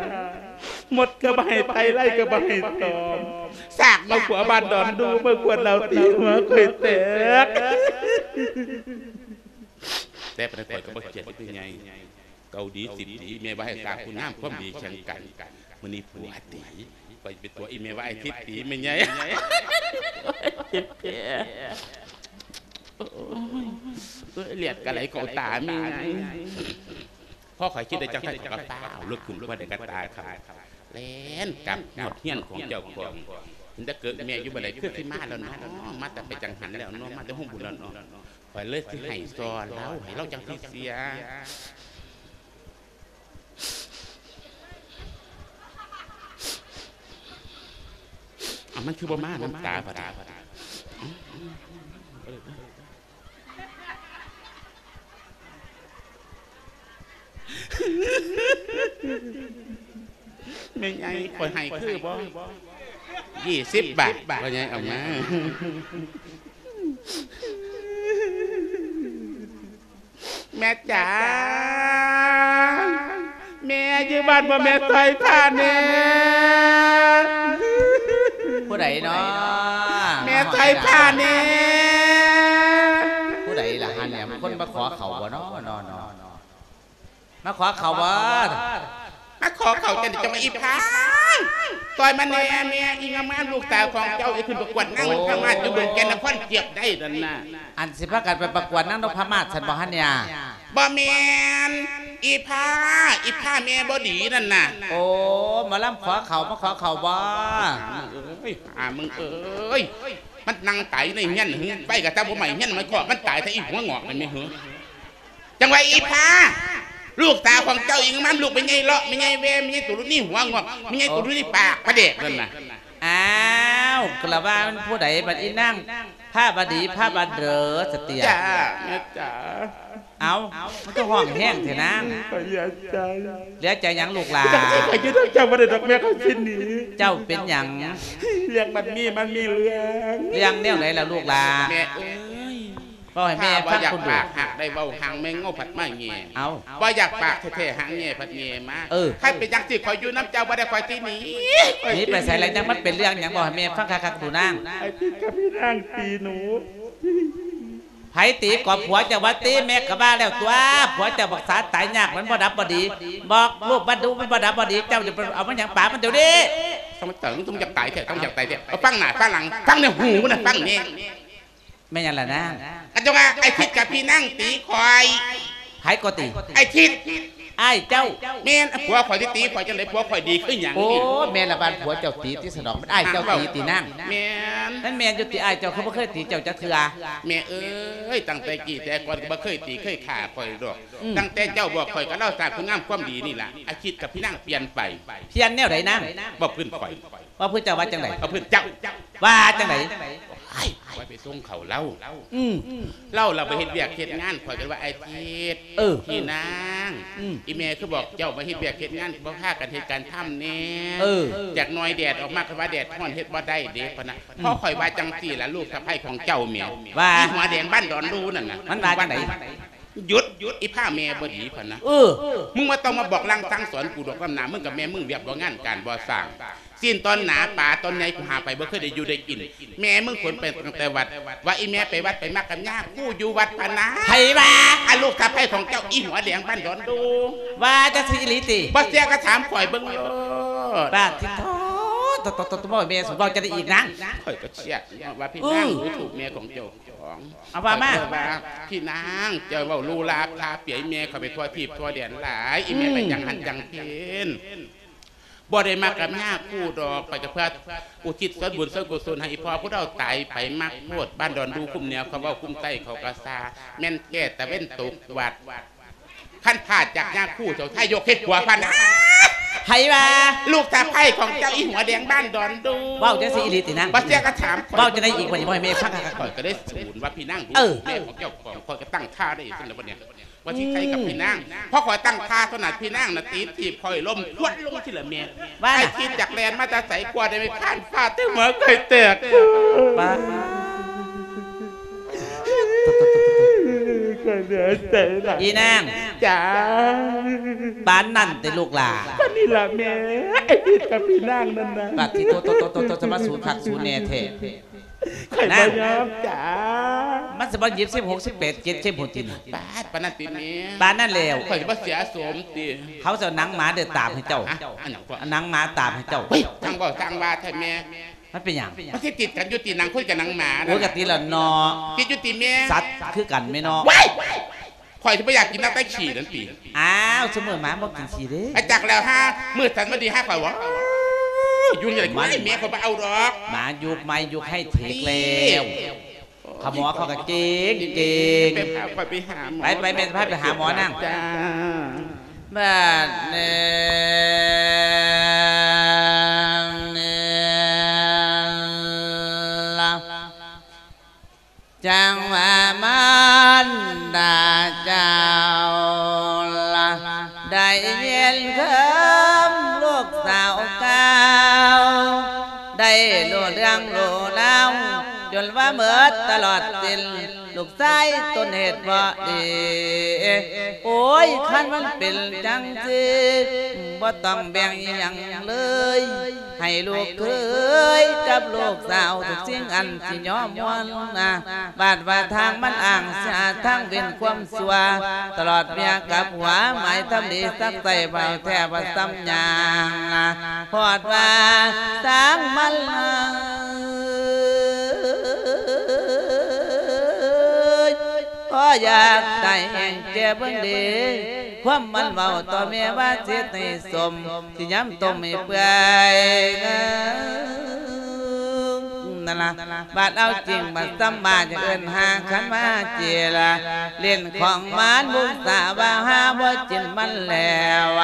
ໝົດກໍບໍ່ໃຫ້ໄຖ່ ໄລ່ກໍບໍ່ໃຫ້ຕອມ ສາກມາຂົວບ້ານດອນດູ ມາຂວດເຫຼົ້າຕີຫົວຂ້ອຍແຕກ. ແຕ່ປານໃດຂ້ອຍກໍບໍ່ເຄຍດເດ້ ແມ່ໃຫຍ່. ເກົ່າດີສິບປີ ແມ່ວ່າໃຫ້ສ້າງຄຸນງາມຄວາມດີແຂ່ງກັນ ມື້ນີ້ຜົວຕີ ຂ້ອຍໄປຕົວະອີແມ່ວ່າໄອ້ທິດຕີ ແມ່ໃຫຍ່. ໂອ້ຍ ເລືອດກໍໄຫຼເຂົ້າຕາ ແມ່ໃຫຍ່. ພໍຂ້ອຍຄິດໄດ້ຈັ່ງຊັ້ນ ຂ້ອຍກໍຟ້າວລຸກຂຶ້ນ ບໍ່ໄດ້ກະຕາຂ້ອຍ ແລ່ນກັບຮອດເຮືອນຂອງເຈົ້າຂອງ. ເຫັນແຕ່ເກີດແມ່ຢູ່ບໍ່ໄດ້ ຄືຊິມາແລ້ວເນາະ ມາແຕ່ໄປຈັງຫັນແລ້ວເນາະ ມາແຕ່ໂຮງບຸນແລ້ວເນາະ. ຂ້ອຍເລີຍຊິໃຫ້ຊໍລາວ ໃຫ້ລາວຈັ່ງຊິເສຍ. ເອົາ ມັນຄືບໍ່ມານຳຕາບາດນີ້? ແມ່ໃຫຍ່ ຂ້ອຍໃຫ້ຄືບໍ່? ຍີ່ສິບບາດ ພໍ່ໃຫຍ່ເອົາມາ. ແມ່ຈ໋າ ແມ່ຢູ່ບ້ານບໍ່ ແມ່ຊ່ອຍພາແດ່. ຜູ້ໃດເນາະ? ແມ່ຊ່ອຍພາແດ່. ຜູ້ໃດລະຫັ້ນແຫຼະ? ຄົນມາຂໍເຂົ້າບໍ່ເນາະ ເນາະ ເນາະ? ມາຂໍເຂົ້າບໍ່? ມາຂໍເຂົ້າຈັ່ງໃດ ຈັ່ງວ່າອີພາ ຊ່ອຍມາແດ່ແມ່. ອີງາມໆ ລູກສາວຂອງເຈົ້າໄດ້ຂຶ້ນປະກວດນາງນົບພະມາດຢູ່ເມືອງແກ່ນນະຄອນ ຈຽບໄດ້ນັ້ນນະ. ອັນຊິພາກັນໄປປະກວດນາງນົບພະມາດຊັ້ນບໍ່ຫັ້ນເນຍ? ບໍ່ແມ່ນ ອີພາ ອີພາແມ່ບໍ່ດີນັ້ນນະ. ໂອ້ ໝໍລຳຂໍເຂົ້າ ມາຂໍເຂົ້າບໍ່? ຫາມຶງເອີຍ ຫາມຶງເອີຍ ມັນນັ່ງຕາຍໃນເຮືອນຫື ໄຟກໍຕາບໍ່ໄໝ້ເຮືອນ ມັນເຄາະມັນຕາຍ ຖ້າອີຫົວງອກນັ້ນແມ່ນຫື. ຈັ່ງວ່າອີພາ ລູກສາວຂອງເຈົ້າອີງາມໆ ລູກແມ່ໃຫຍ່ເລາະ ແມ່ໃຫຍ່ແວ່ ແມ່ໃຫຍ່ຕູລຸນີ້ຫົວງອກ ແມ່ໃຫຍ່ຕູລຸນີ້ປາກປາແດກນັ້ນນະ. ອ້າວ ກໍລະວ່າມັນຜູ້ໃດ ບັດອີນາງພາບະດີ ພາບະເດີສະເຕຍ. ຈ້າ ແມ່ຈ໋າ. ເອົາ ມັນຄືຮ້ອງແຮງແທ້ນາງ? ຂ້ອຍເຫຼືອໃຈ. ເຫຼືອໃຈຫຍັງລູກຫຼານ? ຂ້ອຍຢູ່ນຳເຈົ້າບໍ່ໄດ້ດອກແມ່ ຂ້ອຍຊິໜີ. ເຈົ້າເປັນຫຍັງ? ເລື່ອງມັນມີ ມັນມີເລື່ອງ. ເລື່ອງແນວໃດລະລູກຫຼານ? ແມ່ເອີຍ ເວົ້າໃຫ້ແມ່ຟັງພຸ້ນດູ. ຢາກປາກຫາກໄດ້ເວົ້າຫາງແມງເງົາພັດມາແຍ່. ເອົາ ບໍ່ຢາກປາກແທ້ໆ ຫາງແຍ່ພັດແຍ່ມາ. ເອີ ຄັນເປັນຈັ່ງຊີ້ ຂ້ອຍຢູ່ນຳເຈົ້າບໍ່ໄດ້ ຂ້ອຍຊິໜີ. ໜີໄປໃສລະ? ຍັງມັນເປັນເລື່ອງຫຍັງ ເວົ້າໃຫ້ແມ່ຟັງຄັກໆດູນາງ. ໄອ້ທີ່ກັບພີ່ນາງຕີໜູ. ໃຜຕີ? ກໍຜົວເຈົ້າວ່າຕີ. ແມ່ກໍວ່າແລ້ວຕົວະ ຜົວເຈົ້າບັກສາຕາຍຍາກ ມັນບໍ່ດັບບໍ່ດີ. ບອກລູກມັນດູ ມັນບໍ່ດັບບໍ່ດີ. ເຈົ້າຈະໄປເອົາມາຫຍັງປາມັນດຽວນີ້? ຕ້ອງເຕີງ ຕ້ອງຢາກຕາຍແທ້ ຕ້ອງຢາກຕາຍແທ້. ເອົາ ຟັງໜ້າ ຟັງຫຼັງ ຟັງໃນຫູມັນນະ ຟັງແນ່. ແມ່ນຫຍັງລະນາງ? ອັນເຈົ້າວ່າໄອ້ທິດກັບພີ່ນາງຕີຂ້ອຍ. ໃຜກໍຕີ? ໄອ້ທິດ ອ້າຍເຈົ້າ. ແມ່ນ ຜົວຂ້ອຍຊິຕີຂ້ອຍຈັ່ງໃດ? ຜົວຂ້ອຍດີຄືຫຍັງ? ໂອ້ ແມ່ນລະ ບ້ານຜົວເຈົ້າຕີຕິສະດອກ ມັນອ້າຍເຈົ້າຕີຕິນາງ. ແມ່ນ ມັນແມ່ນຢູ່ຕິ ອ້າຍເຈົ້າຄືບໍ່ເຄີຍຕີເຈົ້າຈັກເທື່ອ? ແມ່ເອີຍ ຕັ້ງແຕ່ກີ້ແຕ່ກ່ອນກໍບໍ່ເຄີຍຕີເຄີຍຂ້າຂ້ອຍດອກ. ອືມ ຕັ້ງແຕ່ເຈົ້າບອກຂ້ອຍກັບລາວສ້າງຄຸນງາມຄວາມດີນີ້ລະ ໄອ້ທິດກັບພີ່ນາງປ່ຽນໄປ. ປ່ຽນແນວໃດນາງ? ເວົ້າພື້ນຂ້ອຍ. ເວົ້າພື້ນເຈົ້າວ່າຈັ່ງໃດ? ເວົ້າພື້ນເຈົ້າ. ວ່າຈັ່ງໃດ? ໂອ້ຍ ຂ້ອຍໄປສົ່ງເຂົ້າລາວ. ອືມ ລາວລະໄປເຮັດວຽກເຮັດງານ ຂ້ອຍກໍວ່າ ອ້າຍທິດ ເອີ ພີ່ນາງ ອືມ ອີແມ່ຄືບອກເຈົ້າມາເຮັດວຽກເຮັດງານ ບໍ່ພາກັນເຮັດການທຳແດ່. ເອີ ຈັກໜ້ອຍແດດອອກມາ ຂ້ອຍວ່າແດດຮ້ອນເຮັດບໍ່ໄດ້ເດ້ ພະນະ. ອືມ ພໍຂ້ອຍວ່າຈັ່ງຊີ້ລະ ລູກສະໃພ້ຂອງເຈົ້າແມ່ ວ່າ ອີຫົວແດງບ້ານດອນດູນັ້ນນະ. ມັນວ່າຈັ່ງໃດ? ຢຸດ ອີພາແມ່ບໍ່ດີ ພະນະ. ເອີ ມຶງບໍ່ຕ້ອງມາບອກລາງສັ່ງສອນກູດອກ ນຳໜ້າມຶງກັບແມ່ມຶງວຽກບໍ່ງານການບໍ່ສ້າງ. ຊີ້ນຕອນໜາ ປາຕອນໃຫຍ່ ກູຫາໄປບໍ່ເຄີຍໄດ້ຢູ່ໄດ້ກິນ. ແມ່ມຶງຂົນໄປຕັ້ງແຕ່ວັດ ວ່າອີແມ່ໄປວັດໄປມັກກັບຍາຄູຢູ່ວັດ ພະນະ. ໃຜວ່າ? ອາ ລູກສະໃພ້ຂອງເຈົ້າ ອີຫົວແດງບ້ານດອນດູ. ວ່າຈັ່ງຊີ້ອີ່ຫຼີຕິ? ບໍ່ເຊື່ອກໍຖາມຂ້ອຍເບິ່ງໂລດ. ປາດທິໂທ ໂຕ ໂຕ ໂຕ ໂຕ ແມ່ ສູເວົ້າຈັ່ງໃດອີກນາງ? ຂ້ອຍກໍເຊື່ອວ່າພີ່ນາງ ອື ດູຖູກແມ່ຂອງເຈົ້າຂອງ. ເອົາວ່າມາ. ຂ້ອຍກໍວ່າ ພີ່ນາງ ເຈົ້າເວົ້າຫຼູຫຼາພາເປີຍແມ່ຂ້ອຍໄປທົ່ວທີບທົ່ວແດນຫຼາຍ ອີແມ່ ອືມ ໄປຈັ່ງຫັ້ນຈັ່ງພີ້ ບໍ່ໄດ້ມັກກັບຍາຄູດອກ ຂ້ອຍກໍເພື່ອອຸທິດສ່ວນບຸນສ່ວນກຸສົນໃຫ້ອີ່ພໍ່ຜູ້ເຖົ້າຕາຍໄປ ມັກໂພດ ບ້ານດອນດູຄຸ້ມເໜືອ ເຂົາເວົ້າຄຸ້ມໃຕ້ ເຂົາກໍຊາ ແມ່ນແກ່ຕາເວັນຕົກວັດ. ຄັນພາດຈາກຍາຄູ ເຈົ້າຊາຍົກເຮັດຜົວ ພະນະ. ໃຜວ່າ? ລູກສະໃພ້ຂອງເຈົ້າ ອີຫົວແດງບ້ານດອນດູ. ເວົ້າຈັ່ງຊີ້ອີ່ຫຼີຕິນາງ? ບໍ່ເຊື່ອກໍຖາມຂ້ອຍ. ເວົ້າຈັ່ງໃດອີກບັດນີ້ ບໍ່ໃຫ້ແມ່ຟັງຄັກໆ. ຂ້ອຍກໍໄດ້ສູນວ່າ ພີ່ນາງ ເອີ ແມ່ຂອງເຈົ້າຂອງ ຂ້ອຍກໍຕັ້ງທ່າໄດ້ຊັ້ນແລ້ວບັດນີ້ ວ່າຊິໄຄກັບ ອືມ ພີ່ນາງ. ພໍຂ້ອຍຕັ້ງທ່າເທົ່ານັ້ນ ພີ່ນາງນະຕີຖີບຂ້ອຍລົ້ມພວດລົງທີ່ລະແມ່. ວ່າ ໄອ້ທີ່ຈັກແລ່ນມາແຕ່ໃສ ກວ່າໄດ້ໄປຄານຟາດແຕ່ຫົວຂ້ອຍແຕກ. ປາດ ຂ້ອຍເຫຼືອໃຈຫຼາຍ. ອີນາງ ຈ້າ ປານນັ້ນຕິລູກຫຼາ? ລະແມ່ ໄອ້ຜິດກັບພີ່ນາງນັ້ນນະ. ປາດທິໂທ ໂຕ ໂຕ ໂຕ ໂຕ ຈະມາສູນຄັກສູນແນ່ແທ້. ຂ້ອຍບໍ່ຍອມຈ້າ. ມັນຊິບໍ່ຍິບສິບຫົກ ສິບແປດ ເຈັດເຂັມພຸ້ນຕິນະ. ປາດ ປານນັ້ນຕິແມ່? ປານນັ້ນແລ້ວ. ຂ້ອຍຊິບໍ່ເສຍສົມຕິ? ເຂົາຊິເອົາໜັງໝາເດີຕາບໃຫ້ເຈົ້າ. ຮະ? ອັນຫຍັງກໍ? ເອົາໜັງໝາຕາບໃຫ້ເຈົ້າ. ເຮີ້ຍ ຊ່າງເວົ້າຊ່າງວ່າແທ້ແມ່. ມັນເປັນຫຍັງ? ມັນຊິຕິດກັນຢູ່ຕິ ໜັງຄົນກັບໜັງໝານະ? ໂອ້ຍ ກະຕິລະເນາະ. ຕິດຢູ່ຕິແມ່? ສັດຄືກັນແມ່ເນາະ. ວ້າຍ! ຂ້ອຍຊິບໍ່ຢາກກິນຕັ້ງແຕ່ຂີ້ນັ້ນຕິ. ອ້າວ ຊຸມື້ໝາບໍ່ກິນຂີ້ເດ້. ອາ ຈັກແລ້ວຫາ ມື້ສັນວັນດີຫາຂ້ອຍເວົ້າຢູ່ນີ້ລະ. ມັນ ແມ່ຂ້ອຍບໍ່ເອົາດອກ. ໝາຍຸກໄມ້ຍຸກໄຮເທັກແລ້ວ. ຂະໝໍເຂົາກະເກັ່ງເກັ່ງ. ໄປພາຂ້ອຍໄປຫາໝໍ. ໄປ ໄປ ແມ່ຈະພາໄປຫາໝໍນາງ. ຈ້າ. ບາດນີ້ລະ ຈັ່ງວ່າມານດາເຈົ້າລະ ໄດ້ເຫັນເຄີມລູກສາວກ່າວ ໄດ້ຮູ້ເລື່ອງຮູ້ລາວ ຈົນວ່າໝົດຕະຫຼອດສິ້ນ ລູກຊາຍຕົນເຮັດບໍ່ດີ. ໂອ້ຍ ຄັນມັນເປັນຈັ່ງຊີ້ ບໍ່ຕ້ອງແບ່ງອີ່ຫຍັງເລີຍ ໃຫ້ລູກເຂີຍກັບລູກສາວ ທຸກສິ່ງອັນຊິຍອມມວນນາ. ບາດວ່າທາງມັນອ້າງສາທາງເວັ້ນຄວາມຊົ່ວ ຕະຫຼອດເມຍກັບຫົວ ໝາຍທຳດີສັກໃສ່ເວົ້າແທ້ວ່າສ່ຳຫຍັງນາ. ຮອດວ່າຊ່າງມັນເລີຍ ພໍຢາກຕາຍແຮງແກ່ເບິ່ງເດ ຄວາມມັນເວົ້າຕໍ່ແມ່ວ່າຊິເຮັດໃຫ້ສົມ ຊິຍຳຕົ້ມໃຫ້ເປື່ອຍນັ້ນລະ. ບາດເອົາຈິງບາດສ່ຳມາຈະເອີ້ນຫາຄັນມາເຈລະ ຫຼິ້ນຂອງມານບຸກສາວ່າຫາບໍ່ຈິນມັນແລ້ວ.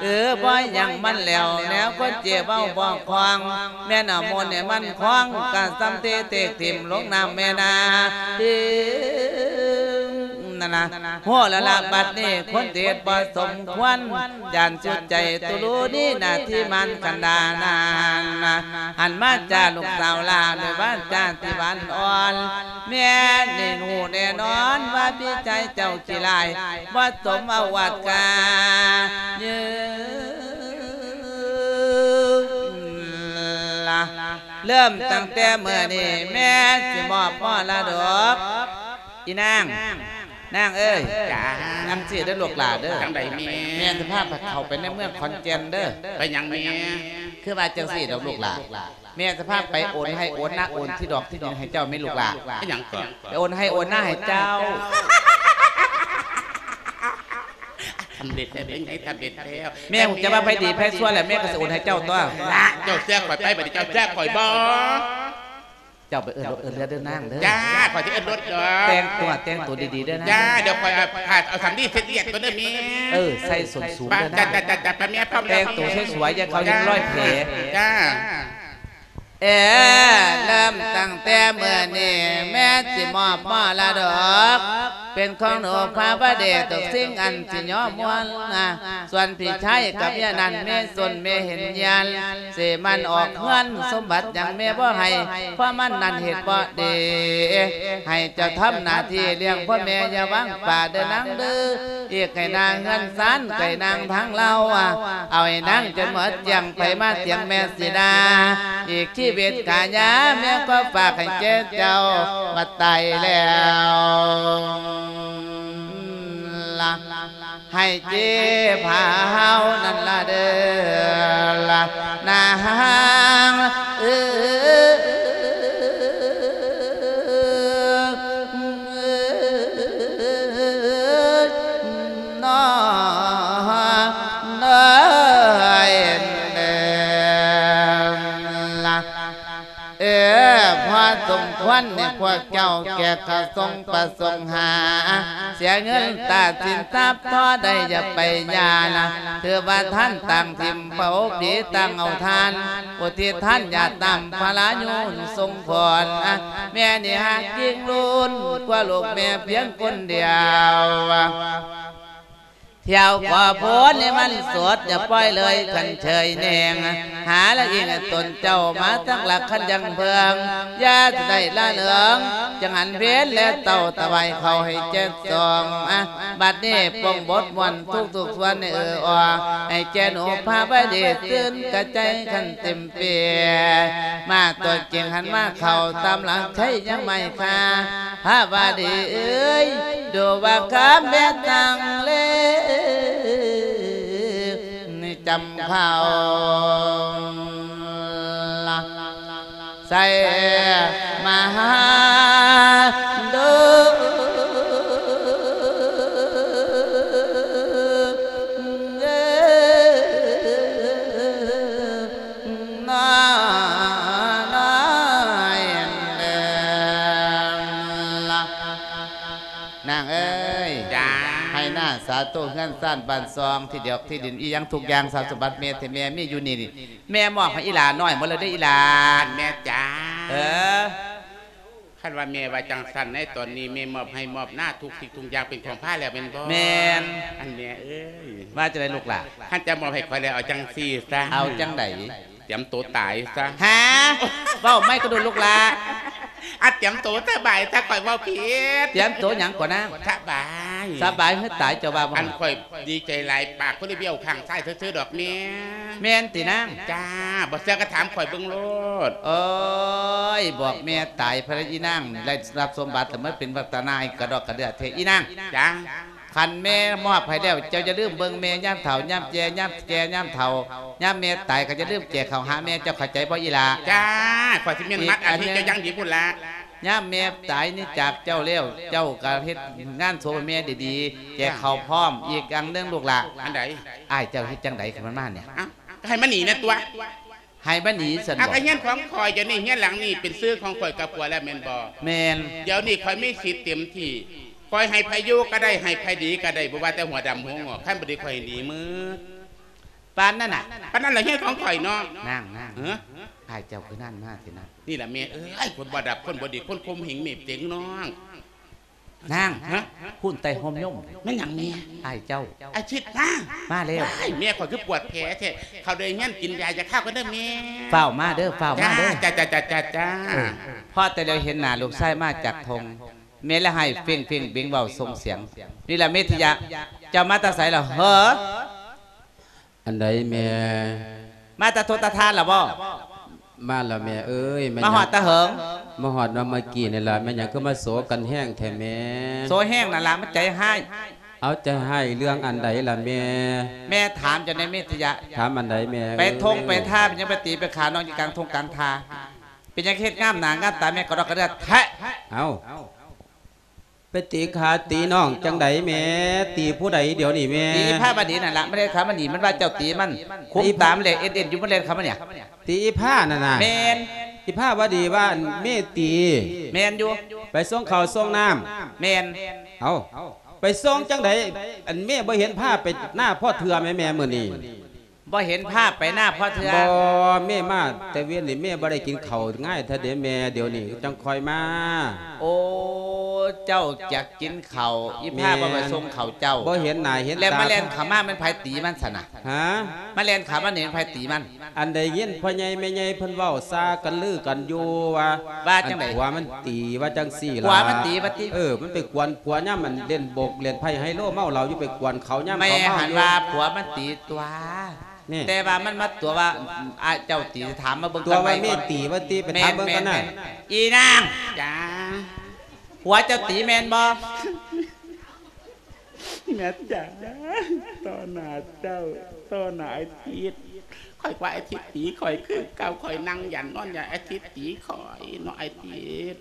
ເອີ ບໍ່ຫຍັງມັນແລ້ວ ແນວຄົນເຈເວົ້າບໍ່ຄອງ ແມ່ນເອົາມົນໃຫ້ມັນຄອງ ກະສ່ຳເທເທກຖິ້ມລົງນ້ຳແມ່ນາ. ນັ້ນລະ ໂຫລະລະ ບັດນີ້ຄົນເທດບໍ່ສົມຄວນ ຢ້ານສຸດໃຈຕຸລູນີນາທີມານຄັນດານານນະ. ຫັນມາຈາລູກສາວຫຼ້າ ດ້ວຍວາຈາທີ່ຫວານອ່ອນ ແມ່ນີ້ຮູ້ແນ່ນອນວ່າພີ່ຊາຍເຈົ້າຂີ້ຮ້າຍ ບໍ່ສົມອາວາດກາຍືລະ. ເລີ່ມຕັ້ງແຕ່ມື້ນີ້ແມ່ຊິມອບມໍລະດົກ ອີນາງ ນາງເອີຍ. ຈ້າ. ນາງຊື້ເດີລູກຫຼ້າເດີ. ຈັ່ງໃດແມ່? ແມ່ຈະພາໄປເຂົ້າໄປໃນເມືອງຂອນແກ່ນເດີ. ໄປຫຍັງແມ່? ຄືວ່າຈັ່ງຊີ້ດອກລູກຫຼ້າ ແມ່ຈະພາໄປໂອນໄຮ່ໂອນນາ ໂອນທີ່ດອກທີ່ດິນໃຫ້ເຈົ້າແມ່ລູກຫຼ້າ. ອີຫຍັງກໍ? ໄປໂອນໄຮ່ໂອນນາໃຫ້ເຈົ້າ. ສຳເລັດແລ້ວ ເປັນໄງ? ສຳເລັດແລ້ວ. ແມ່ຮູ້ຈັກວ່າໃຜດີໃຜຊົ່ວແລ້ວ ແມ່ກໍຊິໂອນໃຫ້ເຈົ້າຕົວະ. ລະ ເຈົ້າເຊື່ອຂ້ອຍໄປ ບັດນີ້ເຈົ້າເຊື່ອຂ້ອຍບໍ່? ເຈົ້າໄປເອີ້ນລົດເອີ້ນເຮືອເດີນາງເດີ. ຈ້າ ຂ້ອຍຊິເອີ້ນລົດດອກ. ແຕ່ງຕົວ ແຕ່ງຕົວດີໆເດີນາງ. ຈ້າ ດຽວຂ້ອຍເອົາຜ້າ ເອົາສຳລີເຊັດລຽບກ່ອນເດີແມ່. ເອີ ໃສ່ສົ້ນສູງເດີນາງ. ຈ້າ ຈ້າ ຈ້າ ໄປແມ່ພ້ອມແລ້ວ. ແຕ່ງຕົວສວຍໆ ຢ່າເຂົາເຫັນຮອຍແຜ. ຈ້າ. ເອີ ເລີ່ມຕັ້ງແຕ່ມື້ນີ້ ແມ່ຊິມອບມໍລະດົກ ເປັນຂອງໜູພາວະເດ ທຸກສິ່ງອັນຊິຍອມມວນນາ. ສ່ວນພີ່ຊາຍກັບເມຍນັ້ນ ແມ່ສົນແມ່ເຫັນຍານ ຊິມັນອອກເຮືອນ ສົມບັດຫຍັງແມ່ບໍ່ໃຫ້ ເພາະມັນນັ້ນເຮັດບໍ່ດີ. ໃຫ້ເຈົ້າທຳໜ້າທີ່ລ້ຽງພໍ່ແມ່ ຢ່າວາງປະເດີນາງເດີ. ອີກໃຫ້ນາງເຮືອນຊານ ໃຫ້ນາງທາງລາວ ເອົາໃຫ້ນາງຈົນໝົດກ້ຽງ ໃຜມາຖຽງແມ່ຊິດ່າ. ອີກຊີວິດກາຍາ ແມ່ຂໍຝາກໃຫ້ແກ່ເຈົ້າ ວ່າຕາຍແລ້ວລະ ໃຫ້ເຈັບຫາເຮົານັ້ນລະເດີລະນາງເອີຍ ນ້ອງເອີຍ ເອີ ພໍສົມຄວນໃຫ້ພວກເຈົ້າແກ່ກະສົງປະສົງຫາ ເສຍເງິນຕາສິນຊັບພໍໄດ້ຢ່າໄປຢ່ານະ ຖືວ່າທ່ານຕ່າງຖິ້ມເຜົາຜີຕ່າງເອົາທ່ານ ອຸທິດທານຢາດນ້ຳພະລາຍູນຊົງຂອນ ແມ່ນີ້ຫາກຍິ່ງລຸນກວ່າລູກແມ່ພຽງຄົນດຽວ. ທ່ຽວກໍພົ້ນໃຫ້ມັນສົດ ຢ່າປ່ອຍເລີຍຄັນເຊີຍແນງ ຫາລະອີງຕົນເຈົ້າມາຕັ້ງຫຼັກຄັນຍັງເພິ່ງ ຢ່າໄດ້ລະເລີງ ຈັ່ງຫັນເພັນແລເຕົ້າ ຖວາຍເຂົ້າໃຫ້ແກ່ສອງ ອາ ບັດນີ້ປົງບົດມ່ວນທຸກໆສ່ວນໃຫ້ເອີອອ ໃຫ້ແກ່ໜູພາວະດີ ຕື່ນກະໃຈຄັນເຕັມ ເປ ມາຕົວຈິງຫັນມາເຂົ້າຕາມຫຼັງໄຊຍັງໄມ່ຄ່າ ພາວະດີເອີຍ ດູວ່າຄຳແບບຕັງເລ ຈຳເຂົ້າລະ ໃສ່ມະຫາໂດ ນາງເອີຍ ຈ້າ ໄຮ່ນາສາໂຕເຮືອນຊານບ້ານຊ່ອງ ທີ່ດຽວທີ່ດິນອີ່ຫຍັງທຸກຢ່າງ ຊັບສົມບັດແມ່ແທ້ແມ່ມີຢູ່ນີ້ ແມ່ມອບໃຫ້ອີ່ຫຼ້ານ້ອຍໝົດແລ້ວເດີອີ່ຫຼ້າ ແມ່ຈ້າ ເອີ ຄັນວ່າແມ່ວ່າຈັ່ງຊັ້ນ ໃນຕອນນີ້ແມ່ມອບໄຮ່ມອບນາທຸກສິ່ງທຸກຢ່າງເປັນຂອງພາແລ້ວແມ່ນບໍ່? ແມ່ນ ອັນແມ່ເອີຍ ວ່າຈັ່ງໃດລູກຫຼ້າ? ຄັນຈະມອບໃຫ້ຂ້ອຍແລ້ວ ເອົາຈັ່ງຊີ້ຊະ ເອົາຈັ່ງໃດ? ຕຽມໂຕຕາຍຊະ ຫາ ເວົ້າໃໝ່ກະດູລູກຫຼ້າ ອາ ຕຽມໂຕສະບາຍຊະ ຂ້ອຍເວົ້າຜິດ ຕຽມໂຕຫຍັງກໍນາງ? ສະບາຍ ສະບາຍຄືຕາຍ ເຈົ້າວ່າບໍ່? ອັນຂ້ອຍດີໃຈຫຼາຍ ປາກຄົນລະບ້ຽວຂ້າງຊ້າຍຊື່ໆດອກແມ່ ແມ່ນຕິນາງ? ຈ້າ ບໍ່ເຊື່ອກະຖາມຂ້ອຍເບິ່ງໂລດ ໂອ້ຍ ບອກແມ່ຕາຍ ພະຍາອີ່ນາງໄດ້ຮັບສົມບັດ ແລ້ວມາເປັນວັດຕະນາໃຫ້ກະດອກກະເດືອແທ້ອີ່ນາງ ຈ້າ ຄັນແມ່ມອບໃຫ້ແລ້ວ ເຈົ້າຢ່າລືມເບິ່ງແມ່ຍາມເຖົ້າຍາມແກ່ ຍາມແກ່ຍາມເຖົ້າ ຍາມແມ່ຕາຍກະຢ່າລືມແກ່ເຂົ້າຫາແມ່ ເຈົ້າເຂົ້າໃຈບໍ່ອີ່ຫຼ້າ? ຈ້າ ຂ້ອຍຊິແມ່ນມັດອາທິເຈົ້າຢ່າງດີພຸ້ນລະ ຍາມແມ່ຕາຍນີ້ຈາກເຈົ້າແລ້ວ ເຈົ້າກະເຮັດງານສົບໃຫ້ແມ່ດີໆ ແກ່ເຂົ້າພ້ອມ ອີກຢ່າງໜຶ່ງລູກຫຼ້າ ອັນໃດ? ອ້າຍເຈົ້າເຮັດຈັ່ງໃດຄັນມັນມານີ້? ເອົ້າ ກະໃຫ້ມັນໜີແນ່ຕົວະ ໃຫ້ມັນໜີຊັ້ນບໍ່? ອາ ກະເຮືອນຂອງຂ້ອຍ ດຽວນີ້ເຮືອນຫຼັງນີ້ເປັນຊື່ຂອງຂ້ອຍກັບຜົວແລ້ວແມ່ນບໍ່? ແມ່ນ ດຽວນີ້ຂ້ອຍມີສິດເຕັມທີ່ ຂ້ອຍໃຫ້ໃຜຢູ່ກະໄດ້ ໃຫ້ໃຜໜີກະໄດ້ ບໍ່ວ່າແຕ່ຫົວດຳຫົວງອກ ຄັນບໍ່ດີຂ້ອຍໃຫ້ໜີໝົດ ປານນັ້ນນະ? ປານນັ້ນລະເຮືອນຂອງຂ້ອຍເນາະ ນາງໆ ເອີ ອ້າຍເຈົ້າຄືນັ້ນມາແທ້ນະ? ນີ້ລະແມ່ເອີຍ ຄົນບໍ່ດັບ ຄົນບໍ່ດີ ຄົນຂົ່ມເຫງເມບເຕັງນ້ອງ ນາງ ຫະ? ພຸ້ນໃຕ້ຮົ່ມຍົມ ແມ່ນຫຍັງແມ່? ອ້າຍເຈົ້າ ອາທິດມາ ມາແລ້ວ ວ້າຍ ແມ່ຂ້ອຍຄືປວດແຜແທ້ ເຂົ້າໄດ້ເຮືອນກິນຢາຢາຄາກ່ອນເດີແມ່ ຟ້າວມາເດີ ຟ້າວມາເດີ ຈ້າ ຈ້າ ເອີ ພໍ້ແຕ່ແລ້ວເຫັນໜ້າລູກຊາຍມາຈາກທົ່ງ ແມ່ລະໄຫ້ເຟັງໆເບັງເວົ້າສົ່ງສຽງ ນີ້ລະເມທິຍະ ເຈົ້າມາແຕ່ໃສລະເຫີ? ອັນໃດແມ່? ມາແຕ່ທົ່ງຕາທານລະບໍ່? ມາລະແມ່ເອີຍ ມາຮອດແຕ່ເຫິງ? ມາຮອດມາເມື່ອກີ້ນີ້ລະ ແມ່ນຫຍັງຄືມາໂສກັນແຮງແທ້ແມ່? ໂສແຮງນັ້ນລະ ມັນໃຈຮ້າຍ ເອົາໃຈຮ້າຍເລື່ອງອັນໃດລະແມ່? ແມ່ຖາມເຈົ້າແດ່ເມທິຍະ ຖາມອັນໃດແມ່ເອີຍ? ໄປທົ່ງໄປທາ ເປັນຫຍັງໄປຕີໄປຂ້ານ້ອງຢູ່ກາງທົ່ງກາງທາ ເປັນຫຍັງເຮັດງາມໜ້າງາມຕາແມ່ກະດອກກະເດືອແທ້? ເອົ້າ ໄປຕີຂ້າຕີນ້ອງຈັ່ງໃດແມ່? ຕີຜູ້ໃດດຽວນີ້ແມ່? ຕີອີພາວະດີນັ້ນລະ ມັນແລ່ນເຂົ້າມານີ້ ມັນວ່າເຈົ້າຕີມັນ ຄຸມຕາມັນແລ່ນເອັດໆຢູ່ ມັນແລ່ນເຂົ້າມານີ້ ຕີອີພານັ້ນນະ? ແມ່ນ ອີພາວະດີວ່າແມ່ຕີ ແມ່ນຢູ່ ໄປສົ່ງເຂົ້າສົ່ງນ້ຳ ແມ່ນ ເອົ້າ ໄປສົ່ງຈັ່ງໃດ ອັນແມ່ບໍ່ເຫັນພາໄປນາພໍເທື່ອແມ່ ແມ່ມື້ນີ້ ບໍ່ເຫັນພາໄປນາພໍເທື່ອ? ບໍ່ ແມ່ມາແຕ່ເວັນນີ້ ແມ່ບໍ່ໄດ້ກິນເຂົ້າງ່າຍແທ້ເດແມ່ ດຽວນີ້ຈັ່ງຄ່ອຍມາ. ໂອ້ ເຈົ້າຢາກກິນເຂົ້າ ອີພາບໍ່ໄປສົ່ງເຂົ້າເຈົ້າ ບໍ່ເຫັນໜ້າເຫັນຕາ ແລ້ວມາແລ່ນເຂົ້າມາແມ່ນໃຜຕີມັນຊັ້ນນະ? ຫາ ມາແລ່ນເຂົ້າມານີ້ແມ່ນໃຜຕີມັນ? ອັນໄດ້ຍິນພໍ່ໃຫຍ່ແມ່ໃຫຍ່ເພິ່ນເວົ້າຊາກັນລືກັນຢູ່ວ່າ ວ່າຈັ່ງໃດ? ອັນຜົວມັນຕີວ່າຈັ່ງຊີ້ລະ ຜົວມັນຕີວ່າຕິ? ເອີ ມັນໄປກວນຜົວຍາມມັນເລ່ນໂບກເລ່ນໄພ້ໄຮໂລ ເມົາເຫຼົ້າຢູ່ ໄປກວນເຂົາຍາມເຂົາເມົາຢູ່ ແມ່ຫັ້ນວ່າຜົວມັນຕີຕົວະ. ນີ້ ແຕ່ວ່າມັນມາຕົວະວ່າ ອາ ເຈົ້າຕີ ຖາມມາເບິ່ງ ຕົວະວ່າແມ່ຕີວ່າຕິ ໄປຖາມເບິ່ງກັນນະ. ແມ່ນ ແມ່ນ ອີນາງ ຈ້າ ຜົວເຈົ້າຕີແມ່ນບໍ່? ແມ່ນຈ້າ ຕໍ່ໜ້າເຈົ້າ ຕໍ່ໜ້າອາທິດ ຂ້ອຍວ່າອາທິດຕີຂ້ອຍຄືເກົ່າ ຂ້ອຍນັ່ງຢັນນອນຢັນ ອາທິດຕີຂ້ອຍເນາະ ອາທິດ.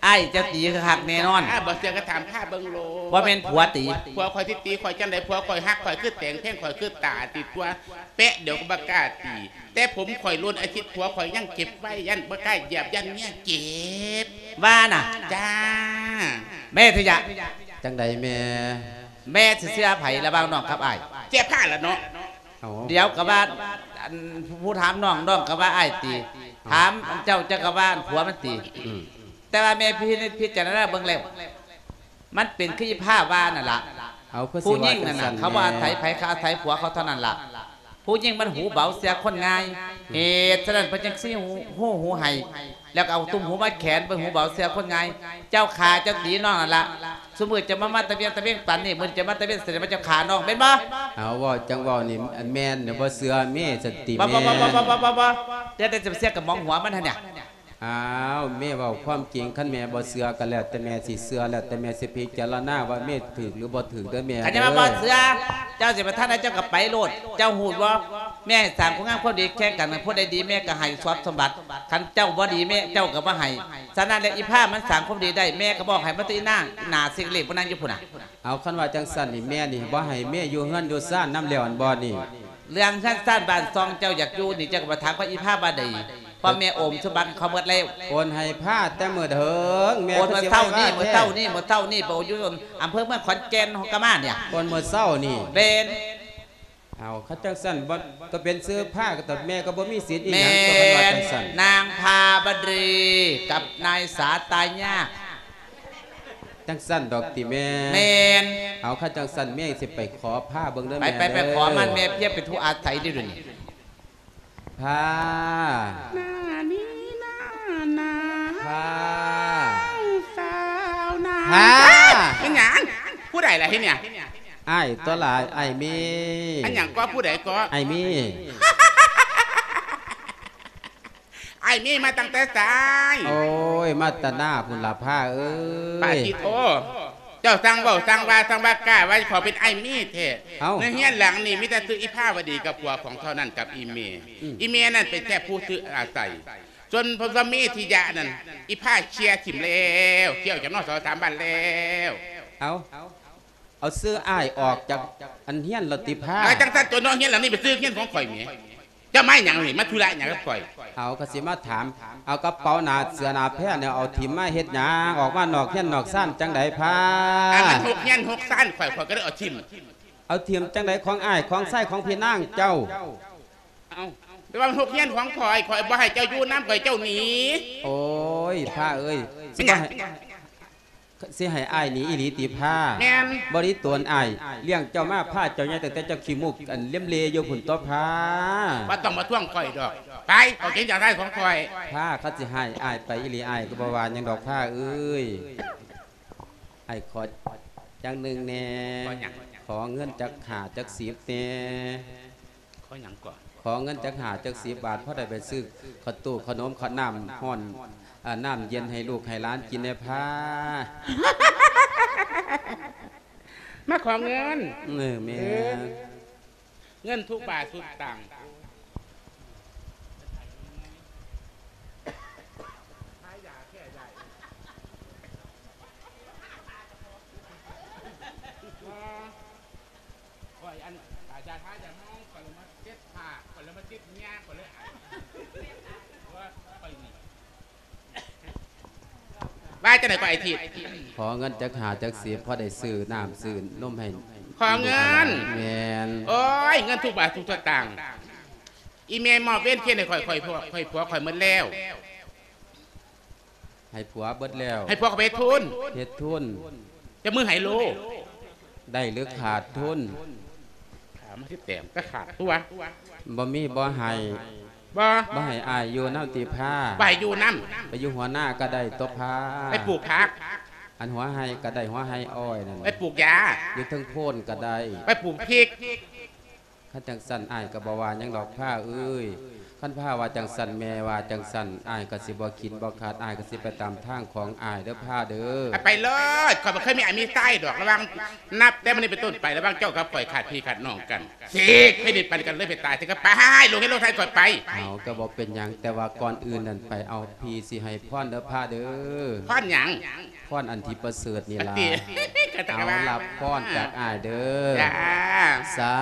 ອ້າຍເຈົ້າຕີຄັກແນ່ນອນ. ອາ ບໍ່ເຊື່ອກໍຖາມຂ້າເບິ່ງໂລດ. ບໍ່ແມ່ນຜົວຕີ. ຜົວຂ້ອຍຊິຕີຂ້ອຍຈັ່ງໃດ? ຜົວຂ້ອຍຮັກຂ້ອຍຄືແຕງ ແພງຂ້ອຍຄືຕາຕິຕົວະ ແປະດຽວກໍບໍ່ກ້າຕີ. ແຕ່ຜົມຂ້ອຍຫຼົ່ນອາທິດ ຜົວຂ້ອຍຍັງເກັບໄວ້ ຢ້ານບໍ່ກ້າຢຽບ ຢ້ານເມຍເຈັບ. ວ່ານະ? ຈ້າ. ແມ່ທະຍະ. ຈັ່ງໃດແມ່? ແມ່ຊິເຊື່ອໃຜລະຫວ່າງນ້ອງກັບອ້າຍ? ເຊື່ອຂ້າລະເນາະ. ເອົ້າ ດຽວກໍວ່າ ອັນ ຜູ້ຖາມນ້ອງ ນ້ອງກໍວ່າອ້າຍຕີ. ເອົ້າ ຖາມເຈົ້າ ເຈົ້າກໍວ່າຜົວມັນຕີ. ອືມ ແຕ່ວ່າແມ່ພິນິດພິຈາລະນາເບິ່ງແລ້ວ ມັນເປັນຄືອີພາວ່ານັ້ນລະ. ເອົາ ຄືຊິວ່າຈັ່ງຊັ້ນແດ່. ຜູ້ຍິງນັ້ນນະ ເຂົາບໍ່ອາໄສໃຜ ເຂົາອາໄສຜົວເຂົາເທົ່ານັ້ນລະ. ຜູ້ຍິງມັນຫູເບົາເຊື່ອຄົນງ່າຍ. ເຫດສະນັ້ນເພິ່ນຈຶ່ງຊິຫູ ຫູໃຫ້ ແລ້ວກໍເອົາຕຸ້ມຫູມາແຂນ ເບິ່ງຫູເບົາເຊື່ອຄົນງ່າຍ. ເຈົ້າຂ້າເຈົ້າຕີນ້ອງນັ້ນລະ. ຊຸມື້ເຈົ້າມາ ມາຕະວຽງຕະເວງປານນີ້ ມື້ນີ້ເຈົ້າມາຕະເວງໃສ່ມາເຈົ້າຂ້ານ້ອງແມ່ນບໍ່? ເອົາ ເວົ້າຈັ່ງເວົ້ານີ້ ອັນແມ່ນບໍ່ເຊື່ອເມສະຕິແມ່. ບໍ່ ບໍ່ ບໍ່ ບໍ່ ບໍ່ ບໍ່ ບໍ່ ບໍ່ ແຕ່ ແຕ່ຈະເຊື່ອກັບໝອງຫົວມັນຫັ້ນນະ. ອ້າວ ແມ່ເວົ້າຄວາມຈິງ ຄັນແມ່ບໍ່ເຊື່ອກໍແລ້ວແຕ່ແມ່ຊິເຊື່ອ ແລ້ວແຕ່ແມ່ຊິພິຈາລະນາວ່າແມ່ຖືກຫຼືບໍ່ຖືກເດີແມ່. ຄັນຈະມາບໍ່ເຊື່ອ ເຈົ້າຊິໄປທາງໃດເຈົ້າກໍໄປໂລດ. ເຈົ້າຮູ້ບໍ່ ແມ່ໃຫ້ສ້າງຄຸນງາມຄວາມດີແຂ່ງກັນ ຜູ້ໃດດີແມ່ກໍໃຫ້ຊັບສົມບັດ ຄັນເຈົ້າບໍ່ດີແມ່ເຈົ້າກໍບໍ່ໃຫ້. ສະນັ້ນແລ້ວ ອີພາມັນສ້າງຄວາມດີໄດ້ ແມ່ກໍບອກໃຫ້ມັນຕົວະອີນາງ ໜ້າຊິກເລັກບໍ່ນັ່ງຢູ່ພຸ້ນນະ. ເອົາ ຄັນວ່າຈັ່ງຊັ້ນນີ້ ແມ່ນີ້ບໍ່ໃຫ້ແມ່ຢູ່ເຮືອນຢູ່ຊານນຳແລ້ວ ອັນບໍ່ນີ້? ເລື່ອງເຮືອນຊານບ້ານຊ່ອງເຈົ້າຢາກຢູ່ນີ້ ເຈົ້າກໍໄປຖາມກັບອີພາບາດີ ເພາະແມ່ໂອນສົມບັດເຂົາໝົດແລ້ວ. ໂອນໃຫ້ພາແຕ່ມື້ເຖິງ ແມ່ ໂອນມື້ເຊົ້ານີ້ ມື້ເຊົ້ານີ້ ມື້ເຊົ້ານີ້ ໄປໂອນຢູ່ອຳເພີເມືອງຂອນແກ່ນ ຮອດກະມານີ້. ໂອນມື້ເຊົ້ານີ້? ແມ່ນ. ເອົາ ຄັນຈັ່ງຊັ້ນບໍ່ ກໍເປັນຊື່ພາ ກໍແມ່ກໍບໍ່ມີສິດອີຫຍັງ ແມ່ນ ກໍຄັນວ່າຈັ່ງຊັ້ນ. ນາງພາບາດີກັບນາຍສາຕາຍາກ. ຈັ່ງຊັ້ນດອກຕິແມ່? ແມ່ນ. ເອົາ ຄັນຈັ່ງຊັ້ນແມ່ຊິໄປຂໍພາເບິ່ງເດີແມ່. ໄປ ໄປ ໄປຂໍມັນ ແມ່ພຽບເປັນຜູ້ອາໄສເດ້ດຽວນີ້. ພາ ໜ້ານີ້ໜ້າໜາວ ພາ ສາວໜາວ ພາ. ເປັນຫຍັງ? ຜູ້ໃດລະເຮັດຫຍັງ? ອ້າຍຕົວະຫຼາຍ ອ້າຍມີ. ອັນຫຍັງກໍ? ຜູ້ໃດກໍ? ອ້າຍມີ. ອ້າຍມີມາຕັ້ງແຕ່ໃສ? ໂອ້ຍ ມາແຕ່ໜ້າພຸ້ນລະພາເອີຍ. ປາທິໂທ ເຈົ້າຊ່າງເວົ້າຊ່າງວ່າຊ່າງວ່າກ້າວ່າເຈົ້າຂອງເປັນອ້າຍມີແທ້. ເອົ້າ ໃນເຮືອນຫຼັງນີ້ມີແຕ່ຊື່ອີພາວະດີກັບຜົວຂອງເທົ່ານັ້ນກັບອີເມ. ອືມ ອີເມນັ້ນເປັນແຄ່ຜູ້ຊື່ອາໄສ. ສ່ວນພໍ່ສາມີທິຍະນັ້ນ ອີພາເຄຍຖິ້ມແລ້ວ ເຄຍອອກຈາກນອກສອງສາມບ້ານແລ້ວ. ເອົ້າ ເອົາຊື່ອ້າຍອອກຈາກອັນເຮືອນແລ້ວຕິພາ? ເອົາ ຈັ່ງຊັ້ນຕົວະ ເນາະ ເຮືອນຫຼັງນີ້ເປັນຊື່ເຮືອນຂອງຂ້ອຍແໝ. ເຈົ້າມາຫຍັງນີ້? ມາທຸລະຫຍັງກັບຂ້ອຍ? ເອົາ ກໍຊິມາຖາມ ເອົາກະເປົາໜ້າເສືອໜ້າແພນີ້ເອົາຖິ້ມມາເຮັດຫຍັງ? ອອກມານອກເຮືອນນອກຊານຈັ່ງໃດພາ? ອັນມັນຫົກເຮືອນຫົກຊານຂ້ອຍ ຂ້ອຍກໍເລີຍເອົາຖິ້ມ. ເອົາຖິ້ມຈັ່ງໃດ? ຂອງອ້າຍຂອງຊາຍຂອງພີ່ນາງເຈົ້າ. ເອົ້າ ແຕ່ວ່າມັນຫົກເຮືອນຂອງຂ້ອຍ ຂ້ອຍບໍ່ໃຫ້ເຈົ້າຢູ່ນຳ ຂ້ອຍເຈົ້າໜີ. ໂອ້ຍ ພາເອີຍ ຊິບໍ່ໃຫ້ ຊິໃຫ້ອ້າຍໜີອີ່ຫຼີຕິພາ? ແມ່ນ. ບໍ່ດີຕົວອ້າຍລ້ຽງເຈົ້າມາ ພາເຈົ້າໃຫຍ່ຕັ້ງແຕ່ເຈົ້າຂີ້ມູກອັນເລັມເລຢູ່ພຸ້ນຕົວະພາ. ບໍ່ຕ້ອງມາທວງຂ້ອຍດອກ ໄປ ອອກຈາກເຮືອນຂອງຂ້ອຍ. ພາ ຄັນຊິໃຫ້ອ້າຍໄປອີ່ຫຼີ ອ້າຍກໍບໍ່ວ່າຫຍັງດອກພາເອີຍ. ອ້າຍຂໍຢ່າງໜຶ່ງແດ່. ຂໍຫຍັງ? ຂໍເງິນຈັກຫ້າຈັກສິບແດ່. ຂໍຫຍັງເກາະ? ຂໍເງິນຈັກຫ້າຈັກສິບບາດ ພໍໄດ້ໄປຊື້ເຂົ້າຕູ້ເຂົ້າໜົມເຂົ້ານ້ຳຮ້ອນ ເອີ ນ້ຳເຢັນໃຫ້ລູກໃຫ້ຫຼານກິນແດ່ພາ. ມາຂໍເງິນ? ເອີ ແມ່ນ. ເອີ ເງິນທຸກບາດທຸກສະຕາງ. ຂ້ອຍອັນ ຢາທາຢາມອງ ຂ້ອຍລະມາເຈັບປາກ ຂ້ອຍລະມາເຈັບເຫຍື້ອ ຂ້ອຍເລີຍໄອ. ວ່າຈັ່ງໃດກໍໄອທິດ? ຂໍເງິນຈັກຫ້າຈັກສິບ ພໍໄດ້ຊື້ນ້ຳຊື້ນົມໃຫ້. ຂໍເງິນ? ແມ່ນ. ໂອ້ຍ ເງິນທຸກບາດທຸກສະຕາງ ອີແມ່ມອບເວນເຄນໃຫ້ຂ້ອຍ ຂ້ອຍ ຂ້ອຍ ຜົວຂ້ອຍໝົດແລ້ວ. ໃຫ້ຜົວເບິດແລ້ວ. ໃຫ້ຜົວເຂົາໄປເຮັດທຶນ. ເຮັດທຶນ. ຈະມືໃຫ້ໂລ. ໄດ້ຫຼືຂາດທຶນ? ຂາດມາສິບແຕ້ມ ກໍຂາດຕົວະ. ບໍ່ມີບໍ່ໃຫ້. ບໍ່. ບໍ່ໃຫ້ອ້າຍຢູ່ນຳຕິພາ? ບໍ່ໃຫ້ຢູ່ນຳ. ໄປຢູ່ຫົວນາກໍໄດ້ຕົວະພາ. ໄປປູກຜັກ. ອັນຫົວໄຮ່ກໍໄດ້ ຫົວໄຮ່ອ້ອຍນັ້ນ. ໄປປູກຢາ. ຢູ່ເທິງໂພນກໍໄດ້. ໄປປູກພິກ. ຄັນຈັ່ງຊັ້ນອ້າຍກໍບໍ່ວ່າຫຍັງດອກພາເອີຍ. ຄັນພາວ່າຈັ່ງຊັ້ນ ແມ່ວ່າຈັ່ງຊັ້ນ ອ້າຍກໍຊິບໍ່ຂີນບໍ່ຂັດ ອ້າຍກໍຊິໄປຕາມທາງຂອງອ້າຍເດີພາເດີ. ໄປເລີຍ ຂ້ອຍບໍ່ເຄີຍມີອ້າຍມີຊາຍດອກ. ລະຫວ່າງ ນັບແຕ່ມື້ນີ້ເປັນຕົ້ນໄປ ລະຫວ່າງເຈົ້າກັບຂ້ອຍຂາດພີ່ຂາດນ້ອງກັນ ສີກແຜ່ນດິນປັນກັນເລີຍ ໄປຕາຍເຖິງກັບປາຍ ລົງເຮັດລົງໄທຂ້ອຍໄປ. ເອົາ ກໍບໍ່ເປັນຫຍັງ ແຕ່ວ່າກ່ອນອື່ນນັ້ນ ໄປເອົາພີ່ຊິໃຫ້ພອນເດີພາເດີ. ພອນຫຍັງ? ພອນອັນທີ່ປະເສີດນີ້ລະ. ເອົາ ຮັບພອນຈາກອ້າຍເດີ. ສາ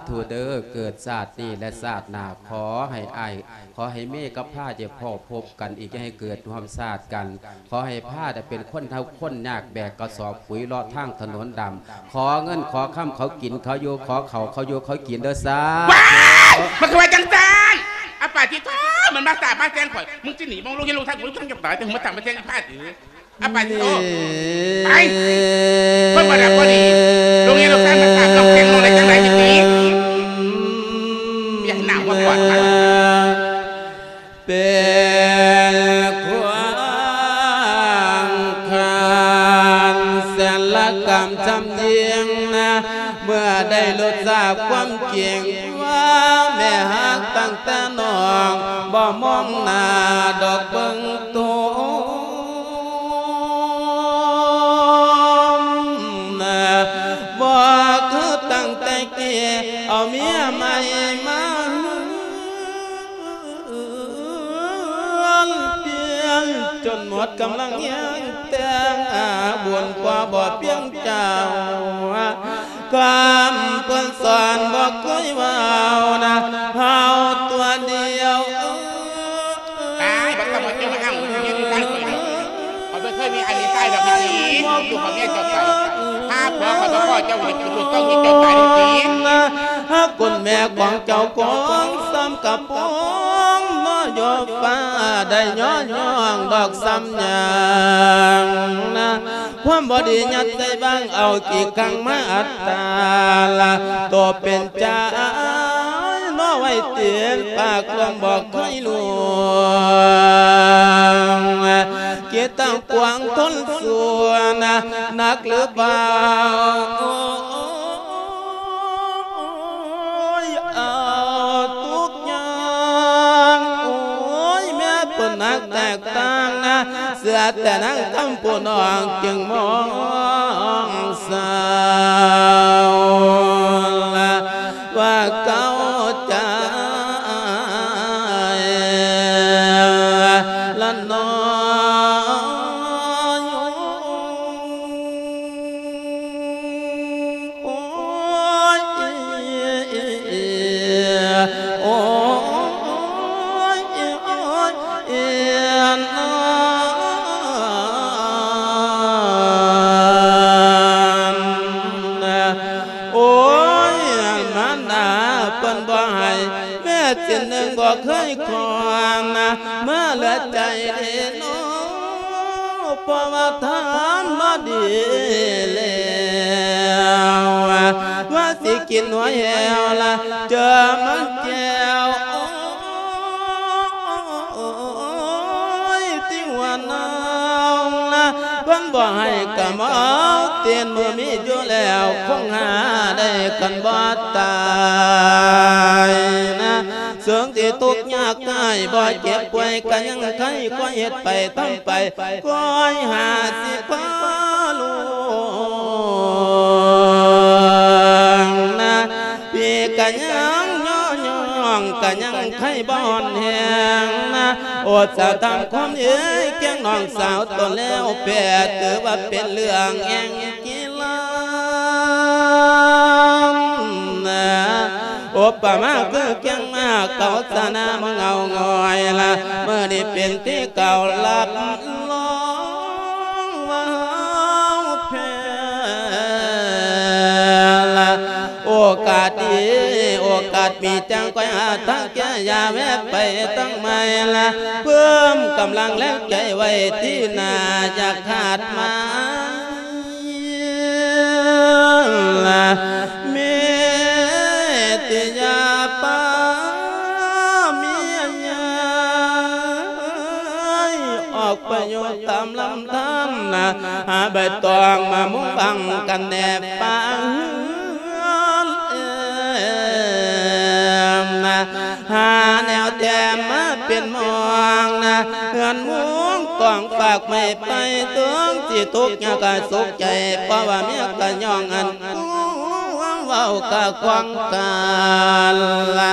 ທຸເດີ ເກີດຊາດນີ້ ແລະ ຊາດໜ້າ ຂໍໃຫ້ອ້າຍ ຂໍໃຫ້ເມກັບພາຈະພໍ້ພົບກັນອີກ ຢ່າໃຫ້ເກີດຮ່ວມຊາດກັນ. ຂໍໃຫ້ພາໄດ້ເປັນຄົນທຸກຄົນຍາກ ແບກກະສອບປຸຍເລາະທາງຖະໜົນດຳ. ຂໍເງິນຂໍຄຳເຂົາກິນເຂົາຢູ່ ຂໍເຂົ້າເຂົາຢູ່ເຂົາກິນເດີ. ສາທຸ. ວ້າຍ! ມັນຄືວ່າຈັ່ງຊັ້ນ? ອາປາທິໂທ ມັນມາສາບມາແຊ່ງຂ້ອຍ. ມຶງຊິໜີ ມຶງລົງເຮັດລົງໄທ ກູຕ້ອງຢາກຕາຍ ແຕ່ຫຶງມາສາບມາແຊ່ງພາຕິ. ອາປາທິໂທ ໄປ ເພິ່ນບໍ່ໄດ້ບໍ່ດີ ລົງ ກຳຈຳຍິ່ງນະ ເມື່ອໄດ້ຮູ້ຈັກຄວາມຈິງວ່າ ແມ່ຮັກຕັ້ງແຕ່ນ້ອງ ບໍ່ມອງໜ້າດອກເບິ່ງໂຕນະ ບໍ່ຄືຕັ້ງແຕ່ກີ້ ເອົາເມຍໃໝ່ມາ ເຮືອນປ່ຽນ ຈົນໝົດກຳລັງແຮງແຕ່ງ ບຸນກວ່າບໍ່ພຽງເຈົ້າ ຄຳເພິ່ນສອນບໍ່ເຄີຍເວົ້ານະ ເຮົາຕົວດຽວ ຕາຍ ບໍ່ຕ້ອງມາເຈົ້າມາອ້າງ ຢູ່ໃກ້ຂ້ອຍດອກ ຂ້ອຍບໍ່ເຄີຍມີອັນມີຊາຍດອກ ພີ່ ລູກຂອງເມຍເຈົ້າໄປ ຫາຜົວຂ້ອຍບໍ່ພໍ ເຈົ້າເຮັດເປັນລູກເຕົ້າມີເຈົ້າຕາຍຕິ ຫາຄຸນແມ່ຂອງເຈົ້າຂອງ ສ່ຳກະປອງ ບໍ່ຢູ່ຟ້າ ໄດ້ຍ້ອນຍ້ອງດອກສ່ຳຫຍັງນະ ຄວາມບໍ່ດີຍັດໃສ່ບັງ ເອົາຂີ້ຂັງມາອັດຕາລະ ໂຕເປັນຈາຍ ເນາະໄວ້ຕີນປາກລວງ ບໍ່ເຄີຍຮູ້ ຄິດຕັ້ງກວ້າງທົນສູນ ໜັກຫຼືເບົາ ໂອ້ຍ ເອົາທຸກຢ່າງ ໂອ້ຍ ແມ່ເພິ່ນໜັກແຕກຕ່າງນະ ເຊື່ອແຕ່ນາງຄຳຜູ້ນ້ອງຈຶ່ງມອງເສົ້າ ວ່າເຂົ້າໃຈລະນ້ອຍ ໂອ້ຍ ໂອ້ຍ ໂອ້ຍ ໂອ້ຍ ມານດາເພິ່ນບໍ່ໃຫ້ ແມ່ຊິນໜຶ່ງບໍ່ເຄີຍຂອນ ມາເຫຼືອໃຈເດໂນ ເພາະວ່າທຳມາດີແລ້ວ ວ່າຊິກິນຫົວແຫ້ວລະ ເຈີມັນແກ້ວ ໂອ້ຍ ຕິງວ່ານາງນະ ເພິ່ນບໍ່ໃຫ້ກະເມົາ ຕີນມືມີຢູ່ແລ້ວ ຄົງຫາໄດ້ຄັນບໍ່ຕາຍນະ ເຊິ່ງທີ່ທຸກຍາກໄຮ້ ບໍ່ເຈັບປ່ວຍກະຍັງໄຄ ຄວາຍເຮັດໄປທຳໄປ ຄວາຍຫາຊິພາລວງນະ ພີ່ກະຍັງຍໍຍ້ອງ ກະຍັງໄຄບໍ່ອ່ອນແຮງນະ ໂອດສາທຳຄວາມເອີຍ ຄຽງນ້ອງສາວຕົນແລ້ວແພ້ ຖືວ່າເປັນເລື່ອງແຫ່ງກິລານະ ອຸປະມາຄືຄຽງມາເກົາສະນາມະເງົາງອຍລະ ມື້ນີ້ເປັນທີ່ເກົ່າຮັບຮອງວ່າເຮົາແພ້ລະ ໂອກາດດີ ໂອກາດມີຈັ່ງຄ່ອຍຫາທາງແກ້ ຢ່າແວະໄປທາງໃໝ່ລະ ເພີ່ມກຳລັງແຮງໃຈໄວ້ທີ່ໜ້າ ຢ່າຂາດມາ ເມດຕະຍາປາເມຍໃຫຍ່ ອອກໄປຢູ່ຕາມລຳທານນະ ຫາໃບຕອງມາມຸງບັງກັນແດ່ປາເຮືອນເອີນນະ ຫາແນວແຖມມາເປັນໝອງນະ ເຮືອນມຸງກອງຝາກໄວ້ໄປ ເຖິງຊິທຸກຍາກກະສຸກໃຈ ເພາະວ່າເມຍກະຍ້ອງອັນ ເວົ້າກະຂອງກັນລະ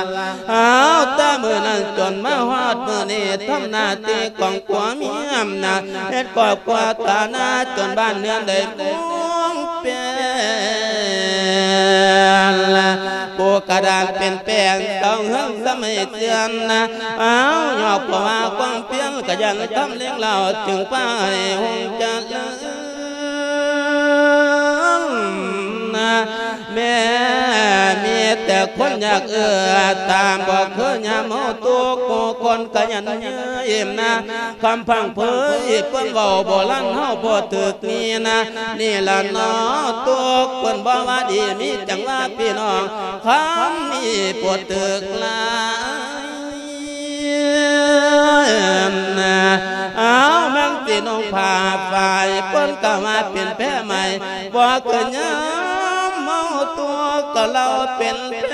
ເອົາແຕ່ມື້ນັ້ນຈົນມາຮອດມື້ນີ້ ທຳໜ້າທີ່ຂອງຜົວເມຍນະ ເຮັດຄອບຄົວຖານະ ຈົນບ້ານເຮືອນໄດ້ມຸງເປັນລະ ປູກະດານເປັນແປ້ນ ເສົາເຮືອນສະໄໝເຈື່ອນນະ ເອົາ ຍອກເພາະວ່າຄວາມພຽນ ຂະຫຍັນທຳເລັງລາວ ຈຶ່ງພາໃຫ້ຮຸ່ງຈະເລີນ ນະ ແມ່ມີແຕ່ຄົນຢາກເອື້ອຕາມ ບໍ່ຄືຍາມເຮົາທຸກ ຜູ້ຄົນຂະຫຍັນເຍີ້າອີ່ມນະ ຄຳພັງເຜີຍເພິ່ນເວົ້າໂບລານເຮົາບໍ່ຖືກນີ້ນະ ນີ້ລະເນາະ ທຸກເພິ່ນບໍ່ວ່າດີ ມີຈັ່ງວ່າພີ່ນ້ອງ ຄຳນີ້ບໍ່ຖືກລາຍນະ ເອົາ ມັນ ນຸ່ງຜ້າຝ້າຍ ເພິ່ນກໍວ່າເປັນແພໃໝ່ ບໍ່ເຄີຍຍາມເມົາຕົວ ກໍເລົ່າເປັນແພ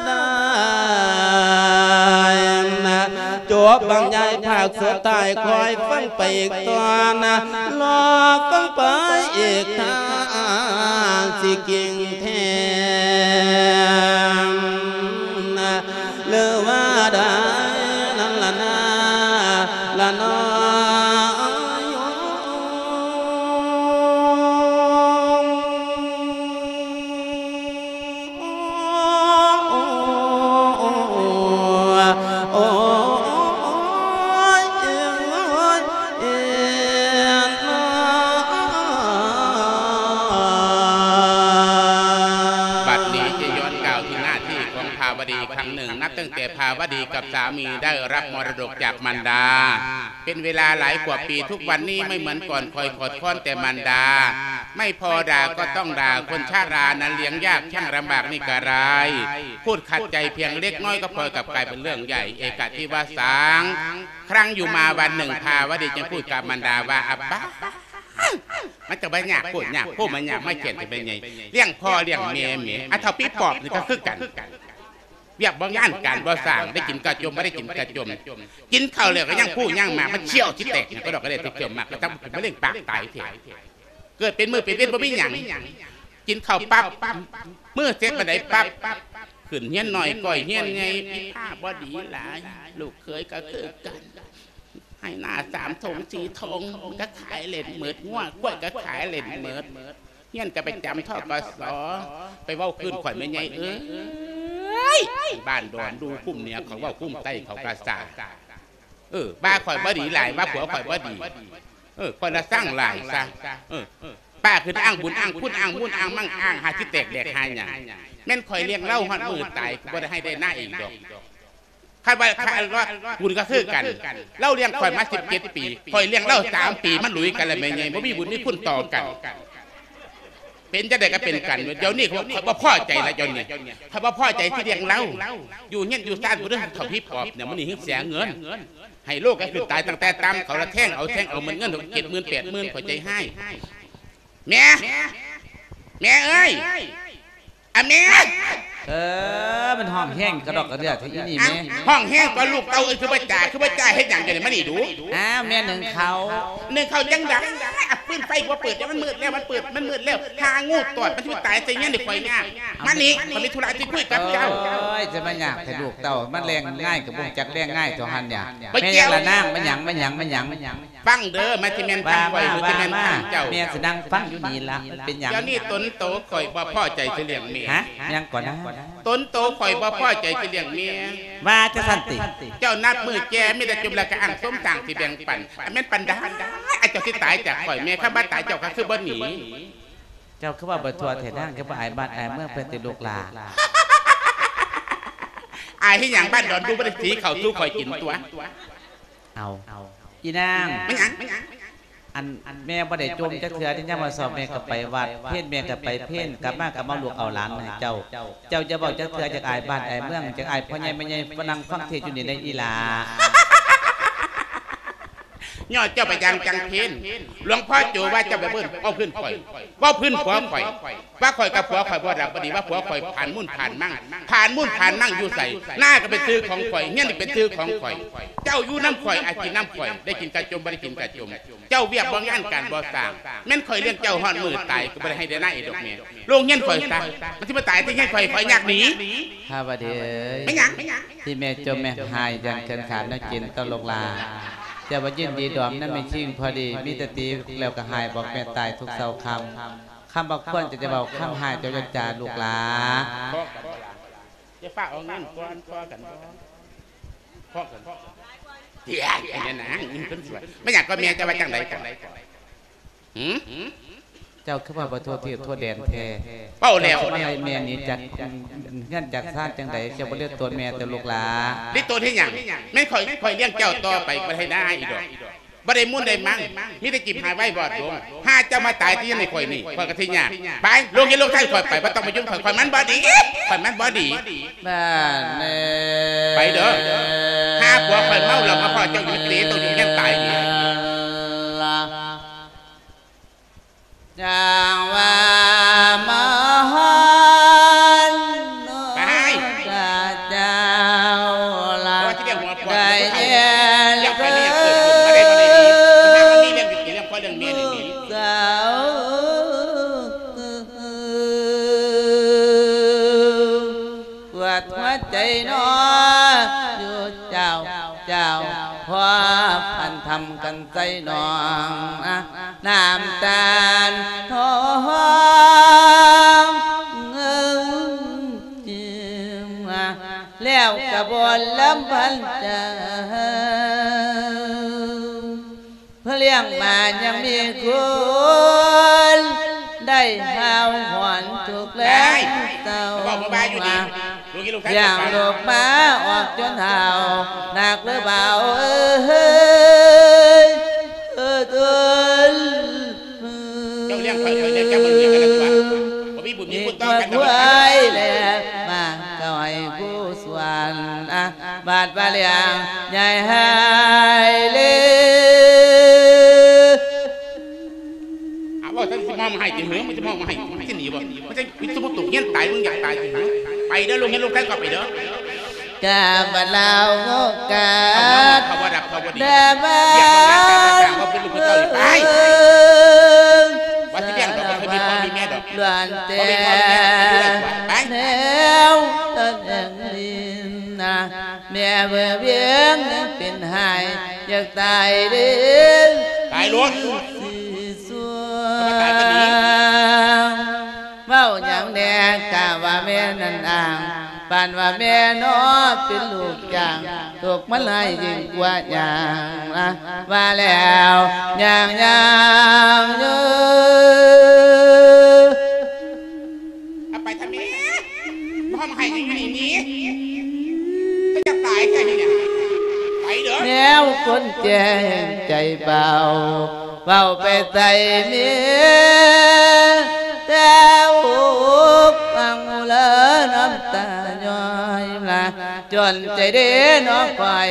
ໄດ້. ຈົບບັນຍາຍພາກສຸດທ້າຍ ຄອຍຟັງໄປອີກຕອນ ລໍຟັງໄປອີກ ຖ້າຊິເກັ່ງແທ້ ຫຼືວ່າໄດ້ນັ້ນລະນາ ລະນອ. ບັດນີ້ຈະຍ້ອນກ່າວເຖິງໜ້າທີ່ຂອງພາວະດີອີກຄັ້ງໜຶ່ງ, ນັບຕັ້ງແຕ່ພາວະດີກັບສາມີໄດ້ຮັບມໍລະດົກຈາກມານດາ ເປັນເວລາຫຼາຍກວ່າປີ, ທຸກວັນນີ້ໄມ່ເໝືອນກ່ອນ, ຄອຍຂອດຄອນແຕ່ມານດາ, ໄມ່ພໍດ່າກໍຕ້ອງດ່າ, ຄົນຊະລານັ້ນລ້ຽງຍາກ ຊ່າງລຳບາກນີ້ກະລາຍ, ພູດຂັດໃຈພຽງເລັກນ້ອຍກໍພອຍກັບກາຍເປັນເລື່ອງໃຫຍ່ ເອກະທິວະສັງ. ຄັ້ງຢູ່ມາວັນໜຶ່ງ ພາວະດີຈຶ່ງພູດກັບມານດາວ່າ ອາປາ ມັນຈະມາຍາກໂພດຍາກໂພ ມາຍາກມາແຄ້ນແທ້ແມ່ໃຫຍ່, ລ້ຽງພໍ່ລ້ຽງແມ່ແໝ, ອາເຖົ້າປີປອບນີ້ກໍຄືກັນ. ວຽກບໍ່ງານການບໍ່ສ້າງ, ໄດ້ກິນກະຈົ່ມ ບໍ່ໄດ້ກິນກະຈົ່ມ, ກິນເຂົ້າແລ້ວກໍຍັງຜູ້ຍັງໝາກ, ມັນຂ້ຽວຊິແຕກຫຍັງ ກະດອກກະເດຍແຕ່ຂ້ຽວໝາກ, ກະທັງເປັນມະເຮັງປາກຕາຍແທ້. ເກີດເປັນມື້ເປັນເວັນບໍ່ມີຫຍັງ, ກິນເຂົ້າປັບ, ມື້ເສັດປານໃດປັບ, ຂຶ້ນຮຽນນ້ອຍກ້ອຍຮຽນໃຫຍ່, ພິພາບໍ່ດີຫຼາຍ, ລູກເຂີຍກໍຄືກັນ. ໄຮ່ນາສາມທົ່ງສີ່ທົ່ງ ມັນກໍຂາຍເຫຼັ້ນໝົດ, ງົວຄວາຍກໍຂາຍເຫຼັ້ນໝົດ, ຮຽນກໍໄປຈຳ ທກສ, ໄປເວົ້າຄືນຂ້ອຍແມ່ໃຫຍ່ເອີຍ, ບ້ານດອນດູ ຄຸ້ມເໜືອເຂົາເວົ້າ, ຄຸ້ມໃຕ້ເຂົາກະສາ. ເອີ ວ່າຂ້ອຍບໍ່ດີຫຼາຍ, ວ່າຜົວຂ້ອຍບໍ່ດີ, ເອີ ຂ້ອຍລະຊັງຫຼາຍຊະ. ເອີ ປ້າຂຶ້ນອ້າງບຸນອ້າງຄຸນ ອ້າງມູນອ້າງມັ່ງ ອ້າງຫາຊິແຕກແດກຫາຫຍັງ, ແມ່ນຂ້ອຍລ້ຽງລາວຮອດມື້ຕາຍ ກໍບໍ່ໄດ້ໄຮ່ໄດ້ນາອີກດອກ. ຄັນວ່າ ຄັນວ່າບຸນກໍຄືກັນ, ລາວລ້ຽງຂ້ອຍມາສິບເຈັດປີ, ຂ້ອຍລ້ຽງລາວສາມປີ, ມັນລຸຍກັນລະແມ່ໃຫຍ່, ບໍ່ມີບຸນມີຄຸນຕໍ່ກັນ. ເປັນຈັ່ງໃດກໍເປັນກັນ, ດຽວນີ້ຂ້ອຍບໍ່ພໍໃຈລະ, ດຽວນີ້ຂ້ອຍບໍ່ພໍໃຈທີ່ລ້ຽງລາວ. ຢູ່ເຮືອນຢູ່ຊານບໍ່ໄດ້ເຂົ້າທີ່ປອບເນຍ, ມື້ນີ້ເຮັດເສຍເງິນ, ໄຮໂລກໍຂຶ້ນຕາຍຕັ້ງແຕ່ຕ່ຳ, ເຂົາລະແທງເອົາ ແທງເອົາໝົດເງິນ ເຈັດໝື່ນແປດໝື່ນ, ຂ້ອຍໃຈຮ້າຍ. ແມ່ ແມ່ເອີຍ ອາແມ່ ເອີ ມັນຮ້ອງແຮງກະດອກກະເດືອແທ້ອີນີ້ແມ່. ຮ້ອງແຮງຕົວະລູກເຕົ້າເອີຍ, ຄືບໍ່ຈາ ຄືບໍ່ຈາ ເຮັດຫຍັງຢູ່ນີ້ ມານີ້ດູ. ອ້າວ ແມ່ໜຶ້ງເຂົ້າ. ໜຶ້ງເຂົ້າຈັ່ງໃດ? ອ່ະ ຟືນໄຟບໍ່ເປີດ, ມັນມືດແລ້ວ ມັນເປີດ ມັນມືດແລ້ວ, ຫາງູຕອດ ມັນຊິໄປຕາຍໃສ່ເຮືອນໃຫ້ຂ້ອຍຍາກ. ມານີ້ ຂ້ອຍມີທຸລະຊິຄຸຍກັບເຈົ້າ. ໂອ້ຍ ຈະມາຍາກແທ້ລູກເຕົ້າ, ມັນແລງງ່າຍກໍບໍ່ຮູ້ຈັກແລງງ່າຍເທົ່າຫັ້ນຫຍັງ. ໄປແກ້ວ ລະນາງ ມາຫຍັງ ມາຫຍັງ ມາຫຍັງ ມາຫຍັງ? ຟັງເດີ ມັນຊິແມ່ນຄຳຂ້ອຍ ຫຼືຊິແມ່ນຄຳເຈົ້າ? ແມ່ຊິນັ່ງຟັງຢູ່ນີ້ລະ, ມັນເປັນຫຍັງ? ດຽວນີ້ຕົນໂຕຂ້ອຍບໍ່ພໍໃຈຊິລ້ຽງແມ່. ຫະ? ຫຍັງກ່ອນນະ? ຕົນໂຕຂ້ອຍບໍ່ພໍໃຈຊິລ້ຽງແມ່. ວ່າຈັ່ງຊັ້ນຕິ? ເຈົ້ານັບມື້ແກ່ ມີແຕ່ຈົ່ມແລ້ວກະອ້າງສົມສ້າງຊິແບ່ງປັນ, ອັນແມ່ນປານໃດ ອາ ເຈົ້າຊິຕາຍຈາກຂ້ອຍແມ່? ຄັນວ່າຕາຍເຈົ້າກໍຄືບໍ່ໜີ. ເຈົ້າຄືເວົ້າບໍ່ທົ່ວແທ້ນາງ, ຄືບໍ່ອາຍບ້ານອາຍເມືອງເພິ່ນຕິລູກຫຼ້າ? ອາຍເຮັດຫຍັງ? ບ້ານດອນດູບໍ່ໄດ້ສີເຂົ້າສູ່ຂ້ອຍກິນຕົວະ. ເອົາ ອີນາງ ແມ່ນຫຍັງ? ແມ່ນຫຍັງ? ອັນ ແມ່ບໍ່ໄດ້ຈົ່ມຈັກເທື່ອເດ້, ຍາມມາສອບແມ່ກໍໄປວັດ, ເພນແມ່ກໍໄປເພນ, ກັບມາກໍມາລູກເອົາຫຼານໃຫ້ເຈົ້າ. ເຈົ້າຢ່າເວົ້າຈັກເທື່ອ, ຈັກອາຍບ້ານອາຍເມືອງ, ຈັກອາຍພໍ່ໃຫຍ່ແມ່ໃຫຍ່, ມານັ່ງຟັງເທດຢູ່ນີ້ໄດ໋ອີຫຼ້າ. ຍ້ອນເຈົ້າໄປຢ່າງຈັງເພນ, ຫຼວງພໍ່ໂຈວ່າເຈົ້າໄປເບິ່ງເວົ້າພື້ນຂ້ອຍ, ເວົ້າພື້ນຜົວຂ້ອຍ. ວ່າຂ້ອຍກັບຜົວຂ້ອຍບໍ່ດັບບໍ່ດີ, ວ່າຜົວຂ້ອຍຜ່ານມູນຜ່ານມັ່ງ. ຜ່ານມູນຜ່ານມັ່ງຢູ່ໃສ? ນາກໍເປັນຊື່ຂອງຂ້ອຍ, ເຮືອນນີ້ເປັນຊື່ຂອງຂ້ອຍ. ເຈົ້າຢູ່ນຳຂ້ອຍ, ອາກິນນຳຂ້ອຍ, ໄດ້ກິນກະຈົ່ມ, ບໍ່ໄດ້ກິນກະຈົ່ມ. ເຈົ້າວຽກບໍ່ງານການບໍ່ສ້າງ. ແມ່ນຂ້ອຍລ້ຽງເຈົ້າຮອດມື້ຕາຍ, ກໍບໍ່ໄດ້ໄຮ່ໄດ້ນາອີກດອກແມ່. ໂລງເຮືອນຂ້ອຍຊະ, ມັນຊິມາຕາຍທີ່ເຮືອນຂ້ອຍ, ຂ້ອຍຍາກໜີ. ພາວະດີເອີຍ ແມ່ນຫຍັງ? ທີ່ແມ່ຈົ່ມແມ່ໄຫ້ຢ່າງເຂືອນຂາດແນວກິນຕໍ່ລູກຫຼ້າ. ເຈົ້າບໍ່ຍິນດີດອມນຳແມ່ຊິງພໍດີ, ມີແຕ່ຕີແລ້ວກໍໄຫ້, ບອກແມ່ຕາຍທຸກເຊົ້າຄ່ຳ. ຄຳບໍ່ຄວນເຈົ້າຈະເວົ້າ, ຄຳຮ້າຍເຈົ້າຢ່າຈາລູກຫຼ້າ. ພໍ່ກັນບໍ່ລະ? ຢ່າຟ້າວເອົາເງິນກ່ອນ, ພໍ້ກັນບໍ່? ພໍ້ກັນ. ເອີຍ ແມ່ນຫຍັງ? ແມ່ນຫຍັງກໍແມ່ ເຈົ້າວ່າຈັ່ງໃດກໍ? ຫື? ເຈົ້າຄືວ່າບໍ່ທົ່ວທີບທົ່ວແດນແທ້? ເວົ້າແລ້ວ ເຈົ້າມາໄລ່ແມ່ໜີຈາກເຮືອນຈາກຊານຈັ່ງໃດ? ເຈົ້າບໍ່ເລີດໂຕນແມ່ແຕ່ລູກຫຼ້າ. ເລີດໂຕນເຮັດຫຍັງ? ແມ່ນຂ້ອຍ, ຂ້ອຍລ້ຽງເຈົ້າຕໍ່ໄປ, ບໍ່ໄດ້ນາອີກດອກ. ບໍ່ໄດ້ມູນໄດ້ມັ່ງ, ມີແຕ່ຈິບຫາຍໄວ້ບອດລົງ. ຫາເຈົ້າມາຕາຍທີ່ເຮືອນໃຫ້ຂ້ອຍນີ້, ຂ້ອຍກໍຊິຍາກ. ໄປ, ລົງເຮືອນລົງຊານຂ້ອຍໄປ, ບໍ່ຕ້ອງມາຫຍຸ້ງຂ້ອຍ, ຂ້ອຍມັນບໍ່ດີ, ຂ້ອຍມັນບໍ່ດີ. ບ້ານເອີຍ ໄປເດີ. ຫາ ຜົວຂ້ອຍເມົາເຫຼົ້າມາພໍ້ເຈົ້າຢູ່ເຕະໂຕຢູ່ເຮືອນຕາຍນີ້ ຈາງວ່າມາຮອນ ໄປ ພະເຈົ້າລະ ໄດ້ແລະ ເລື່ອງໃຜເລື່ອງເກີດຂຶ້ນ ມາໄດ້ບໍ່ໄດ້ດີ ມັນມີເລື່ອງຢູ່ຕິ ເລື່ອງພໍ່ເລື່ອງແມ່ນີ້ດີ ສາວ ປວດຫົວໃຈໜໍ ຢູ່ເຈົ້າ ເຈົ້າ ພໍພັນທຳກັນໃສ່ໜອງ ນ້ຳຕານທອງ ແລ້ວກະບົນລຳພັນເຈົ້າ ເພື່ອລ້ຽງມາຍັງມີຄຸນ ໄດ້ຫາວຫອນທຸກແລງເສົ້າ ລ້ຽງລູກມາອອກຈົນເຖົ້າ ໜັກຫຼືເບົາເອີຍ ເອີຍ ເຈົ້າລ້ຽງຂ້ອຍ ຂ້ອຍລ້ຽງເຈົ້າ ບໍ່ມີບຸນມີຄຸນຕໍ່ກັນດອກ ແລະມາກໍໃຫ້ຜູ້ ສ່ວນ ອາ ບາດວ່າລ້ຽງໃຫຍ່ໃຫ້ເລີ ອາ ເວົ້າ ເຈົ້າຊິມອງມາໃຫ້ຕິເຫີ ມັນຊິມອງມາໃຫ້ ມັນຊິໜີບໍ່ ມັນຊິ ມີສົມມຸດຕົກຮຽນຕາຍ ມຶງຢາກຕາຍຕິເຫີ ໄປເດີ ລູກເຮັດລູກແທ້ກໍໄປເດີ ກາບລາວໂອກາດ ເອົາມາ ເຂົາບໍ່ດັບ ເຂົາບໍ່ດີ ແດ່ບ້ານ ວຽກງານການງານ ເຂົາເປັນລູກເຂົາເຈົ້ານີ້ ໄປ ວ່າຊິລ້ຽງດອກ ບໍ່ເຄີຍມີພໍ່ມີແມ່ດອກ ລ້ວນແຕ່ ບໍ່ມີພໍ່ມີແມ່ດອກ ໄປເລີຍ ໄປ ແນວຕະແໜ່ງ ລິນນະ ແມ່ເບີວຽງຍັງເປັນໄຫ້ ຢາກຕາຍເດ້ ຕາຍໂລດ ຊິສວງ ເວົ້າຫຍັງແດ່ ກະວ່າແມ່ນັ້ນອ້າງ ປານວ່າແມ່ນອ ເປັນລູກຈ້າງ ຕົກມາໄລ່ຍິ່ງກວ່າຍ່າງນະ ວ່າແລ້ວຍ່າງໆຢູ່ ເອົາໄປທຳແມ່ ບໍ່ໃຫ້ຫຍັງໃຫ້ໜີ ເຈົ້າຢາກຕາຍແທ້ນີ້ນະ ໄປເດີ ແນວຄົນແກ່ແຫ່ງໃຈເບົາ ເວົ້າໄປໃສ່ເມຍ ແຕ່ອົບອັ່ງອຸເລີ ນ້ຳຕາຍ້ອຍລະ ຈົນໃຈເດ້ນ້ອງຂ້ອຍ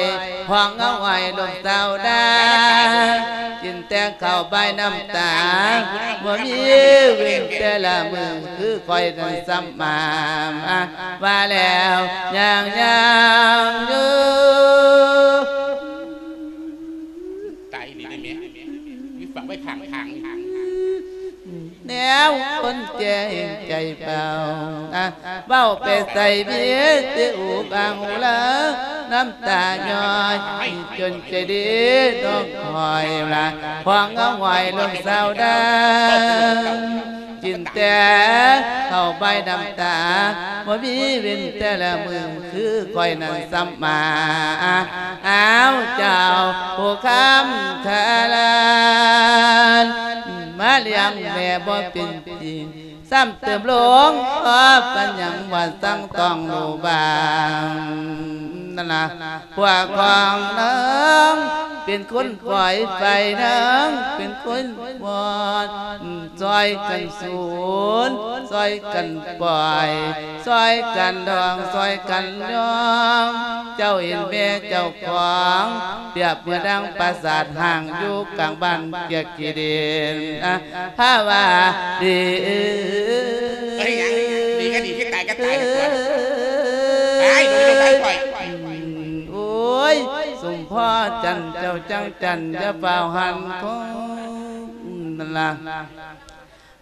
ຮ້ອງເອົາໄວ້ລູກສາວດາ ກິນແຕ່ເຂົ້າບາຍນ້ຳຕາ ບໍ່ມີເວັ້ນແຕ່ລະມື້ ຄືຂ້ອຍນັ້ນສ່ຳມາ ວ່າແລ້ວຍ່າງໆຢູ່ ຕາຍອີ່ຫຼີເດ້ແມ່ ມີຝັງໄວ້ຂ້າງທາງນີ້ ແນວຄົນແກ່ແຫ່ງໃຈເບົາ ເວົ້າໄປໃສ່ເມຍ ແຕ່ອຸບອັ່ງອຸເລີ ນ້ຳຕາຍ້ອຍ ຈົນໃຈເດ້ນ້ອງຂ້ອຍລະ ຂວາງເອົາໄວ້ລູກສາວດາ ກິນແຕ່ເຂົ້າບາຍນ້ຳຕາ ບໍ່ມີເວັ້ນແຕ່ລະມື້ ຄືຂ້ອຍນັ້ນສ່ຳມາ ອ້າວ ເຈົ້າຜູ້ຄຳຂະລານ ມາລ້ຽງແມ່ບໍ່ເປັນຈິງ ຊ້ຳເຕີມລົງ ເພາະປັນຫຍັງວ່າສັ່ງຕ້ອງຮູ້ບ້າງ ນັ້ນລະ ພວກຂອງນາງ ເປັນຄົນປ່ອຍໄຟ ນາງເປັນຄົນບອດ ຊ່ອຍກັນສູນ ຊ່ອຍກັນປ່ອຍ ຊ່ອຍກັນດອງ ຊ່ອຍກັນຍອງ ເຈົ້າເຫັນແມ່ເຈົ້າຂອງ ປຽບເໝືອນດັ່ງປາສາດຮ້າງ ຢູ່ກາງບ້ານກຽກຂີ້ດິນ ພາວາດີ ເອີຍ ເຮັດຫຍັງ ດີກໍດີ ຄືຕາຍກໍຕາຍ ໄປ ໄປ ໄປ ໄປ ໂອ້ຍ ສົມພໍຈັນ ເຈົ້າຈັງຈັນ ຢ່າຟ້າວຫັນຄົງ ນັ້ນລະ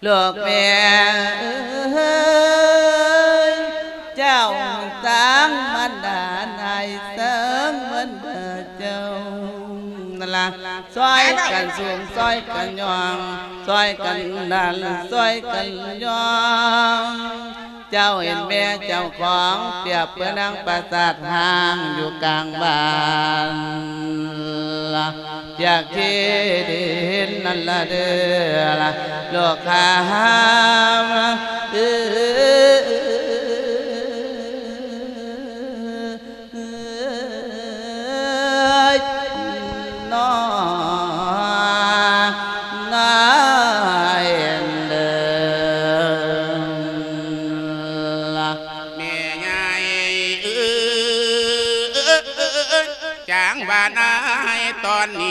ລູກແມ່ເອີຍ ເຈົ້າສັງມັນດານາຍ ສັງມັນດາເຈົ້າ ນັ້ນລະ ຊ່ອຍກັນສູງ ຊ່ອຍກັນຍ່ອງ ຊ່ອຍກັນດັນ ຊ່ອຍກັນຍ່ອງ ເຈົ້າເຫັນແມ່ເຈົ້າຂອງ ປຽບເໝືອນດັ່ງປາສາດຮ້າງ ຢູ່ກາງບ້ານ ຢາກທີ່ໄດ້ເຫັນນັ້ນລະເດີລະ ໂລກຄາມເອີຍ ນອ ນາຍເດີລະ ແມ່ໃຫຍ່ເອີຍ ຈ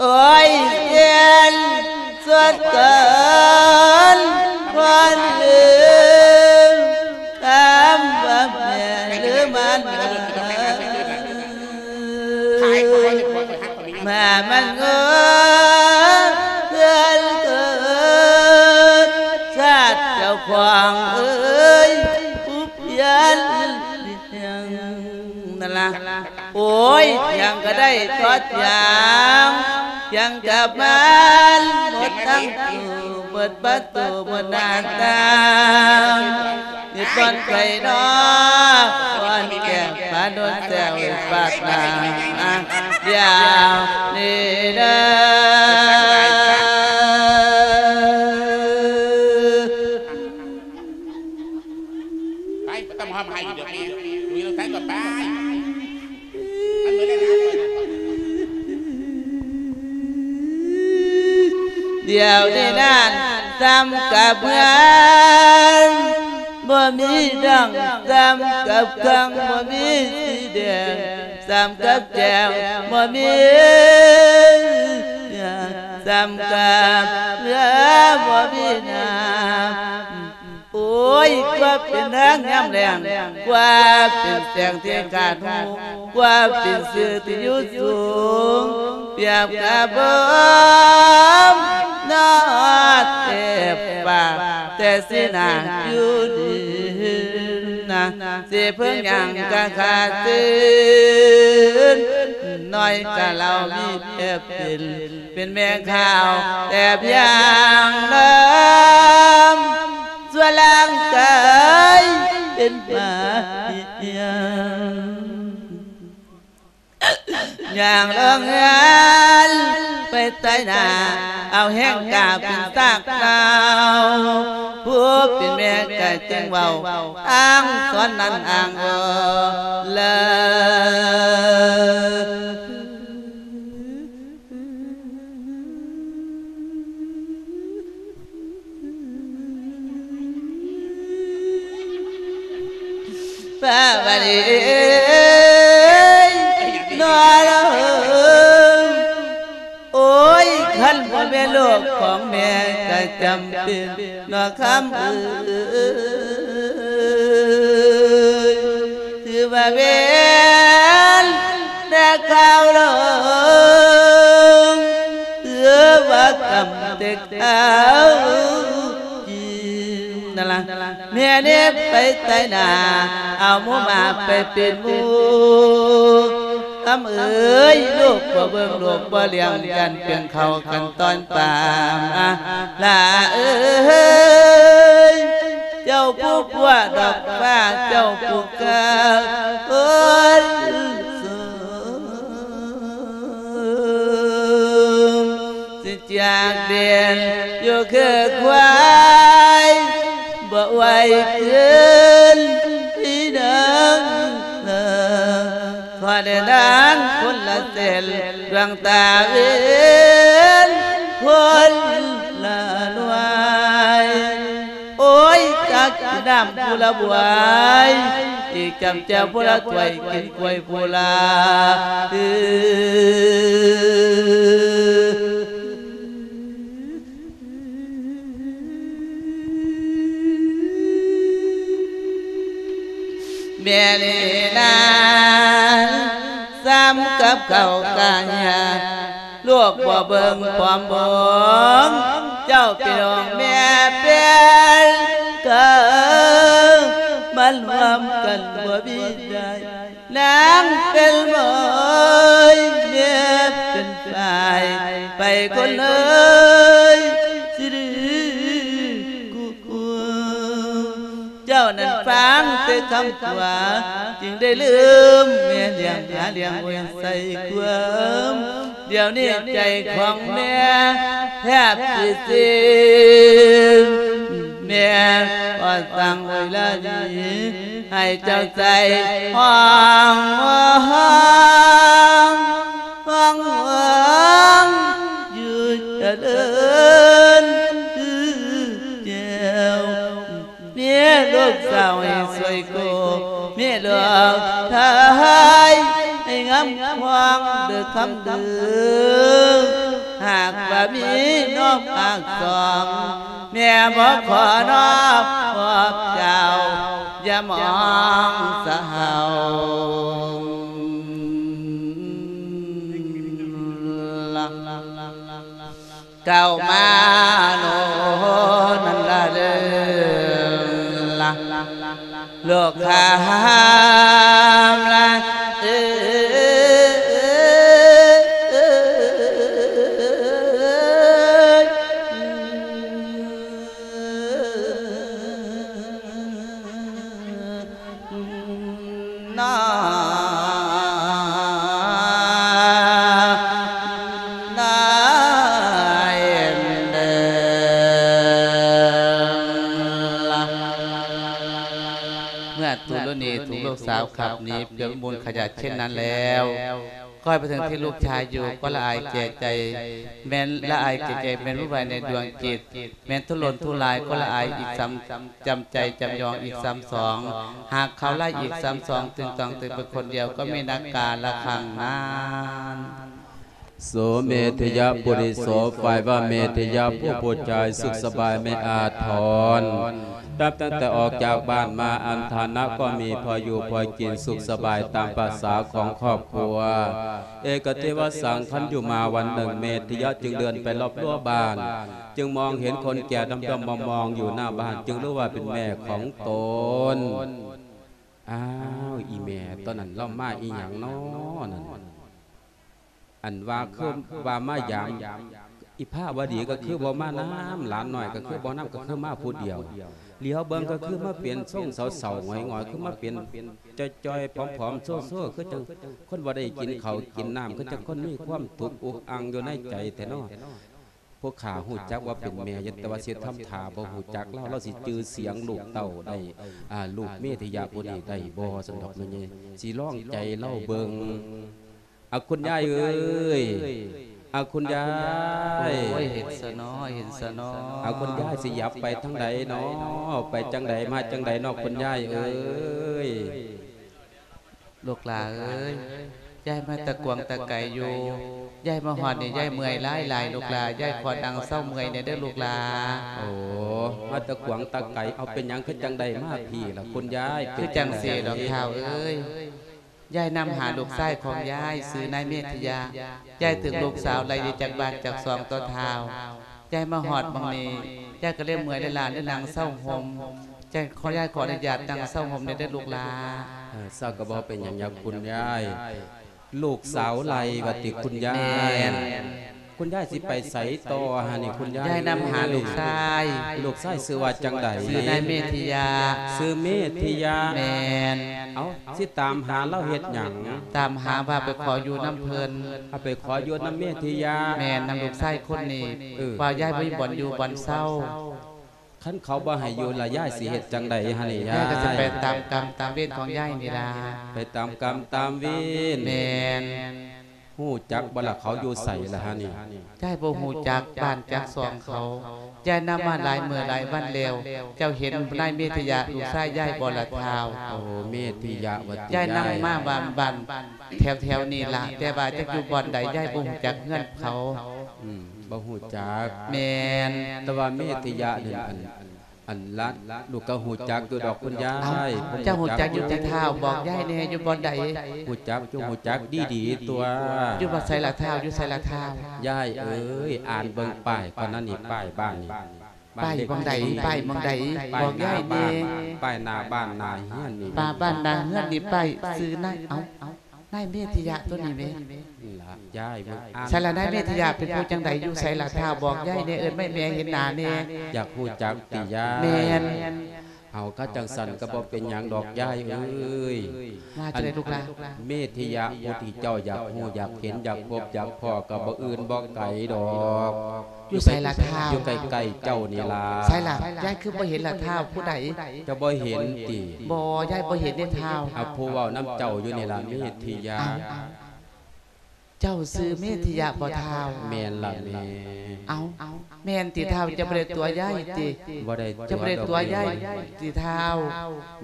ໂອ້ຍ ແກ່ນສົດເກີນຄວນລືມຄຳວ່າແມ່ຫຼືມັນເອີຍ ມາມັນເອີຍ ເກີນເກີນຊາດເຈົ້າຂອງເອີຍ ຜູ້ພຽນ ນັ້ນລະ ໂອ້ຍ ພຽງກະໄດ້ທອດຢາງ ພຽງກັບມັນໝົດທັງໂຕ ໝົດປະຕູ ໝົດໜ້າຕ່າງ ມີບ່ອນໄກນອກ ບ່ອນແກ້ງ ພາໂນນແຊວ ປາດໜ້າ ດຽວນີ້ເດີ. ໄປ ບໍ່ຕ້ອງມາຮ້ອງໄຫ້ອີກດອກແມ່ ຢູ່ນຳກັນກໍໄປ ມັນເໝືອນແລ້ວນະ ດຽວນີ້ນັ້ນ ສ່ຳກັບເຮືອນ ບໍ່ມີດັງ ສ່ຳກັບເຄື່ອງ ບໍ່ມີສີແດງ ສ່ຳກັບແຈງ ບໍ່ມີ ສ່ຳກັບເຮືອ ບໍ່ມີນ້ຳ ໂອ້ຍ ກວ່າເປັນທາງຍາມແລ້ງ ກວ່າເປັນແສງທີ່ຂາດຫູ ກວ່າເປັນຊື່ທີ່ຢູ່ສູງ ປຽບກັບເບິ່ງນອດແອບປາກ ແຕ່ສີໜ້າຢູ່ດີນະ ຊິເພິ່ງຫຍັງກະຂາດຕື່ນ ນ້ອຍກະເລົ່າມີແອບເປັນ ເປັນແມ່ຂາວແອບຢ່າງເດີມ ສ່ວນຮ່າງກາຍເປັນໝາເຫື່ອນ ຍ່າງລອງເຮືອນໄປໃຕ້ໜ້າ ເອົາແຮງກ້າເປັນຊາກເກົ່າ ຜູ້ເປັນແມ່ກະຈຶ່ງເວົ້າ ອ້າງສອນນັ້ນອ້າງບໍ່ເລີຍ. ຟ້າວະດີເອີຍ ນອລະເອີຍ ໂອ້ຍ ຄັນບໍ່ແມ່ນລູກຂອງແມ່ກະຈຳເປັນ ນອກຄຳເອີຍ ຖືວ່າເປັນແຕ່ຂ່າວລົງ ຖືວ່າກຳແຕ່ຂ່າວຈິງ ນັ້ນລະ ແມ່ເນັບໄປໃຕ້ໜ້າ ເອົາໝູ່ໝາໄປເປັນໝູ່ ຄຳເອີຍ ລູກບໍ່ເບິ່ງ ລູກບໍ່ລ້ຽງ ຢ້ານເປັນເຂົາກັນຕອນປາມ ລາເອີຍ ເຈົ້າຜູ້ກວ້າດອກຟ້າ ເຈົ້າຜູ້ກາຄົນສູງ ຊິຈາກເດັ່ນຢູ່ຄືຄວາຍ ບໍ່ໄຫວຄືນທີ່ເດີມ ຂໍເດີນທາງຄົນລະເສັ້ນ ດວງຕາເວັນຄົນລະໜ່ວຍ ໂອ້ຍ ຕັກກິນນ້ຳຜູ້ລະບວຍ ອີກຈຳແຈ່ວຜູ້ລະຖ້ວຍ ກິນກ້ວຍຜູ້ລະ ແມ່ນີ້ນາງ ສ່ຳກັບເຂົ້າກະເຫື່ອ ລູກບໍ່ເບິ່ງຄວາມບອງ ເຈົ້າເປັນຂອງແມ່ເປັນກາ ມັນຮ່ວມກັນບໍ່ມີໄດ້ ນາງເປັນໝອຍ ແມ່ເປັນຝ່າຍ ໄປຄົນເອີຍ ຊິດື້ກູກວມ ເຈົ້ານັ້ນຟັງແຕ່ຄຳຕົວະ ຈຶ່ງໄດ້ລືມແມ່ລ້ຽງ ຫາລ້ຽງໄວ້ໃສ່ຄວາມ ດຽວນີ້ໃຈຂອງແມ່ແທບຊິສິ້ນ ແມ່ກໍສັ່ງໄວ້ລະນີ້ ໃຫ້ເຈົ້າໃຈຫ້ອງ ຫ້ອງ ຫ້ອງ ຢູ່ຈະເລີນຄືແກ້ວ ເມຍລູກສາວໃຫ້ສວຍໂກ ເມຍລູກຊາຍໃຫ້ງາມຂວາງເດີຄຳເດີ. ຫາກວ່າມີນົກພາກສອງ ແມ່ບໍ່ຂໍນອບພວກເຈົ້າ ຢ່າມອງສະເຫົ່າ. ເຂົ້າມາໂນນັ້ນລະເດີລະ ລູກຄຳລະເອີຍ ນາ ນາເອັນເດີ ເມື່ອຕຸລະນີຖືກລູກສາວຂັບໜີເພື່ອມູນຂະຫຍະເຊັ່ນນັ້ນແລ້ວ ຄ່ອຍໄປເຖິງທີ່ລູກຊາຍຢູ່ ກໍລະອາຍແກ່ໃຈ ແມ່ນລະອາຍແກ່ໃຈ ແມ່ນວຸ່ນວາຍໃນດວງຈິດ ແມ່ນທຸລົນທຸລາຍ ກໍລະອາຍອີກຊ້ຳ ຈຳໃຈຈຳຍອງອີກຊ້ຳສອງ ຫາກເຂົາໄລ່ອີກຊ້ຳສອງ ຕຶງຕ້ອງຕຶງເປັນຄົນດຽວ ກໍມີນັກກາລະຄັ້ງນັ້ນ. ໂສເມທິຍະປຸລິໂສ ຝ່າຍວ່າເມທິຍະຜູ້ຜູ້ຊາຍສຸກສະບາຍໄມ່ອາດທອນ ນັບຕັ້ງແຕ່ອອກຈາກບ້ານມາ ອັນຖານະກໍມີພໍຢູ່ພໍກິນ ສຸກສະບາຍຕາມປະສາຂອງຄອບຄົວ ເອກະເທວະສັງ ຄັນຢູ່ມາວັນໜຶ່ງ ເມທິຍະຈຶ່ງເດີນໄປລອບຮົ້ວບ້ານ ຈຶ່ງມອງເຫັນຄົນແກ່ດຳໆມອງໆຢູ່ໜ້າບ້ານ ຈຶ່ງຮູ້ວ່າເປັນແມ່ຂອງຕົນ. ອ້າວ ອີ່ແມ່ຕົນນັ້ນລາວມາອີ່ຫຍັງນໍນັ້ນ ອັນວ່າຄືວ່າມາຢາມ ອີ່ພາວະດີກໍຄືບໍ່ມານຳ ຫຼານນ້ອຍກໍຄືບໍ່ນຳ ກໍຄືມາຜູ້ດຽວ ຫຼຽວເບິ່ງກໍຄືມາເປັນຊົງເສົ້າໆຫງອຍໆ ຄືມາເປັນຈ່ອຍໆຜອມໆໂຊໆ ຄືຈັ່ງຄົນບໍ່ໄດ້ກິນເຂົ້າກິນນ້ຳ ຄືຈັ່ງຄົນມີຄວາມທຸກອຸກອັ່ງຢູ່ໃນໃຈແທ້ນໍ. ພວກຂ້າຮູ້ຈັກວ່າເປັນແມ່ຢູ່ ແຕ່ວ່າຊິທຳທ່າບໍ່ຮູ້ຈັກລາວ ລາວຊິຈື່ສຽງລູກເຕົ້າໄດ້ ອາ ລູກເມທິຍະຜູ້ນີ້ໄດ້ບໍ່ ຊັ້ນດອກແມ່ໃຫຍ່ ຊິລອງໃຈລາວເບິ່ງ. ອາ ຄຸນຍາຍເອີຍ ອາ ຄຸນຍາຍ ໂອ້ຍ ເຫັນຊະເນາະ ເຫັນຊະເນາະ ອາ ຄຸນຍາຍຊິຫຍັບໄປທາງໃດນໍ ໄປຈັ່ງໃດມາຈັ່ງໃດນໍ ຄຸນຍາຍເອີຍ. ລູກຫຼ້າເອີຍ ຍາຍມາແຕ່ກວາງແຕ່ໄກຢູ່ ຍາຍມາຮອດນີ້ ຍາຍເມື່ອຍຫຼາຍໆ ລູກຫຼ້າ ຍາຍຂໍນັ່ງເຊົາເມື່ອຍແດ່ເດີລູກຫຼ້າ. ໂອ້ ມາແຕ່ກວາງແຕ່ໄກ ເອົາ ເປັນຫຍັງຄືຈັ່ງໄດ້ມາພີ້ລະຄຸນຍາຍ? ຄືຈັ່ງຊີ້ດອກທ້າວເອີຍ ຍາຍນຳຫາລູກຊາຍຂອງຍາຍ ຊື່ນາຍເມທິຍະ ຍາຍຖືກລູກສາວໄລ່ໜີຈາກບ້ານຈາກຊ່ອງຕົວະທ້າວ ຍາຍມາຮອດໝ່ອງນີ້ ຍາຍກໍເລີຍເມື່ອຍເລີຍລ້າ ເລີຍນັ່ງເຊົາຮົ່ມ ຍາຍຂໍ ຍາຍຂໍອະນຸຍາດນັ່ງເຊົາຮົ່ມແດ່ເດີລູກຫຼ້າ. ເອີ ເຊົາກໍບໍ່ເປັນຫຍັງດອກຄຸນຍາຍ ລູກສາວໄລ່ວ່າຕິຄຸນຍາຍ? ແມ່ນ. ຄຸນຍາຍຊິໄປໃສຕໍ່ຫັ້ນນີ້ຄຸນຍາຍ? ຍາຍນຳຫາລູກຊາຍ. ລູກຊາຍຊື່ວ່າຈັ່ງໃດ? ຊື່ນາຍເມທິຍະ. ຊື່ເມທິຍະ? ແມ່ນ. ເອົ້າ ຊິຕາມຫາລາວເຮັດຫຍັງ? ຕາມຫາວ່າໄປຂໍຢູ່ນຳເພິ່ນ. ເອົາ ໄປຂໍຢູ່ນຳເມທິຍະ? ແມ່ນ ນຳລູກຊາຍຄົນນີ້. ເອີ ວ່າຍາຍບໍ່ມີບ່ອນຢູ່ບ່ອນເຊົາ. ຄັນເຂົາບໍ່ໃຫ້ຢູ່ລະ ຍາຍຊິເຮັດຈັ່ງໃດຫັ້ນນີ້ຍາຍ? ຍາຍກໍຊິໄປຕາມກຳຕາມເວນຂອງຍາຍນີ້ລະ. ໄປຕາມກຳຕາມເວນ. ແມ່ນ. ຮູ້ຈັກບໍ່ລະ ເຂົາຢູ່ໃສລະຫັ້ນນີ້? ຍາຍບໍ່ຮູ້ຈັກບ້ານຈັກຊ່ອງເຂົາ. ຍາຍນຳມາຫຼາຍມື້ຫຼາຍວັນແລ້ວ. ເຈົ້າເຫັນນາຍເມທິຍະ ລູກຊາຍຍາຍບໍ່ລະທ້າວ? ໂອ້ ເມທິຍະວ່າຕິ? ຍາຍນຳມາບ້ານ ບ້ານແຖວໆນີ້ລະ ແຕ່ວ່າຈັກຢູ່ບ່ອນໃດ ຍາຍບໍ່ຮູ້ຈັກເຮືອນເຂົາ. ອືມ ບໍ່ຮູ້ຈັກ. ແມ່ນ. ແຕ່ວ່າເມທິຍະນັ້ນ ອັນ ອັນລະ ລູກກໍຮູ້ຈັກຢູ່ດອກຄຸນຍາຍ. ເອົ້າ ເຈົ້າຮູ້ຈັກຢູ່ຕິທ້າວ? ບອກຍາຍແດ່ ຢູ່ບ່ອນໃດ? ຮູ້ຈັກຢູ່ ຮູ້ຈັກດີໆຕົວະ. ຢູ່ບ່ອນໃສລະທ້າວ? ຢູ່ໃສລະທ້າວ? ຍາຍເອີຍ ອ່ານເບິ່ງປ້າຍກ່ອນນະນີ້ ປ້າຍບ້ານນີ້. ປ້າຍໝ່ອງໃດ? ປ້າຍໝ່ອງໃດ? ປ້າຍ ບອກຍາຍແດ່. ປ້າຍໜ້າບ້ານ ໜ້າເຮືອນນີ້. ປ້າຍບ້ານໜ້າເຮືອນນີ້ ປ້າຍຊື່ນາຍ ເອົ້າ ນາຍເມທິຍະຕົວນີ້ແມ່. ລະ ຍາຍເບິ່ງອ່ານ. ໃສລະນາຍເມທິຍະ ເປັນຜູ້ຈັ່ງໃດ ຢູ່ໃສລະທ້າວ? ບອກຍາຍແດ່ ເອີ້ນມາໃຫ້ແມ່ເຫັນໜ້າແດ່. ຢາກຮູ້ຈັກຕິຍາຍ? ແມ່ນ. ເອົາ ຄັນຈັ່ງຊັ້ນກໍບໍ່ເປັນຫຍັງດອກຍາຍເອີຍ. ວ່າຈັ່ງໃດລູກຫຼ້າ? ອັນເມທິຍະຜູ້ທີ່ເຈົ້າຢາກຮູ້ຢາກເຫັນຢາກພົບຢາກພໍ້ ກໍບໍ່ອື່ນບໍ່ໄກດອກ. ຢູ່ໃສລະທ້າວ? ຢູ່ໃກ້ໆເຈົ້ານີ້ລະ. ໃສລະ ຍາຍຄືບໍ່ເຫັນລະທ້າວ? ຜູ້ໃດ? ເຈົ້າບໍ່ເຫັນຕິ? ບໍ່ ຍາຍບໍ່ເຫັນເດ້ທ້າວ. ເອົາ ຜູ້ເວົ້ານຳເຈົ້າຢູ່ນີ້ລະ ເມທິຍະ. ເຈົ້າຊື່ເມທິຍະບໍ່ທ້າວ? ແມ່ນລະແມ່. ເອົ້າ ແມ່ນຕິທ້າວ? ເຈົ້າບໍ່ໄດ້ຕົວະຍາຍຕິ? ບໍ່ໄດ້ຕົວະ. ເຈົ້າບໍ່ໄດ້ຕົວະຍາຍຕິທ້າວ?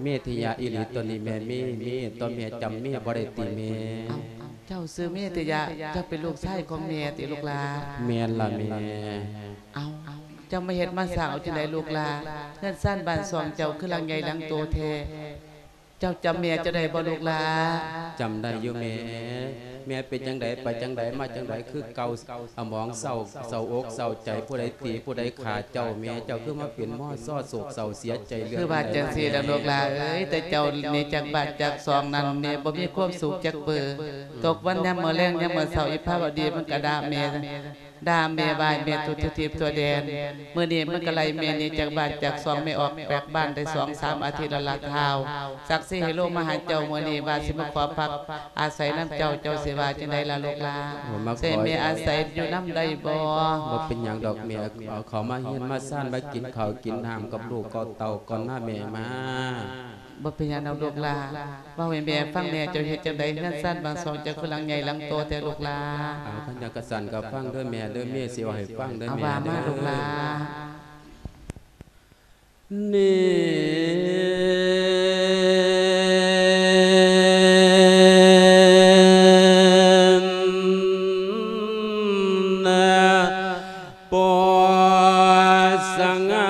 ເມທິຍະອີ່ຫຼີຕົວນີ້ແມ່. ເມ ເມ ຕົວະແມ່ ຈຳເມບໍ່ໄດ້ຕິແມ່? ເອົ້າ ເຈົ້າຊື່ເມດຕະຍະ ເຈົ້າເປັນລູກຊາຍຂອງແມ່ຕິລູກຫຼາ? ແມ່ນລະແມ່. ເອົ້າ ເຈົ້າມາເຮັດມາສ້າງເອົາຈັ່ງໃດລູກຫຼາ? ເຮືອນຊານບ້ານຊ່ອງເຈົ້າຄືຫຼັງໃຫຍ່ຫຼັງໂຕແທ້. ເຈົ້າຈຳແມ່ເຈົ້າໄດ້ບໍ່ລູກຫຼາ? ຈຳໄດ້ຢູ່ແມ່. ແມ່ເປັນຈັ່ງໃດ ໄປຈັ່ງໃດ ມາຈັ່ງໃດຄືເກົ່າ? ອາໝອງເສົ້າ ເສົ້າອົກເສົ້າໃຈ ຜູ້ໃດຕີຜູ້ໃດຂ້າເຈົ້າ ແມ່ເຈົ້າຄືມາເປັນມໍຊໍ້ໂສກເສົ້າເສຍໃຈເລື່ອງ ຄືວ່າຈັ່ງຊີ້ລະລູກຫຼາເອີຍ. ແຕ່ເຈົ້າໜີຈາກບ້ານຈາກຊ່ອງນັ້ນ ແມ່ບໍ່ມີຄວາມສຸກຈັກເປີ. ຕົກວັນຍາມມື້ແລງ ຍາມມື້ເຊົ້າ ອີພາວະດີມັນກະດ່າແມ່ ດ່າແມ່ ວ່າໃຫ້ແມ່ທຸກ ທົ່ວທິດທົ່ວແດນ. ມື້ນີ້ມັນກະໄລ່ແມ່ໜີຈາກບ້ານຈາກຊ່ອງ ແມ່ອອກຈາກບ້ານໄດ້ສອງສາມອາທິດແລ້ວລະທ້າວ. ສັກສີໃຫ້ລົງມາຫາເຈົ້າມື້ນີ້ ວ່າຊິມາຂໍພັກອາໄສນຳເຈົ້າ. ເຈົ້າຊິວ່າຈັ່ງໃດລະລູກຫຼາ? ໂອ້ ມາຂໍ ຊິໃຫ້ແມ່ອາໄສຢູ່ນຳໄດ້ບໍ່? ບໍ່ເປັນຫຍັງດອກແມ່. ເອົາເຂົ້າມາເຮືອນມາຊານ ມາກິນເຂົ້າກິນນ້ຳກັບລູກກັບເຕົ້າກ່ອນນະແມ່ ມາ. ບໍ່ເປັນຫຍັງດອກລູກຫຼາ. ເວົ້າໃຫ້ແມ່ຟັງແດ່ ເຈົ້າເຮັດຈັ່ງໃດ? ເຮືອນຊານບ້ານຊ່ອງເຈົ້າຄືຫຼັງໃຫຍ່ຫຼັງໂຕແທ້ລູກຫຼາ? ເອົາ ຄັນຈັ່ງຊັ້ນກະຟັງເດີແມ່ເດີ ແມ່ຊິເວົ້າໃຫ້ຟັງເດີ ເອົາ ແມ່ ວ່າມາລູກຫຼາ. ເດີ ນີ້ນະ ປົດສະຫງັ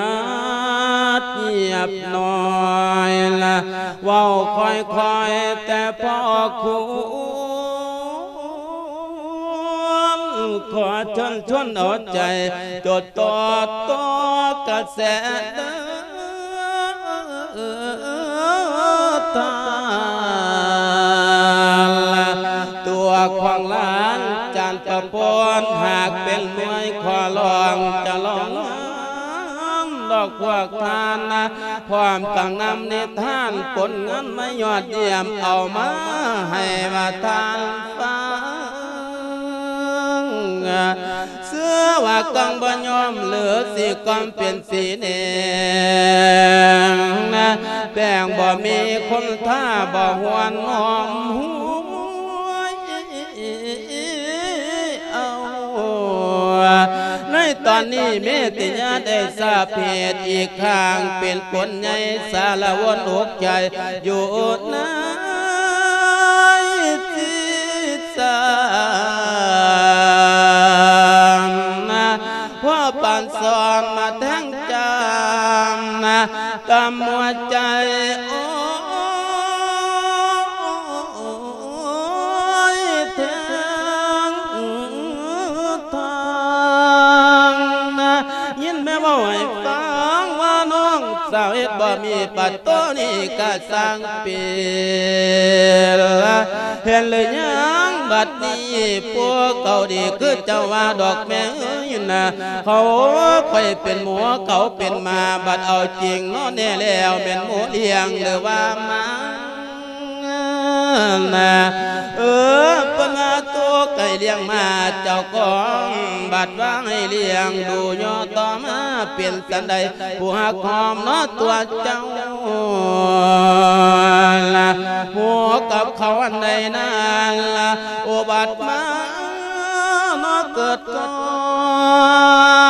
ດຮຽບຮ້ອຍລະ ເວົ້າຄ່ອຍໆແຕ່ພໍຄວນ ຂໍເຊີນຊວນເອົາໃຈ ຈົດຕໍ່ຕໍ່ກະແສເດີ ທ່ານລະ ຕົວຂອງຫຼານຈານປະພົນ ຫາກເປັນມວຍຂໍລອງຈະລອງນຳດອກພວກທ່ານນະ ພ້ອມກັບນຳນິທານຜົນງານມາຍອດຢ້ຽມ ເອົາມາໃຫ້ວ່າທ່ານຟັງ. ເຊື່ອວ່າກອງບໍ່ຍອມ ຫຼືຊິກອມເປັນສີແດງນະ ແປ້ງບໍ່ມີຄຸນຄ່າ ບໍ່ຫວນຫອມຫວຍເອົາ. ໃນຕອນນີ້ເມດຕະຍາໄດ້ສາເພດອີກຄັ້ງ ເປັນຄົນໃຫຍ່ສາລະວົນອົກໃຈ ຢູ່ໃນຈິດໃຈ ນະ ພໍປານສອນມາແທງຈາມນະ ຕຳຫົວໃຈ ໂອ້ຍ ແທງທາງນະ ຍິນແມ່ເວົ້າໃຫ້ຟັງວ່ານ້ອງ ສາວເຮັດບໍ່ມີປາໂຕນີ້ກະຊ່າງເປັນລະ ເຫັນຫຼືຍັງບັດນີ້ ພວກເຂົາດີຄືເຈົ້າວ່າດອກແມ່ເອີຍນະ ເຂົາຂ້ອຍເປັນໝູ ເຂົາເປັນໝາ ບັດເອົາຈິງເນາະແນ່ແລ້ວ ແມ່ນໝູລ້ຽງຫຼືວ່າໝາ ນະ ເອີ ເພິ່ນວ່າໂຕໄກ່ລ້ຽງມາເຈົ້າຂອງ ບັດວ່າໃຫ້ລ້ຽງດູຍໍຕໍ່ມາເປັນສັນໃດ ຜູ້ຮັກຫອມເນາະຕົວເຈົ້າລະ ໝູກັບເຂົາອັນໃດນັ້ນລະ ໂອບັດມາເນາະເກີດກ່ອ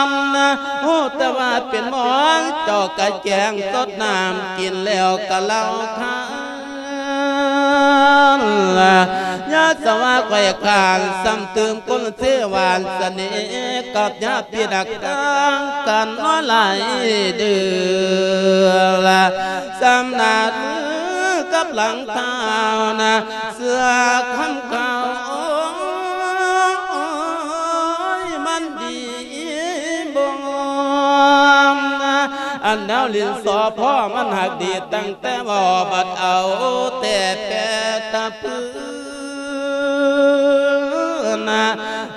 ນນະ ຮູ້ແຕ່ວ່າເປັນໝໍນ ເຈົ້າກະແຈງສົດນ້ຳກິນແລ້ວກະເຫຼົ້າຄາ ລະ ຍາສະວາໄຂຄານ ຊ້ຳຕື່ມກຸນເສຫວານສະເໜ່ ກັບຍາພິດດັກຕ່າງກັນນ້ອຍຫຼາຍເດືອນ ລະ ຊ້ຳໜ້າມືກັບຫຼັງເທົ້ານະ ເສື້ອຄຳຂາວ ໂອ້ຍ ມັນດີບໍ່ງາມນະ ອັນແນວຫຼິ້ນສໍພໍ່ມັນຫາກດີຕັ້ງ ແຕ່ວ່າບັດເອົາແຕ່ແປຕະປືນນະ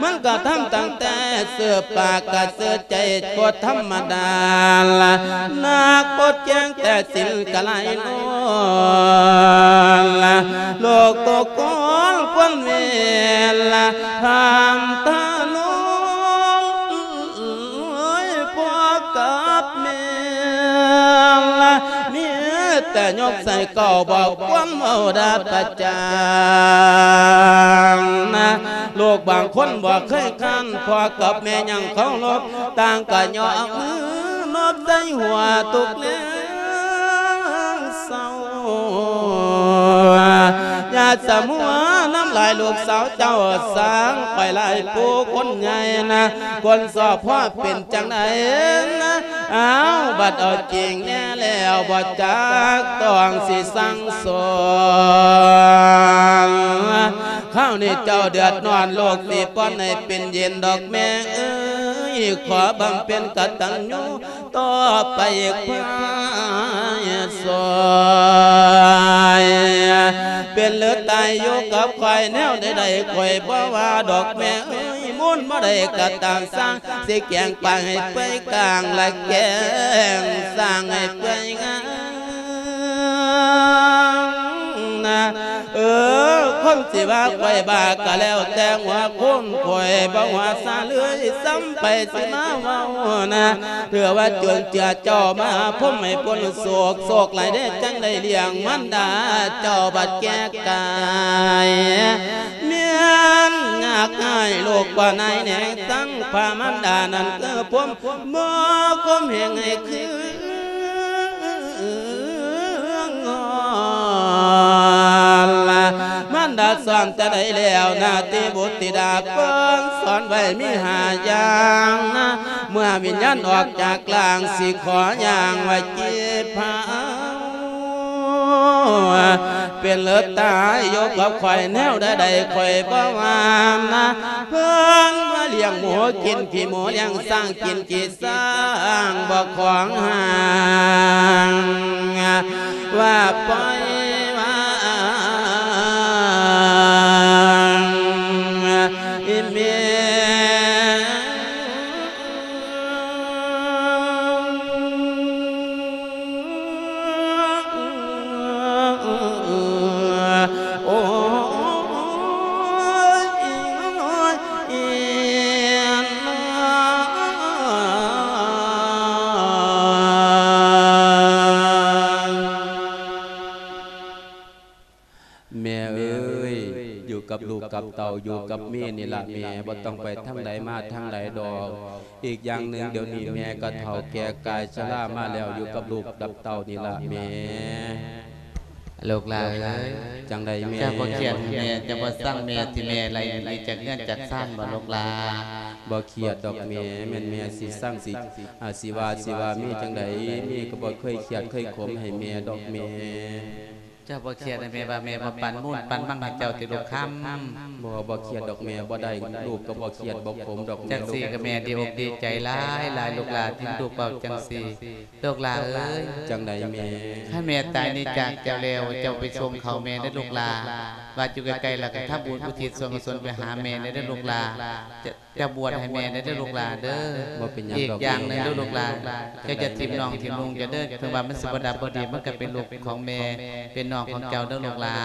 ມັນກະທຳຕັ້ງແຕ່ເສື້ອປາກກະເສື້ອໃຈບໍ່ທຳມະດາລະ ນັກບົດແຈ້ງແຕ່ສິນກະໄລນອນລະ ໂລກຕົກກອນຄວນເວລາ ທາມທະນອນ ໂອ້ຍ ພໍ່ກັບແມ່ລະ ມີແຕ່ຍົກໃສ່ເກົ້າ ບໍ່ຄວນເວົ້າດາປະຈານນະ ລູກບາງຄົນບໍ່ເຄີຍຄ້ານ ພໍ່ກັບແມ່ຍັງເຄົາລົບ ຕ່າງກະຍົກມືນົບໃສ່ຫົວທຸກແລງເສົ້າ ຢ່າສະມົວນຳ ຫຼາຍລູກສາວເຈົ້າຊ່າງໄປຫຼາຍຜູ້ຄົນໃຫຍ່ນະ ຄົນຊອບພໍ່ເປັນຈັ່ງໃດນະ ອ້າວ ບັດເອົາຈິງແນ່ແລ້ວບໍ່ຈັກຕ້ອງຊິສັ່ງສອນ ຄາວນີ້ເຈົ້າເດືອດຮ້ອນ ລູກຊິປ່ອນໃຫ້ເປັນເຢັນດອກແມ່ເອີຍ ຂໍບຳເພັນກະຕັນຍູ ຕໍ່ໄປພາຍຊ່ອຍ ເປັນຫຼືຕາຍຢູ່ກັບຂ້ອຍແນວໃດໆ ຂ້ອຍບໍ່ວ່າດອກແມ່ເອີຍ ມູນບໍ່ໄດ້ກະຕາມສ້າງ ຊິແກງປາໃຫ້ເປື່ອຍກາງ ລະແກງສ້າງໃຫ້ເປື່ອຍງາມນະ ເອີ ຄົນຊິວ່າຂ້ອຍບ້າກະແລ້ວແຕ່ຫົວຄົນ ຂ້ອຍບໍ່ວ່າຊະເລີຍ ສ່ຳໃຜຊິມາເວົ້ານະ ເທື່ອວ່າຈົນເຈືອເຈົ້າມາພົມໃຫ້ພົ້ນໂສກ ໂສກຫຼາຍເດ້ ຈັ່ງໄດ້ລ້ຽງມານດາເຈົ້າບັດແກ່ກາຍ ແມ່ນຍາກຫາຍລູກບໍ່ນາຍແນງ ທັງພາມານດານັ້ນຄືພົມ ບໍ່ຄົມແຮງໃຫ້ຄື ງອນລະ ມານດາສອນແຕ່ໃດແລ້ວນະ ຕິບຸດຕິດາເພິ່ນສອນໄວ້ມີຫ້າຢ່າງນະ ເມື່ອວິນຍານອອກຈາກຮ່າງ ຊິຂໍຢ່າງໄວ້ຈີບພາວ ເປັນເລີດຕາຍຢູ່ກັບຂ້ອຍແນວໃດໆ ຂ້ອຍບໍ່ວ່ານະ ເພິ່ນວ່າລ້ຽງໝູກິນຂີ້ໝູ ລ້ຽງຊ້າງກິນຂີ້ ສ້າງບໍ່ຂວາງທາງ ວ່າປ່ອຍວ່າອ້າງ ອີແມ່ ໂອ້ຍ ແມ່ເອີຍ ຢູ່ກັບລູກກັບເຕົ້າ ຢູ່ກັບເມນີ້ລະແມ່ ບໍ່ຕ້ອງໄປທາງໃດມາທາງໃດດອກ ອີກຢ່າງໜຶ່ງ ດຽວນີ້ແມ່ກໍເຖົ້າແກ່ກາຍຊະລາມາແລ້ວ ຢູ່ກັບລູກກັບເຕົ້ານີ້ລະແມ່. ລູກຫຼາເອີຍ ຈັ່ງໃດແມ່? ເຈົ້າບໍ່ຄຽດໃຫ້ແມ່ ເຈົ້າບໍ່ຊັງແມ່ ທີ່ແມ່ໄລ່ໜີຈາກເຮືອນຈາກຊານບໍ່ລູກຫຼາ? ບໍ່ຄຽດດອກແມ່ ແມ່ນແມ່ຊິຊັງ ຊິ ອາ ຊິວ່າ ຊິວ່າແມ່ຈັ່ງໃດ ແມ່ກໍບໍ່ເຄີຍຄຽດເຄີຍຂົມໃຫ້ແມ່ດອກແມ່. ເຈົ້າບໍ່ຄຽດໃຫ້ແມ່ວ່າແມ່ບໍ່ປັນມູນປັນມັງໃຫ້ເຈົ້າຕິລູກຄຳ? ບໍ່ ບໍ່ຄຽດດອກແມ່ ບໍ່ໄດ້ ລູກກໍບໍ່ຄຽດບໍ່ຂົມດອກແມ່. ຈັ່ງຊີ້ກໍແມ່ດີອົກດີໃຈຫຼາຍໆ ລູກຫຼາທີ່ລູກເວົ້າຈັ່ງຊີ້. ລູກຫຼາເອີຍ ຈັ່ງໃດແມ່? ຄັນແມ່ຕາຍໜີຈາກເຈົ້າແລ້ວ ເຈົ້າໄປສົ່ງເຂົ້າແມ່ເດີລູກຫຼາ ວ່າຢູ່ໃກ້ໆ ແລ້ວກໍທຳບຸນອຸທິດສ່ວນກຸສົນໄປຫາແມ່ເດີລູກຫຼາ. ເຈົ້າບວດໃຫ້ແມ່ແດ່ເດີລູກຫຼາເດີ. ບໍ່ເປັນຫຍັງດອກ ອີກຢ່າງໜຶ່ງເດີລູກຫຼາ ເຈົ້າຢ່າຖິ້ມນ້ອງຖິ້ມນຸ່ງເຈົ້າເດີ ເຖິງວ່າມັນຊິບໍ່ດັບບໍ່ດີ ມັນກໍເປັນລູກຂອງແມ່ ເປັນນ້ອງຂອງເຈົ້າເດີລູກຫຼາ.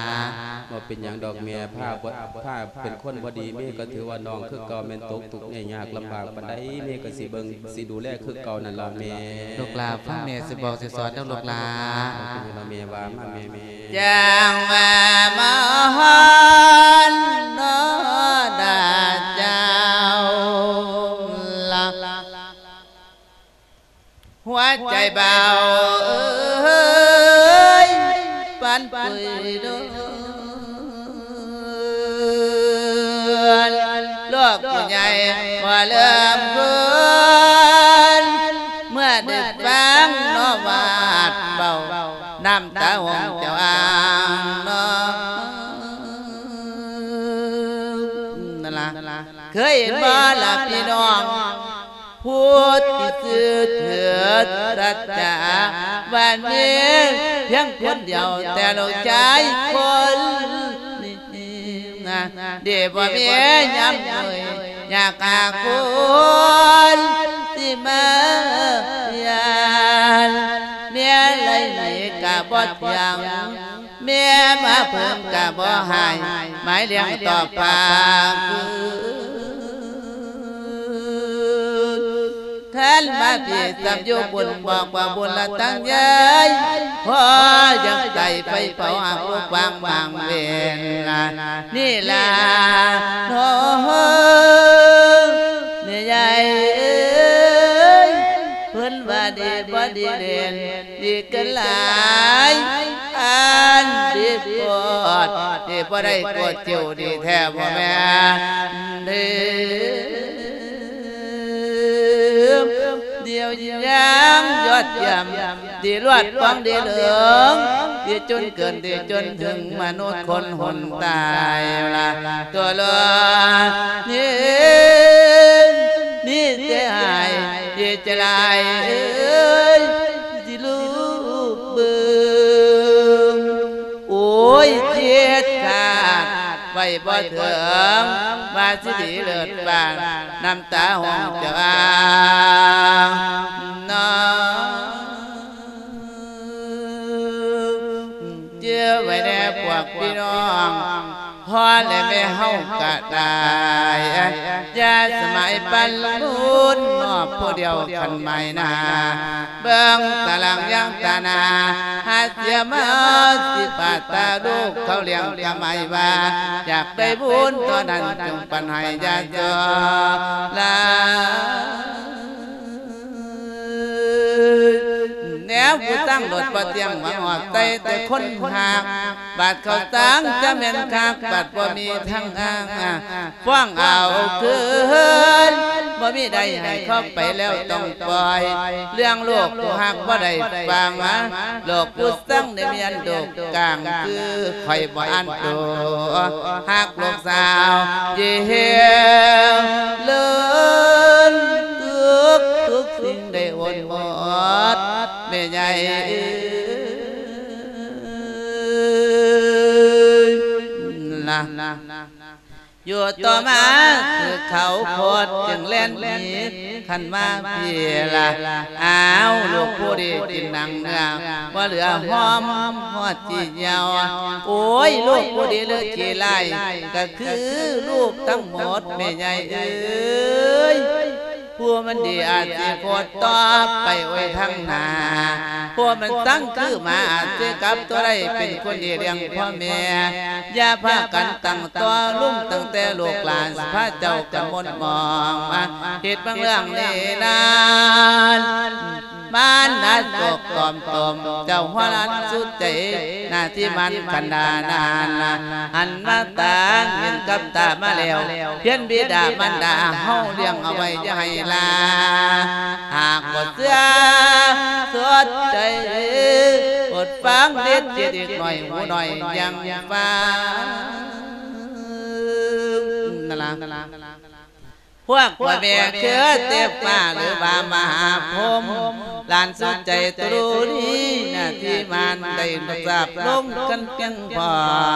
ບໍ່ເປັນຫຍັງດອກແມ່ ພາບໍ່ ພາເປັນຄົນບໍ່ດີ ແມ່ກໍຖືວ່ານ້ອງຄືເກົ່າ ແມ່ນຕົກທຸກຍາກລຳບາກປານໃດ ແມ່ກໍຊິເບິ່ງ ຊິດູແລຄືເກົ່ານັ້ນລະແມ່. ລູກຫຼາຟັງແມ່ຊິບອກຊິສອນເດີລູກຫຼາ. ບໍ່ເປັນຫຍັງດອກແມ່ ວ່າມາແມ່ ແມ່. ຈັ່ງວ່າມາຮອນນອດາເຈົ້າລະ ຫົວໃຈບ່າວເອີຍ ປັນປຸຍດົນ ລູກຜູ້ໃຫຍ່ບໍ່ເລີ່ມຄົນ ເມື່ອໄດ້ຟັງນອບວາດເວົ້າ ນ້ຳຕາຫົງເຈົ້າອ່າງນອ ນັ້ນລະ ເຄີຍເຫັນບໍ່ລະພີ່ນ້ອງ ຜູ້ທີ່ຊື່ເທີດສັດຈາ ວ່າມີພຽງຄົນດຽວແຕ່ລູກຊາຍຄົນນີ້ ດີບໍ່ມີຍາມເອີຍ ຢາກຫາຄົນທີ່ມາຢ້ານ ເມຍໄລ່ໜີກະບໍ່ທ່ຽງ ເມຍມາເພິ່ງກະບໍ່ຫາຍ ໝາຍລ້ຽງຕໍ່ປາກ ຄັນມາພີ້ຊ້ຳຢູ່ບຸນ ບອກວ່າບຸນລະຕັ້ງໃຫຍ່ ພໍຢາກໄດ້ໄຟເຜົາຫາກລູກວາງບາງເວນ ນີ້ລະເນາະ ແມ່ໃຫຍ່ເອີຍ ເພິ່ນວ່າດີບໍ່ດີເດັ່ນ ດີເກີນຫຼາຍ ອັນດີໂພດ ທີ່ບໍ່ໄດ້ກວດຄິວດີແທ້ບໍ່ແມ່ນເດີ ດຽວຍາມຍອດຢ້ຽມ ດີລວດຟອງດີເຫຼືອງ ດີຈົນເກີນດີຈົນເຖິງ ມະນຸດຄົນຫົນຕາຍລະ ຕົວລອດນີ້ ມີແຕ່ອາຍເຈດຈະລາຍເອີຍ ຊິລູບເບິ່ງ ໂອ້ຍ ເຈັບຂາດໄວ້ບໍ່ເຖິງ ວ່າຊິດີເລີດປານ ນ້ຳຕາຫ້ອງຈະອາງນອງ ເຈື່ອໄວ້ແດ່ພວກພີ່ນ້ອງ ພໍ່ແລະແມ່ເຮົາກະຕາຍ ຢ່າສະໝາຍປັນບຸນ ມອບຜູ້ດຽວຄັນໝາຍໜ້າ ເບິ່ງຕາລາງຢ່າງຕາໜ້າ ຫາເສຍມາສິບາດຕາລູກເຂົາລ້ຽງກະໝາຍວ່າ ຢາກໄດ້ບຸນເທົ່ານັ້ນ ຈົ່ງປັນໃຫ້ຢ່າສໍລາ ແນວຜູ້ຕັ້ງລົດບໍ່ຕຽງຫວັງອອກໃສ່ແຕ່ຄົນຮັກ ບາດເຂົ້າສາງຈະແມ່ນຄັກ ບາດບໍ່ມີທາງອ້າງ ຟ້ອງເອົາຄືນ ບໍ່ມີໃດໃຫ້ເຂົາໄປແລ້ວຕ້ອງປ່ອຍ ເລື່ອງໂລກຜູ້ຮັກບໍ່ໄດ້ຟັງ ໂລກຜູ້ຊັງໄດ້ມີອັນໂດກກາງ ຄືຂ້ອຍບໍ່ອ່ານໂຕ ຮັກລູກສາວເຢັນເລີນ ທຸກທຸກສິ່ງໄດ້ໂອນໝົດ ແມ່ໃຫຍ່ເອີຍ ນະ ຢູ່ຕໍ່ມາຄືເຂົາໂພດຈຶ່ງແລ່ນໜີ ຄັນມາພີ້ລະ ອ້າວ ລູກຜູ້ດີກິນໜັງເນື້ອ ບໍ່ເຫຼືອຫອມຮອດຈີ່ຍ່ຽວ ໂອ້ຍ ລູກຜູ້ດີເລີດຂີ້ລ້າຍ ກະຄືລູກທັງໝົດ ແມ່ໃຫຍ່ເອີຍ ຜູ້ມັນດີອາດຊິໂຄດຕໍ່ໄປໂອຍທາງໜ້າ ຜູ້ມັນຊັງຄືໝາອາດຊິກັບຕົວໄດ້ ເປັນຄົນດີລ້ຽງພໍ່ແມ່ ຢ່າພາກັນຕັ້ງຕໍ່ ລຸມຕັ້ງແຕ່ລູກຫຼານ ພາເຈົ້າກັນມົນໝອງ ເຮັດບາງເລື່ອງນີ້ນັ້ນ ມານນະໂສກຕອມຕົມ ເຈົ້າຫົວລ້ານສຸດໃຈ ໜ້າທີ່ມັນຄັນດານານ ຫັນມາຕາເຫັນກັບຕາມາແລ້ວ ພຽນບິດາມານດາເຮົາລ້ຽງເອົາໄວ້ຢ່າໃຫ້ລາ ຫາກບໍ່ເຊື່ອສຸດໃຈ ອົດຟັງເດັດເຈັດອີກໜ້ອຍ ຫູໜ້ອຍຍັງຟັງ ນັ້ນລະ ພວກພໍ່ແມ່ຄືເທບຟ້າ ຫຼືວ່າມະຫາພົມ ຫຼານສຸດໃຈຕະລຸດີ ໜ້າທີ່ມານໄດ້ຮັບຊາບລົງກັນພຽງພ້ອ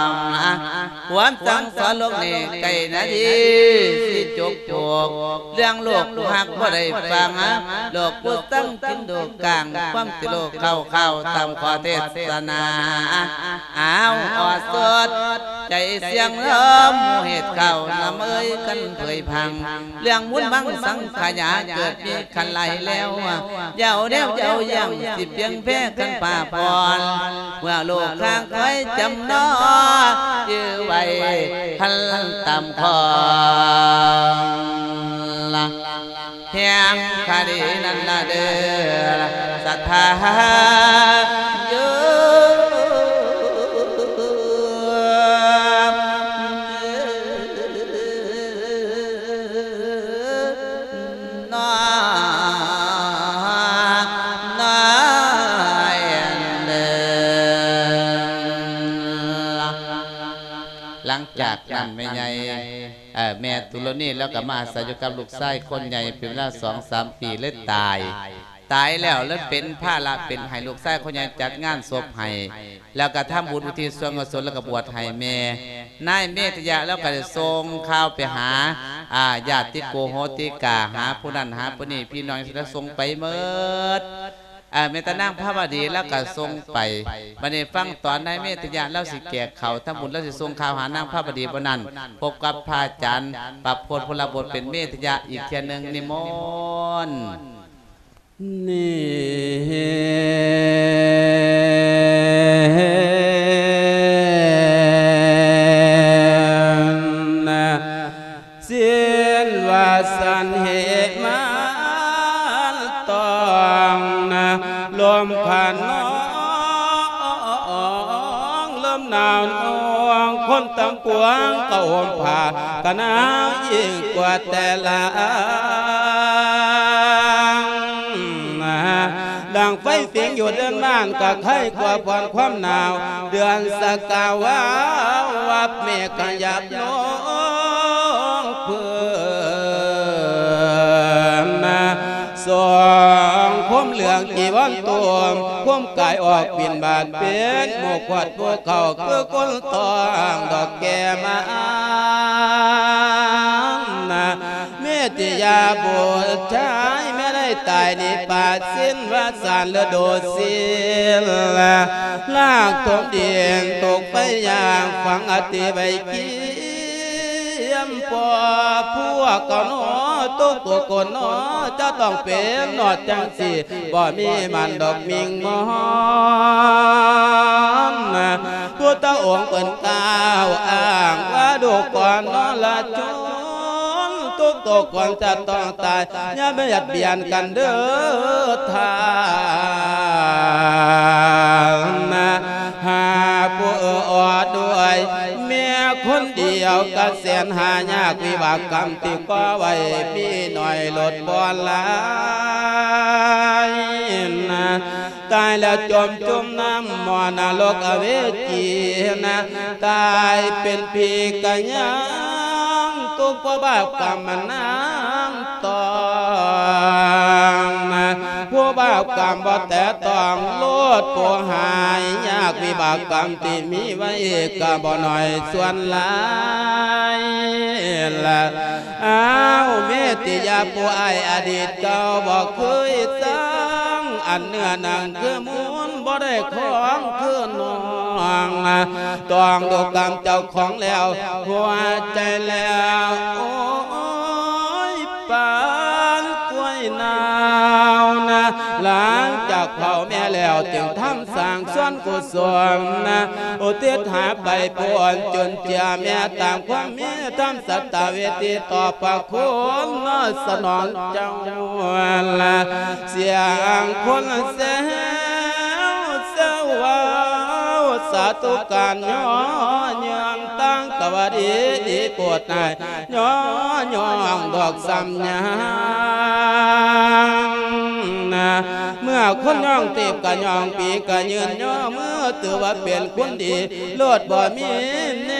ມ ຄວາມສັ່ງສອນໂລກນີ້ໃກ້ນາທີຊິຈົບໂພກ ເລື່ອງໂລກຜູ້ຮັກບໍ່ໄດ້ຟັງ ໂລກຜູ້ຊັງກິນໂດກາງ ຄວາມຕິໂລກເຂົ້າເຂົ້າຕາມຂໍ້ເທດສະໜາ ອ້າວ ອອດສົດ ໃຈສຽງເລີ່ມເຮັດເຂົ້າ ນຳເອີຍກັນເຜີຍພັງ ເລື່ອງບຸນບັງສັງຂະຍາ ເກີດມີຄັນຫຼາຍແລ້ວ ຢ່າເອົາແນວຢ່າເອົາຢ່າງ ຊິພຽງແພ້ຄັນພາຜ່ອນ ເມື່ອໂລກຂ້າງຄອຍຈຳນອ ຈື່ໄວ້ຄັນຕາມຄອງລະ ແຫ່ງຄະດີນັ້ນລະເດີ ສັດທາໂຍມເອີຍ ນ້ອຍເດີ. ຫຼັງຈາກນັ້ນແມ່ໃຫຍ່ ເອີ ແມ່ຕຸລະນີລາວກໍມາອາໄສຢູ່ກັບລູກຊາຍຄົນໃຫຍ່ເປັນເວລາສອງສາມປີ ເລີຍຕາຍ. ຕາຍແລ້ວ ເລີຍເປັນພາລະເປັນໃຫ້ລູກຊາຍຄົນໃຫຍ່ຈັດງານສົບໃຫ້ ແລ້ວກໍທຳບຸນອຸທິດສ່ວນກຸສົນ ແລ້ວກໍບວດໃຫ້ແມ່. ນາຍເມດຕະຍະລາວກໍໄດ້ສົ່ງຂ່າວໄປຫາ ອາ ຍາດຕິໂກໂຫຕິກາ ຫາຜູ້ນັ້ນຫາຜູ້ນີ້ ພີ່ນ້ອງທີ່ລາວສົ່ງໄປໝົດ. ເອີ ແມ່ນຕານາງພາວະດີລາວກໍສົ່ງໄປ. ບັດນີ້ຟັງຕອນນາຍເມດຕະຍະລາວຊິແຈກເຂົ້າທຳບຸນ ລາວຊິສົ່ງຂ່າວຫານາງພາວະດີບໍ່ນັ້ນ ພົບກັບພະອາຈານປະພົດ ພົນລະບົດ ເປັນເມດຕະຍະອີກເທື່ອໜຶ່ງ ນິມົນ. ນີ້ ສິນວ່າສັນເຫມານຕອງນະ ລົມຂະນອງ ລົມໜາວນອງ ຄົນທັງປວງກໍໂຮມຜ້າກະໜາວຍິ່ງກວ່າແຕ່ລະ ດັ່ງໄຟຝິງຢູ່ເດືອນບ້ານກໍໄຄກວ່າຜ່ອນຄວາມໜາວ ເດືອນສະກາວາວວັບເມກຂະຫຍັບລົງເພິ່ນ ສອງຄົມເຫຼືອງຈີວອນໂຕມ ຄົມກາຍອອກບິນບາດເປັນໝູ່ຂວດໝູ່ເຂົ້າ ຄືຄົນຕ້ອງດອກແກ້ມາ ເມດຕິຍາບຸດຊາຍ ແມ່ໄດ້ຕາຍນິບປາດສິ້ນວາສານລະດູສິນ ລາກຖົມດິນຕົກໄປຢ່າງຝັງອະຕິໄວກີ ຽມພໍ່ພວກເຂົາໜໍ ທຸກໆຄົນໜໍ ຈະຕ້ອງເປັນນອດຈັ່ງຊີ້ ບໍ່ມີມັນດອກມິ່ງມອນ ພຸດທະອົງເພິ່ນກ່າວອ້າງວ່າ ດູກ່ອນນອລະຊົນ ທຸກໆຄົນຈະຕ້ອງຕາຍ ຢ່າບຽດບຽນກັນເດີທ່ານ ຫາຜູ້ອອດດ້ວຍ ເມຍຄົນດຽວກະແສນຫາຍາກ ວິບາກກຳທີ່ກໍ່ໄວ້ມີໜ້ອຍໂລດບໍ່ຫຼາຍນະ ຕາຍແລ້ວຈົມຈຸ່ມນ້ຳໝໍ້ນະລົກອະເວຈີນະ ຕາຍເປັນຜີກະຍັງ ທຸກເພາະບາບກຳມັນນຳ ຕ້ອງນະ ຜູ້ບາບກຳບໍ່ແຕະຕ້ອງໂລດ ຜູ້ຫາຍຍາກ ວິບາກກຳທີ່ມີໄວ້ກະບໍ່ໜ້ອຍສ່ວນຫຼາຍລະ ອ້າວ ເມດຕິຍາຜູ້ອ້າຍອະດີດເກົ່າບໍ່ເຄີຍສັງ ອັນເນື້ອໜັງຄືມູນບໍ່ໄດ້ຂອງຄືນ້ອງ ຕ້ອງດູກຳເຈົ້າຂອງແລ້ວ ຫົວໃຈແລ້ວ ໂອ້ຍ ປານກ້ວຍໜາວນະ ຫຼັງຈາກເຜົາແມ່ແລ້ວ ຈຶ່ງທຳສ້າງສ່ວນກຸສົນນະ ອຸທິດຫາໄປຜູ້ອ່ອນຈຸນເຈືອແມ່ ຕາມຄວາມມີທຳສັດຕາເວທີ ຕໍ່ພະຄຸນສະໜອງເຈົ້າລະ ສຽງຄົນແຊວ ແຊວເວົ້າ ສາທຸການຍໍຍືນ ຕັ້ງກະວ່າດີ ດີໂປດໃຫ້ ຍໍຍ້ອງດອກຊ້ຳຍັງນະ ເມື່ອຄົນຍ້ອງຕີບກະຍ້ອງປີກະຍື່ນຍໍມື ຖືວ່າເປັນຄົນດີ ໂລດບໍ່ມີແນ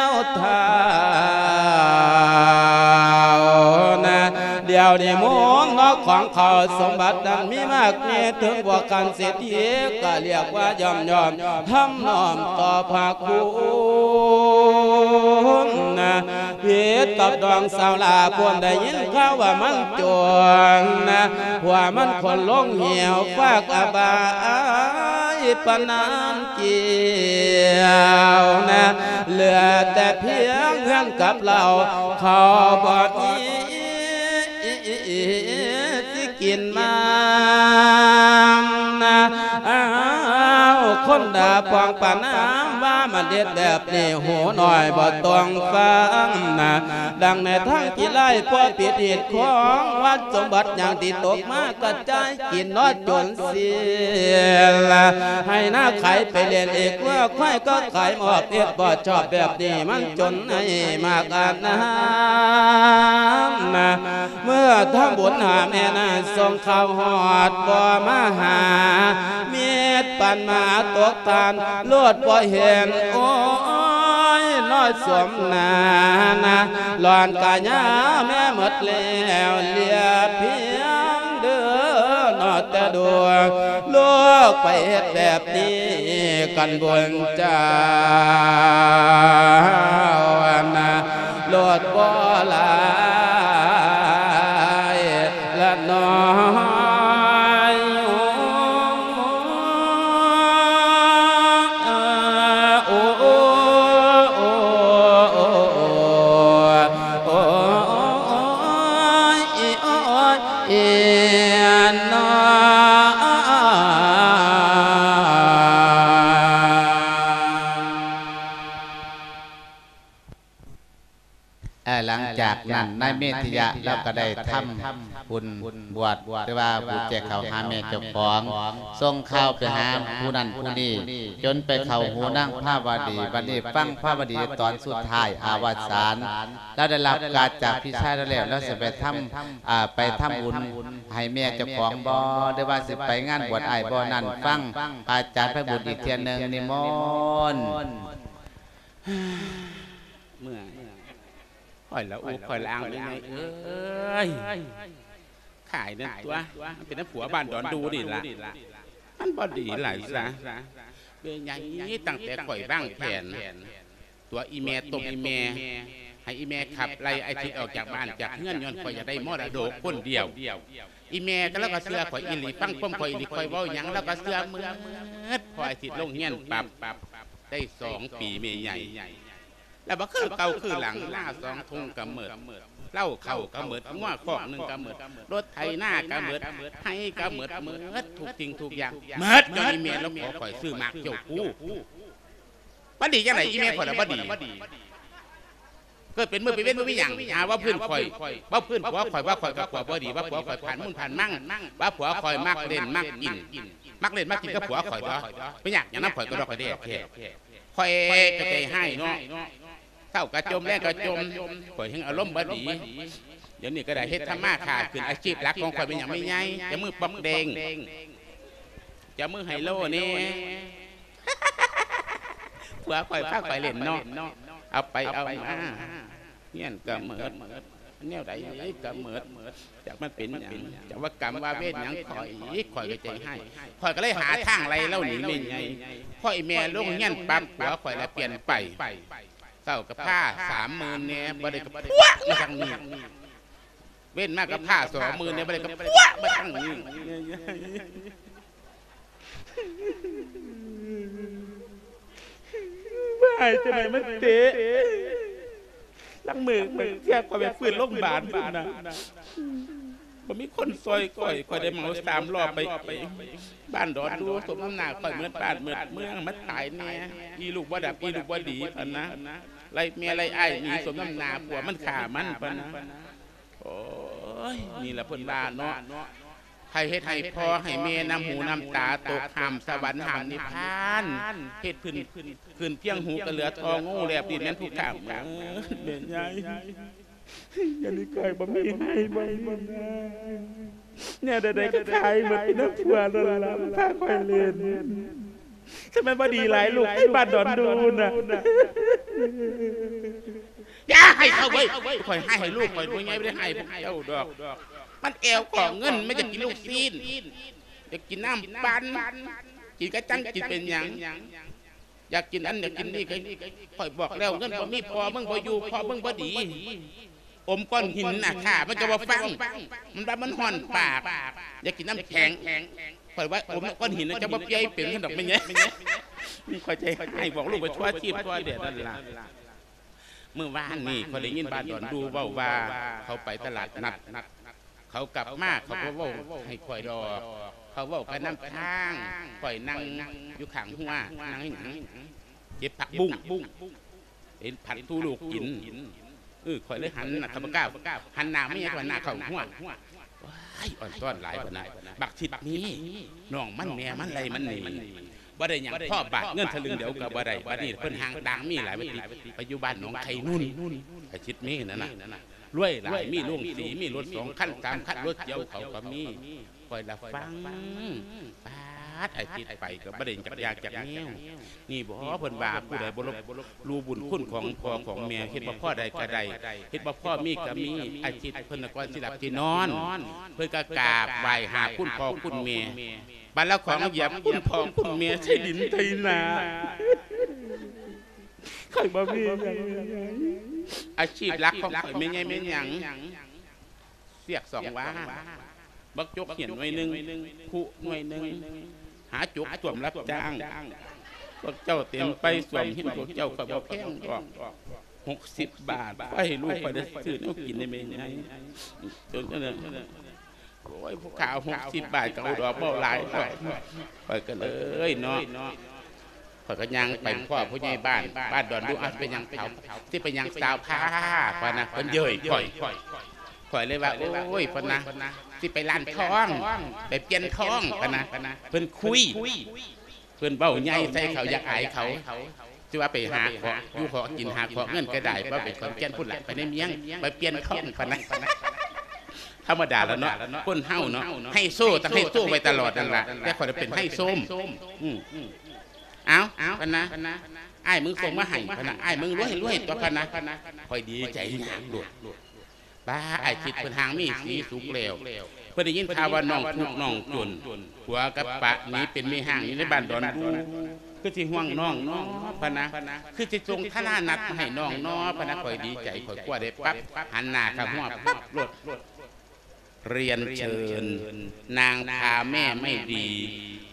ວທາວນະ ດຽວນີ້ມູນເນາະ ຂອງເຂົາສົມບັດນັ້ນມີມາກມີເຖິງ ພວກຂັ້ນເສດຖີກະລຽກວ່າຢ້ອມໆ ທຳນ້ອມຕໍ່ພະຄຸນນະ ຜິດກັບນ້ອງສາວຫຼ້າ ຜູ້ໄດ້ຍິນຂ່າວວ່າມັນຈົນນະ ຜົວມັນຄົນລົງຫິວ ຟາກອະບາຍປານນານກ່ຽວນະ ເຫຼືອແຕ່ພຽງເຮືອນກັບເລົາ ເຂົາບໍ່ມີ ກິນມານະ ອ້າວ ຄົນດາປອງປານນາມວ່າ ມາເດັດແບບນີ້ ຫູໜ້ອຍບໍ່ຕ້ອງຟັງນະ ດັ່ງໃນທາງທີ່ໄລ ພໍຜິດຮີດຂອງວັດສົມບັດຫຍັງທີ່ຕົກມາ ກະຈາຍກິນເນາະຈົນສິ້ນ ໄຮ່ນາຂາຍໄປເລ່ນອີກ ງົວຄວາຍກໍຂາຍມອບ ເຮັດບໍ່ຊອບແບບນີ້ ມັນຈົນໃຫ້ມາກອານນານນະ ເມື່ອທຳບຸນຫາແມ່ນາງ ສົ່ງຂ່າວຮອດບໍ່ມາຫາ ມິດປັນມາຕົກທ່ານ ໂລດບໍ່ເຫັນ ໂອ້ຍ ນ້ອຍສົມໜ້ານະ ຫຼອນກະຍາແມ່ໝົດແລ້ວ ເຫຼືອພຽງເດີ ເນາະແຕ່ດວງ ລູກໄປເຮັດແບບນີ້ກັນບຸນເຈົ້ານະ ໂລດບໍ່ຫຼາຍລະນ້ອຍ ໂອ້ ໂອ້ ໂອ້ ໂອ້ຍ ໂອ້ຍ ເອີ ເນາະ ເອີ ຫຼັງຈາກນັ້ນ ນາຍເມທິຍະລາວກໍໄດ້ທຳບຸນບວດ ຫຼືວ່າບຸນແຈກເຂົ້າຫາແມ່ເຈົ້າຂອງ ສົ່ງຂ່າວໄປຫາຜູ້ນັ້ນຜູ້ນີ້ ຈົນໄປເຂົ້າຫູນາງພາວະດີ. ບັດນີ້ຟັງພາວະດີຕອນສຸດທ້າຍອະວະສານ ລາວໄດ້ຮັບການຈາກພີ່ຊາຍລາວແລ້ວ ລາວຊິໄປທຳ ອ່າ ໄປທຳບຸນໃຫ້ແມ່ເຈົ້າຂອງບໍ່ ຫຼືວ່າຊິໄປງານບວດອ້າຍບໍ່ນັ້ນ ຟັງອາຈານໄພບຸນອີກເທື່ອໜຶ່ງ ນິມົນ. ເມື່ອຍ ຂ້ອຍລະອຸ ຂ້ອຍລະອາງ ແມ່ໃຫຍ່ເອີຍ ຂາຍນັ້ນຕົວະ ມັນເປັນນຳຜົວບ້ານດອນດູນີ້ລະ ມັນບໍ່ດີຫຼາຍຊະ ແມ່ໃຫຍ່. ຕັ້ງແຕ່ຂ້ອຍວາງແຜນຕົວະອີ່ແມ່ ຕົ້ມອີ່ແມ່ ໃຫ້ອີ່ແມ່ຂັບໄລ່ອ້າຍທິດອອກຈາກບ້ານຈາກເຮືອນ ຍ້ອນຂ້ອຍຢາກໄດ້ມໍລະດົກຄົນດຽວ. ອີ່ແມ່ກໍ ລາວກໍເຊື່ອຂ້ອຍອີ່ຫຼີ ຟັງຄວາມຂ້ອຍອີ່ຫຼີ ຂ້ອຍເວົ້າຫຍັງລາວກໍເຊື່ອໝົດ. ພໍອ້າຍທິດລົງຮຽນປັບ ໄດ້ສອງປີແມ່ໃຫຍ່ ແລ້ວບໍ່ຄືເກົ່າຄືຫຼັງ ໜ້າສອງທຸງກໍໝົດ ເຫຼົ້າເຂົ້າກໍໝົດ ງົວຄອກໜຶ່ງກໍໝົດ ລົດໄຖນາກໍໝົດ ໄຮ່ກໍໝົດ ໝົດທຸກສິ່ງທຸກຢ່າງ ໝົດ ຍ້ອນອີ່ແມ່ລາວຂໍຂ້ອຍຊື້ໝາກເຈົ້າກູ. ມັນດີຈັ່ງໃດ ອີ່ແມ່ຂ້ອຍລະບໍ່ດີ ເກີດເປັນມື້ເປັນເວັນບໍ່ມີຫຍັງ ຫາວ່າພື້ນຂ້ອຍ ວ່າພື້ນຜົວຂ້ອຍ ວ່າຂ້ອຍກັບຜົວບໍ່ດີ ວ່າຜົວຂ້ອຍຜ່ານມູນຜ່ານມັງ ວ່າຜົວຂ້ອຍມັກເລ່ນມັກກິນ ມັກເລ່ນມັກກິນກັບຜົວຂ້ອຍບໍ ໄປຍາກຫຍັງນຳຂ້ອຍກະດອກກະແດແທ້. ຂ້ອຍກະໃຈຮ້າຍເນາະ ເຊົ້າກະຈົ່ມ ແລງກະຈົ່ມ ຂ້ອຍແຮ່ງອາລົມບໍ່ດີ. ດຽວນີ້ກະໄດ້ເຮັດທຳມາຄ້າຂຶ້ນ ອາຊີບຫຼັກຂອງຂ້ອຍແມ່ນຫຍັງແມ່ໃຫຍ່ ຈະມືປອກແດງ ຈະມືໄຮໂລແດ່ ຜົວຂ້ອຍພາຂ້ອຍເລ່ນເນາະ ເອົາໄປເອົາມາ ຮຽນກະໝົດ ແນວໃດກະໝົດ ຈັກມັນເປັນຫຍັງ ຈັກວ່າກຳວ່າເວນຫຍັງຂ້ອຍ ຂ້ອຍກະໃຈຮ້າຍ ຂ້ອຍກະເລີຍຫາທາງໄລ່ລາວໜີແມ່ໃຫຍ່. ພໍອີ່ແມ່ລົງຮຽນປັບ ຜົວຂ້ອຍລະປ່ຽນໄປ ເຊົ້າກະພາສາມໝື່ນແດ່ ບໍ່ໄດ້ກະພວກມາທາງນີ້ ເວນມາກະພາສອງໝື່ນແດ່ ບໍ່ໄດ້ກະພວກມາທາງນີ້. ວ່າຈັ່ງໃດມັນເຕະ ລາງມື້ ບາງເທື່ອຂ້ອຍໄປຟື້ນໂລງບານພຸ້ນນະ ບໍ່ມີຄົນຊ່ອຍຂ້ອຍ ຂ້ອຍໄດ້ເໝົາສາມລໍ້ໄປ ໄປບ້ານດອນດູ ສົມນ້ຳໜ້າຂ້ອຍໝົດບ້ານໝົດເມືອງ ມາຕາຍແດ່ ອີ່ລູກບໍ່ດັບ ອີ່ລູກບໍ່ດີ ປານນະ ໄລ່ແມ່ໄລ່ອ້າຍໜີ ສົມນ້ຳໜ້າຜົວມັນຂ້າມັນ ປານນະ. ໂອ້ຍ ນີ້ລະເພິ່ນວ່າເນາະ ໃຜເຮັດໃຫ້ພໍ່ໃຫ້ແມ່ນ້ຳຫູນ້ຳຕາຕົກ ຫ້າມສະຫວັນຫ້າມນິບພານ ເຮັດຂຶ້ນ ຂຶ້ນພຽງຫູກະເຫຼືອທໍ່ງູ ແລບດິນແມ່ນຜູ້ຂ້າເໝິດ ແມ່ໃຫຍ່. ດຽວນີ້ຂ້ອຍບໍ່ມີໃຫ້ບໍ່ມີນາ ແນວໃດໆກະຂາຍໝົດ ເປັນນຳຜົວນັ້ນລະ ມັນພາຂ້ອຍເລ່ນ. ຄັນແມ່ນບໍ່ດີຫຼາຍລູກໄປບ້ານດອນດູນນະ. ຢ່າໃຫ້ເຂົາເວີຍ ຂ້ອຍໃຫ້ລູກຂ້ອຍໜ່ວຍໃຫຍ່ ບໍ່ໄດ້ໃຫ້ພວກເຈົ້າດອກ. ມັນແອວຂອງເງິນ ມັນຢາກກິນລູກຊີ້ນ ຢາກກິນນ້ຳປັ່ນ ກິນກະຈັງ ກິນເປັນຫຍັງ ຢາກກິນອັນຢາກກິນນີ້. ຂ້ອຍບອກແລ້ວ ເງິນບໍ່ມີ ພໍ່ມຶງບໍ່ຢູ່ ພໍ່ມຶງບໍ່ດີ. ອົມກ້ອນຫີນນະ ຂ້າມັນກະບໍ່ຟັງ ມັນວ່າມັນຮ້ອນປາກ ຢາກກິນນ້ຳແຂງ. ຂ້ອຍວ່າອົມກ້ອນຫີນນະ ຈະບໍ່ປ່ຽຍເປັນຊັ້ນດອກແມ່ໃຫຍ່. ຂ້ອຍໃຈຮ້າຍ ບອກລູກໄປທົ່ວທີບທົ່ວແດນນັ້ນລະ. ມື້ວານນີ້ຂ້ອຍໄດ້ຍິນບ້ານດອນດູເວົ້າວ່າ ເຂົາໄປຕະຫຼາດນັດ ເຂົາກັບມາ ເຂົາບໍ່ເວົ້າໃຫ້ຂ້ອຍດອກ ເຂົາເວົ້າກະນຳທາງ. ຂ້ອຍນັ່ງຢູ່ຂ້າງຮົ້ວ ນັ່ງອີ່ຫຍັງ ເກັບຜັກບຸ້ງ ເຫັນຜັດສູ່ລູກກິນ. ເອີ ຂ້ອຍເລີຍຫັນໜ້າ ຂ້າພະເຈົ້າ ຫັນໜ້າເມຍ ຂ້ອຍໜ້າເຂົ້າຮົ້ວ. ວ້າຍ ອ່ອນຊ້ອນຫຼາຍປານນັ້ນ. ບັກທິດມີນ້ອງມັນແມ່ມັນໄລ່ມັນໜີ ບໍ່ໄດ້ຫຍັງ ພໍບາດເງິນສະລຶງດຽວກະບໍ່ໄດ້. ບັດນີ້ເພິ່ນຫ່າງຕ່າງມີຫຼາຍ ວ່າຕິ ໄປຢູ່ບ້ານໜອງໄຂ່ນຸນ ໄອ້ທິດມີນັ້ນນະ ລວຍຫຼາຍ ມີໂລງສີ ມີລົດສອງຄັນສາມຄັນ ລົດກຽວເຂົາກະມີ. ຂ້ອຍລະຟັງ ປາດ ອາທິດໄປກະບໍ່ໄດ້ຈັກຢ່າງຈັກແນວ. ນີ້ບໍ ເພິ່ນວ່າ ຜູ້ໃດບໍ່ລົບ ຮູ້ບຸນຄຸນຂອງພໍ່ຂອງແມ່ ເຮັດບໍ່ພໍໃດກະໄດ້ ເຮັດບໍ່ພໍມີກະມີ. ອາທິດເພິ່ນນະ ກ່ອນຊິຫຼັບຊິນອນ ເພິ່ນກະກາບໄຫວ້ຫາຄຸນພໍ່ຄຸນແມ່ ບາດລະຂອງຢຽບຄຸນພໍ່ຄຸນແມ່ໃສ່ດິນໃສ່ນາ. ຂ້ອຍບໍ່ມີຫຍັງ ອາຊີບຫຼັກຂອງຂ້ອຍແມ່ໃຫຍ່ແມ່ນຫຍັງ? ສຽກສອງຫວ່າ ບັກຈົກເຫຍນໜ່ວຍໜຶ່ງ ຄຸໜ່ວຍໜຶ່ງ ຫາຈົກສວມຮັບຈ້າງ. ພວກເຈົ້າເຕັມໄປສວມເຫຍນພວກເຈົ້າ ຂ້ອຍບໍ່ແພງດອກ ຫົກສິບບາດ. ຂ້ອຍໃຫ້ລູກຂ້ອຍໄດ້ຊື້ແນວກິນໃຫ້ແມ່ໃຫຍ່. ໂອ້ຍ ຜູ້ຂ້າຫົກສິບບາດກະເອົາດອກ ເວົ້າຫຼາຍດອກ. ຂ້ອຍກະເລີຍເນາະ ຂ້ອຍກໍຍ່າງໄປພໍ້ຜູ້ໃຫຍ່ບ້ານ ບ້ານດອນດູ "ອ້າວ ຊິໄປຫຍັງເຖົ້າ ຊິໄປຫຍັງສາວພາ?" ພະນະ ເພິ່ນເຍີ້ຍຂ້ອຍ. ຂ້ອຍເລີຍວ່າ ໂອ້ຍ ພະນະ ຊິໄປຮ້ານທອງ ໄປປ່ຽນທອງ ພະນະ. ເພິ່ນຄຸຍ ເພິ່ນເວົ້າໃຫຍ່ໃສ່ເຂົາ ຢາກອາຍເຂົາ. ຊິວ່າໄປຫາເຄາະຢູ່ເຄາະກິນ ຫາເຄາະເງິນກໍໄດ້ ວ່າໄປຂອນແກ່ນພຸ້ນລະ ໄປໃນເມືອງ ໄປປ່ຽນທອງ ພະນະ. ທຳມະດາລະເນາະ ຄົນເຮົາເນາະ ໄຮໂຊຕ້ອງໄຮໂຊໄວ້ຕະຫຼອດນັ້ນລະ ແຕ່ຂ້ອຍເປັນໄຮໂຊມ. ອືມ ເອົ້າ ພະນະ ອ້າຍມຶງສົ່ງມາໃຫ້ ພະນະ ອ້າຍມຶງລວຍໆ ຕົວະ ພະນະ. ຂ້ອຍດີໃຈຍາກໂລດ. ປ້າ ອ້າຍຄິດເພິ່ນຮ່າງມີສີສຸກແລ້ວ ເພິ່ນໄດ້ຍິນຂ່າວວ່ານ້ອງທຸກນ້ອງຈົນ ຜົວກັບປະໜີເປັນແມ່ຮ້າງຢູ່ໃນບ້ານດອນດູ ຄືຊິຫ່ວງນ້ອງເນາະ ພະນະ ຄືຊິສົ່ງທາລະນັດມາໃຫ້ນ້ອງເນາະ ພະນະ. ຂ້ອຍດີໃຈ ຂ້ອຍກວ່າໄດ້ປັບ ຫັນໜ້າເຂົ້າຫົວປັບໂລດ. ເຣີຍນເຊີນນາງພາແມ່ໄມ້ດີ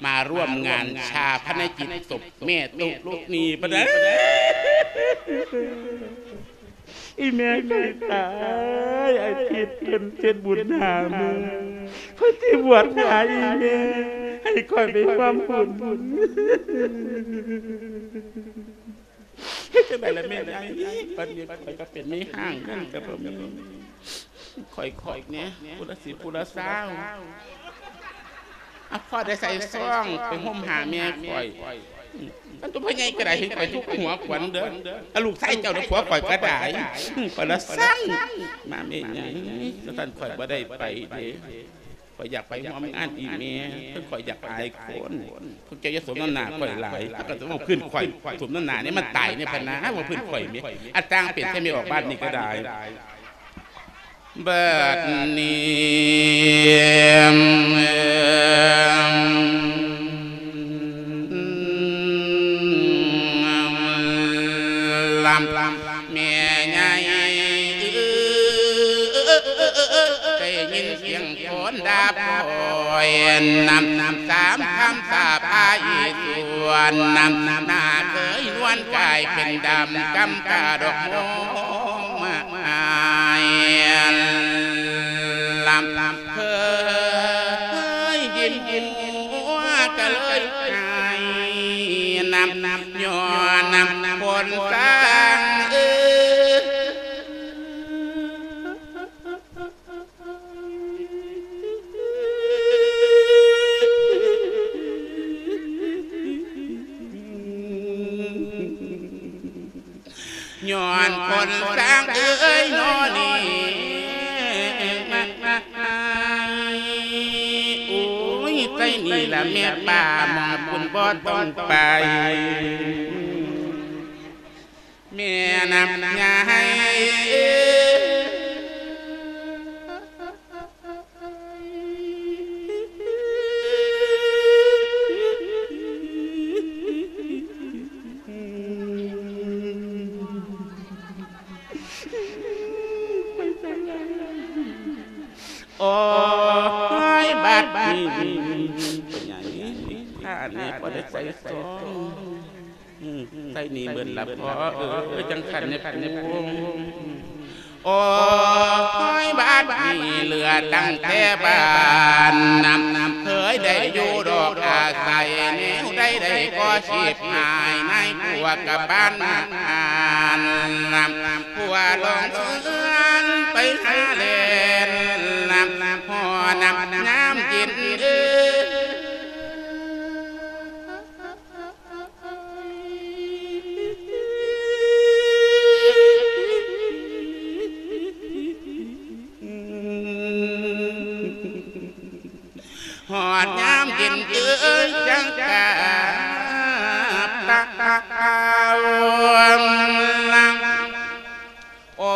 ມາຮ່ວມງານຊາປະນະກິດສົບແມ່ຕຸລຸນີ ພະນະ. ອີແມ່ຂ້ອຍຕາຍ ອາທິດເພິ່ນເຮັດບຸນຫາມື້ ເພິ່ນຊິບວດຫາອີແມ່ ໃຫ້ຂ້ອຍໄປຮ່ວມບຸນ. ເຮັດຈັ່ງໃດລະແມ່ໃຫຍ່ ບັດນີ້ຂ້ອຍກໍເປັນແມ່ຮ້າງ ເງິນກໍບໍ່ມີ ຂ້ອຍໆ ນີ້ ຜູ້ລະສິບຜູ້ລະຊາວ ອາ ພໍໄດ້ໃສ່ຊອງໄປໂຮມຫາແມ່ຂ້ອຍ. ອັນຕົວພໍ່ໃຫຍ່ກໍໄດ້ ເຫັນຂ້ອຍທຸກຫົວຂວັນເດີ ອາ ລູກຊາຍເຈົ້ານະ ຜົວຂ້ອຍກໍໄດ້ ຂ້ອຍລະສັງມາແມ່ໃຫຍ່ ຊັ້ນຂ້ອຍບໍ່ໄດ້ໄປເດ້. ຂ້ອຍຢາກໄປຮ່ວມງານອີແມ່ ເພິ່ນ ຂ້ອຍຢາກອາຍຄົນ ພວກເຈົ້າຢ່າສົມນ້ຳໜ້າຂ້ອຍຫຼາຍ ເຂົາກໍຈະເວົ້າພື້ນຂ້ອຍ ສົມນ້ຳໜ້ານີ້ມັນຕາຍໃນພະນາ ເວົ້າພື້ນຂ້ອຍແມ່ ອາ ຕ່າງເປັນແຕ່ແມ່ອອກບ້ານນີ້ກໍໄດ້. ບັດນີ້ ລຳ ແມ່ໃຫຍ່ເອີຍ ໄດ້ຍິນສຽງຄົນດ່າພ້ອຍ ນຳ ນຳສາມຄຳສາບພາອີສວນ ນຳ ໜ້າເຄີຍນວນກາຍເປັນດຳ ກຳກາດອກໂມມາຍ ລຳ ເຄີຍຍິນຫົວກະເລີຍໄຫ້ ນຳ ນຳ ຍ້ອນ ນຳ ນຳ ຄົນສ້າງເອີຍ ຍ້ອນຄົນສ້າງເອີຍນໍນີ້ ໂອ້ຍ ໃສ່ນີ້ລະແມ່ປ້າ ໝ່ອງພຸ້ນບໍ່ຕ້ອງໄປ ແມ່ນຳຍາໃຫ້ ໂອ້ຍ ບາດນີ້ ໃຫຍ່ ຂ້ານີ້ບໍ່ໄດ້ໃສ່ຊອງ ອືມ ໃສ່ໜີເບິດລະພໍ່ເອີຍ ຈັ່ງຊັ້ນແນ່ປູ. ໂອ້ຍ ບາດນີ້ເຫຼືອຕັ້ງແຕ່ບ້ານນຳ ເຄີຍໄດ້ຢູ່ດອກອາໄສ ແນວໃດໃດກໍຊິບຫາຍ ໃນພວກກັບບ້ານນຳ ພວກຫຼງເຮືອນໄປຫາແລ່ນນຳ ພໍນຳຍາມເຢັນເອີຍ ຮອດຍາມເຢັນເອີຍ ຈັ່ງກາບຕາວ ໂອ້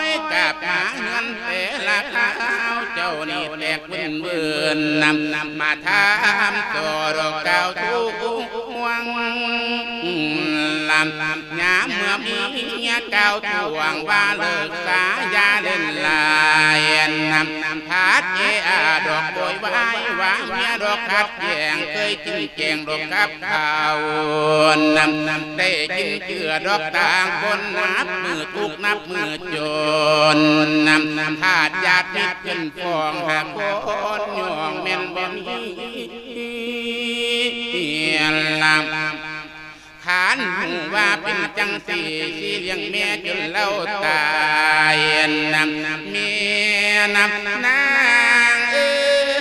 ຍ ກັບມາເຮືອນແຕ່ລະຄາວ ເຈົ້ານີ້ແຕກວືນໆ ນຳ ນຳມາຖາມຕໍ່ດອກກ່າວທວງ ນຳ ນຳຍາມເມື່ອມີເມຍກ່າວທວງ ວ່າເລີກສາຢ່າຫຼິ້ນຫຼາຍ ນຳ ນຳພາດເອອາດອກໂວຍວາຍ ວ່າເມຍດອກຂັດແຍ່ງ ເຄີຍຈິງແຈ້ງດອກກັບ ເຂົານຳ ນຳໄດ້ກິນເກືອດອກຕ່າງຄົນ ນັບມື້ທຸກນັບມື້ຈົນ ນຳ ນຳທາດຍາດມິດຂຶ້ນຟ້ອງ ຫາກຄົນຍ້ອງແມ່ນບໍ່ມີລຳ ທ່ານຮູ້ວ່າເປັນຈັ່ງຊີ້ ຊິລ້ຽງແມ່ຈົນລາວຕາຍນຳ ແມ່ນຳນາງເອີຍ.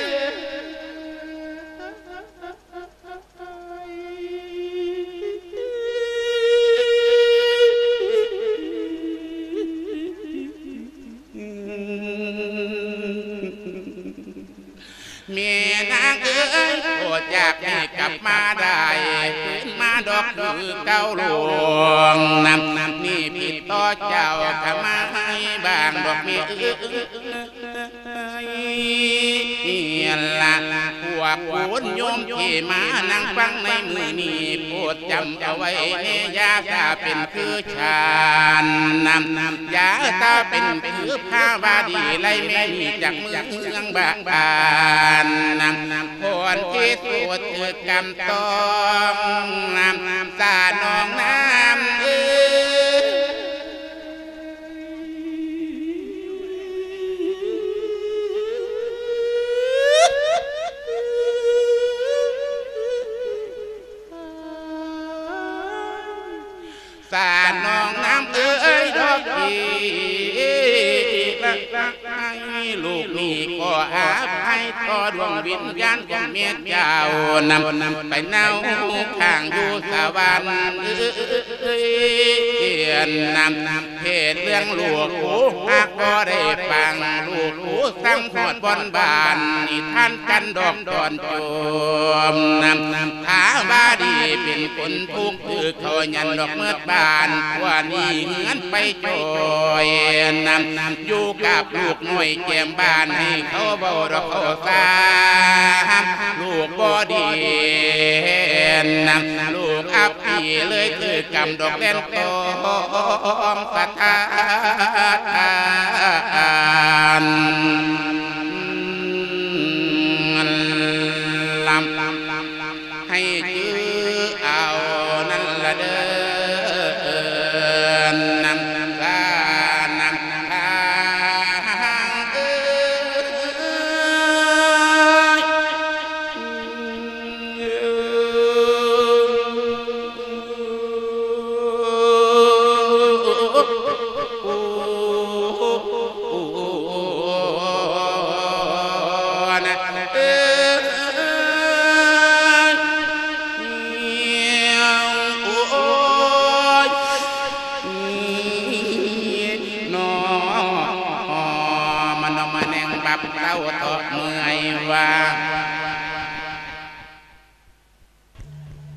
ແມ່ນາງເອີຍ ບໍ່ຢາກໃຫ້ກັບມາໄດ້ຄືນມາດອກຄືເກົ່າ ຫຼວງນຳນີ້ຜິດຕໍ່ເຈົ້າທຳໄມບາງດອກແມ່ເອີຍ. ລະພວກຄຸນໂຍມທີ່ມານັ່ງຟັງໃນມື້ນີ້ ໂປດຈຳເອົາໄວ້ແນ່ ຢ່າສາເປັນຄື ຊານນຳ ຢ່າສາເປັນຄືພາວາດີ ໄລ່ແມ່ນີ້ຈາກເມືອງບາດານນຳ ຄວນທີ່ສຸດຄືກຳຕ້ອງນຳ ສານ້ອງນ້ຳເອີຍ. ສານ້ອງນ້ຳເອີຍ ດອກທີ່ລະໃຫ້ ລູກນີ້ຂໍອະໄພຕໍ່ດວງວິນຍານຂອງແມ່ເຈົ້ານຳ ໄປເນົາຄ້າງຢູ່ສະຫວັນເອີຍນຳ ເຂດເລື່ອງລູກກູຫາກບໍ່ໄດ້ຟັງ ລູກກູສັ່ງຮອດບ່ອນບ້ານ ນິທານກັນດອກດອນໂຈມນຳ ພາວາດີເປັນຄົນທຸກ ຄືເຂົາຍັນດອກເໝິດບ້ານ ກວ່າໜີເຮືອນໄປຈ່ອຍນຳ ຢູ່ກັບລູກນ້ອຍແກ້ມບ້ານ ໃຫ້ເຂົາເວົ້າດອກເຂົາສາ ລູກບໍ່ດີນຳ ລູກອັບ ທີ່ເລີຍຖືກກຳດອກແລ່ນຕ້ອງສະຖານ ລຳ ໃຫ້ຈື່ເອົານັ້ນລະເດີ ນຳສານຳທາງເອີຍ.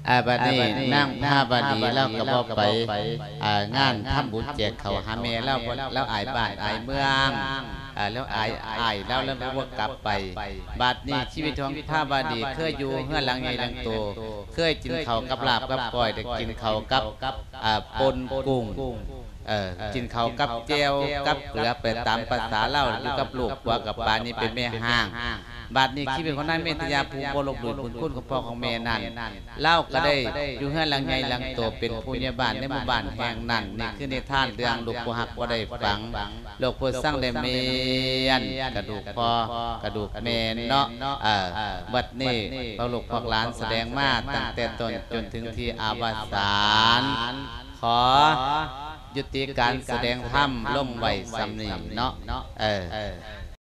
ອາ ບັດນີ້ນາງພາວະດີລາວກໍບໍ່ໄປ ອາ ງານທຳບຸນແຈກເຂົ້າຫາແມ່ລາວ ລາວອາຍບ້ານອາຍເມືອງ ອາ ລາວອາຍອ້າຍລາວ ລາວບໍ່ກັບໄປ. ບັດນີ້ຊີວິດຂອງພາວະດີເຄີຍຢູ່ເຮືອນຫຼັງໃຫຍ່ຫຼັງໂຕ ເຄີຍກິນເຂົ້າກັບລາບກັບກ້ອຍ ໄດ້ກິນເຂົ້າກັບ ອາ ປົ່ນກຸ້ງ ເອີ ກິນເຂົ້າກັບແຈ່ວກັບເກືອໄປຕາມພາສາລາວ ຢູ່ກັບລູກຜົວກັບປານີ້ເປັນແມ່ຮ້າງ. ບັດນີ້ຊີວິດຂອງນາງເມດຕະຍາ ຜູ້ບໍ່ລົບຫຼູ່ບຸນຄຸນຂອງພໍ່ຂອງແມ່ນັ້ນ ລາວກໍໄດ້ຢູ່ເຮືອນຫຼັງໃຫຍ່ຫຼັງໂຕ ເປັນຜູ້ໃຫຍ່ບ້ານໃນໝູ່ບ້ານແຫ່ງນັ້ນ. ນີ້ຄືນິທານເລື່ອງລູກຜູ້ຮັກບໍ່ໄດ້ຝັງ ລູກຜູ້ຊັງໄດ້ເມນ ກະດູກພໍ່ກະດູກແມ່ເນາະ. ເອີ ບັດນີ້ພວກລູກພວກຫຼານສະແດງມາຕັ້ງແຕ່ຕົ້ນຈົນເຖິງທີ່ອະວະສານ ຂໍ ຍຸຕິການສະແດງທຳລົງໄວ້ສ່ຳນີ້ເນາະ ເອີ.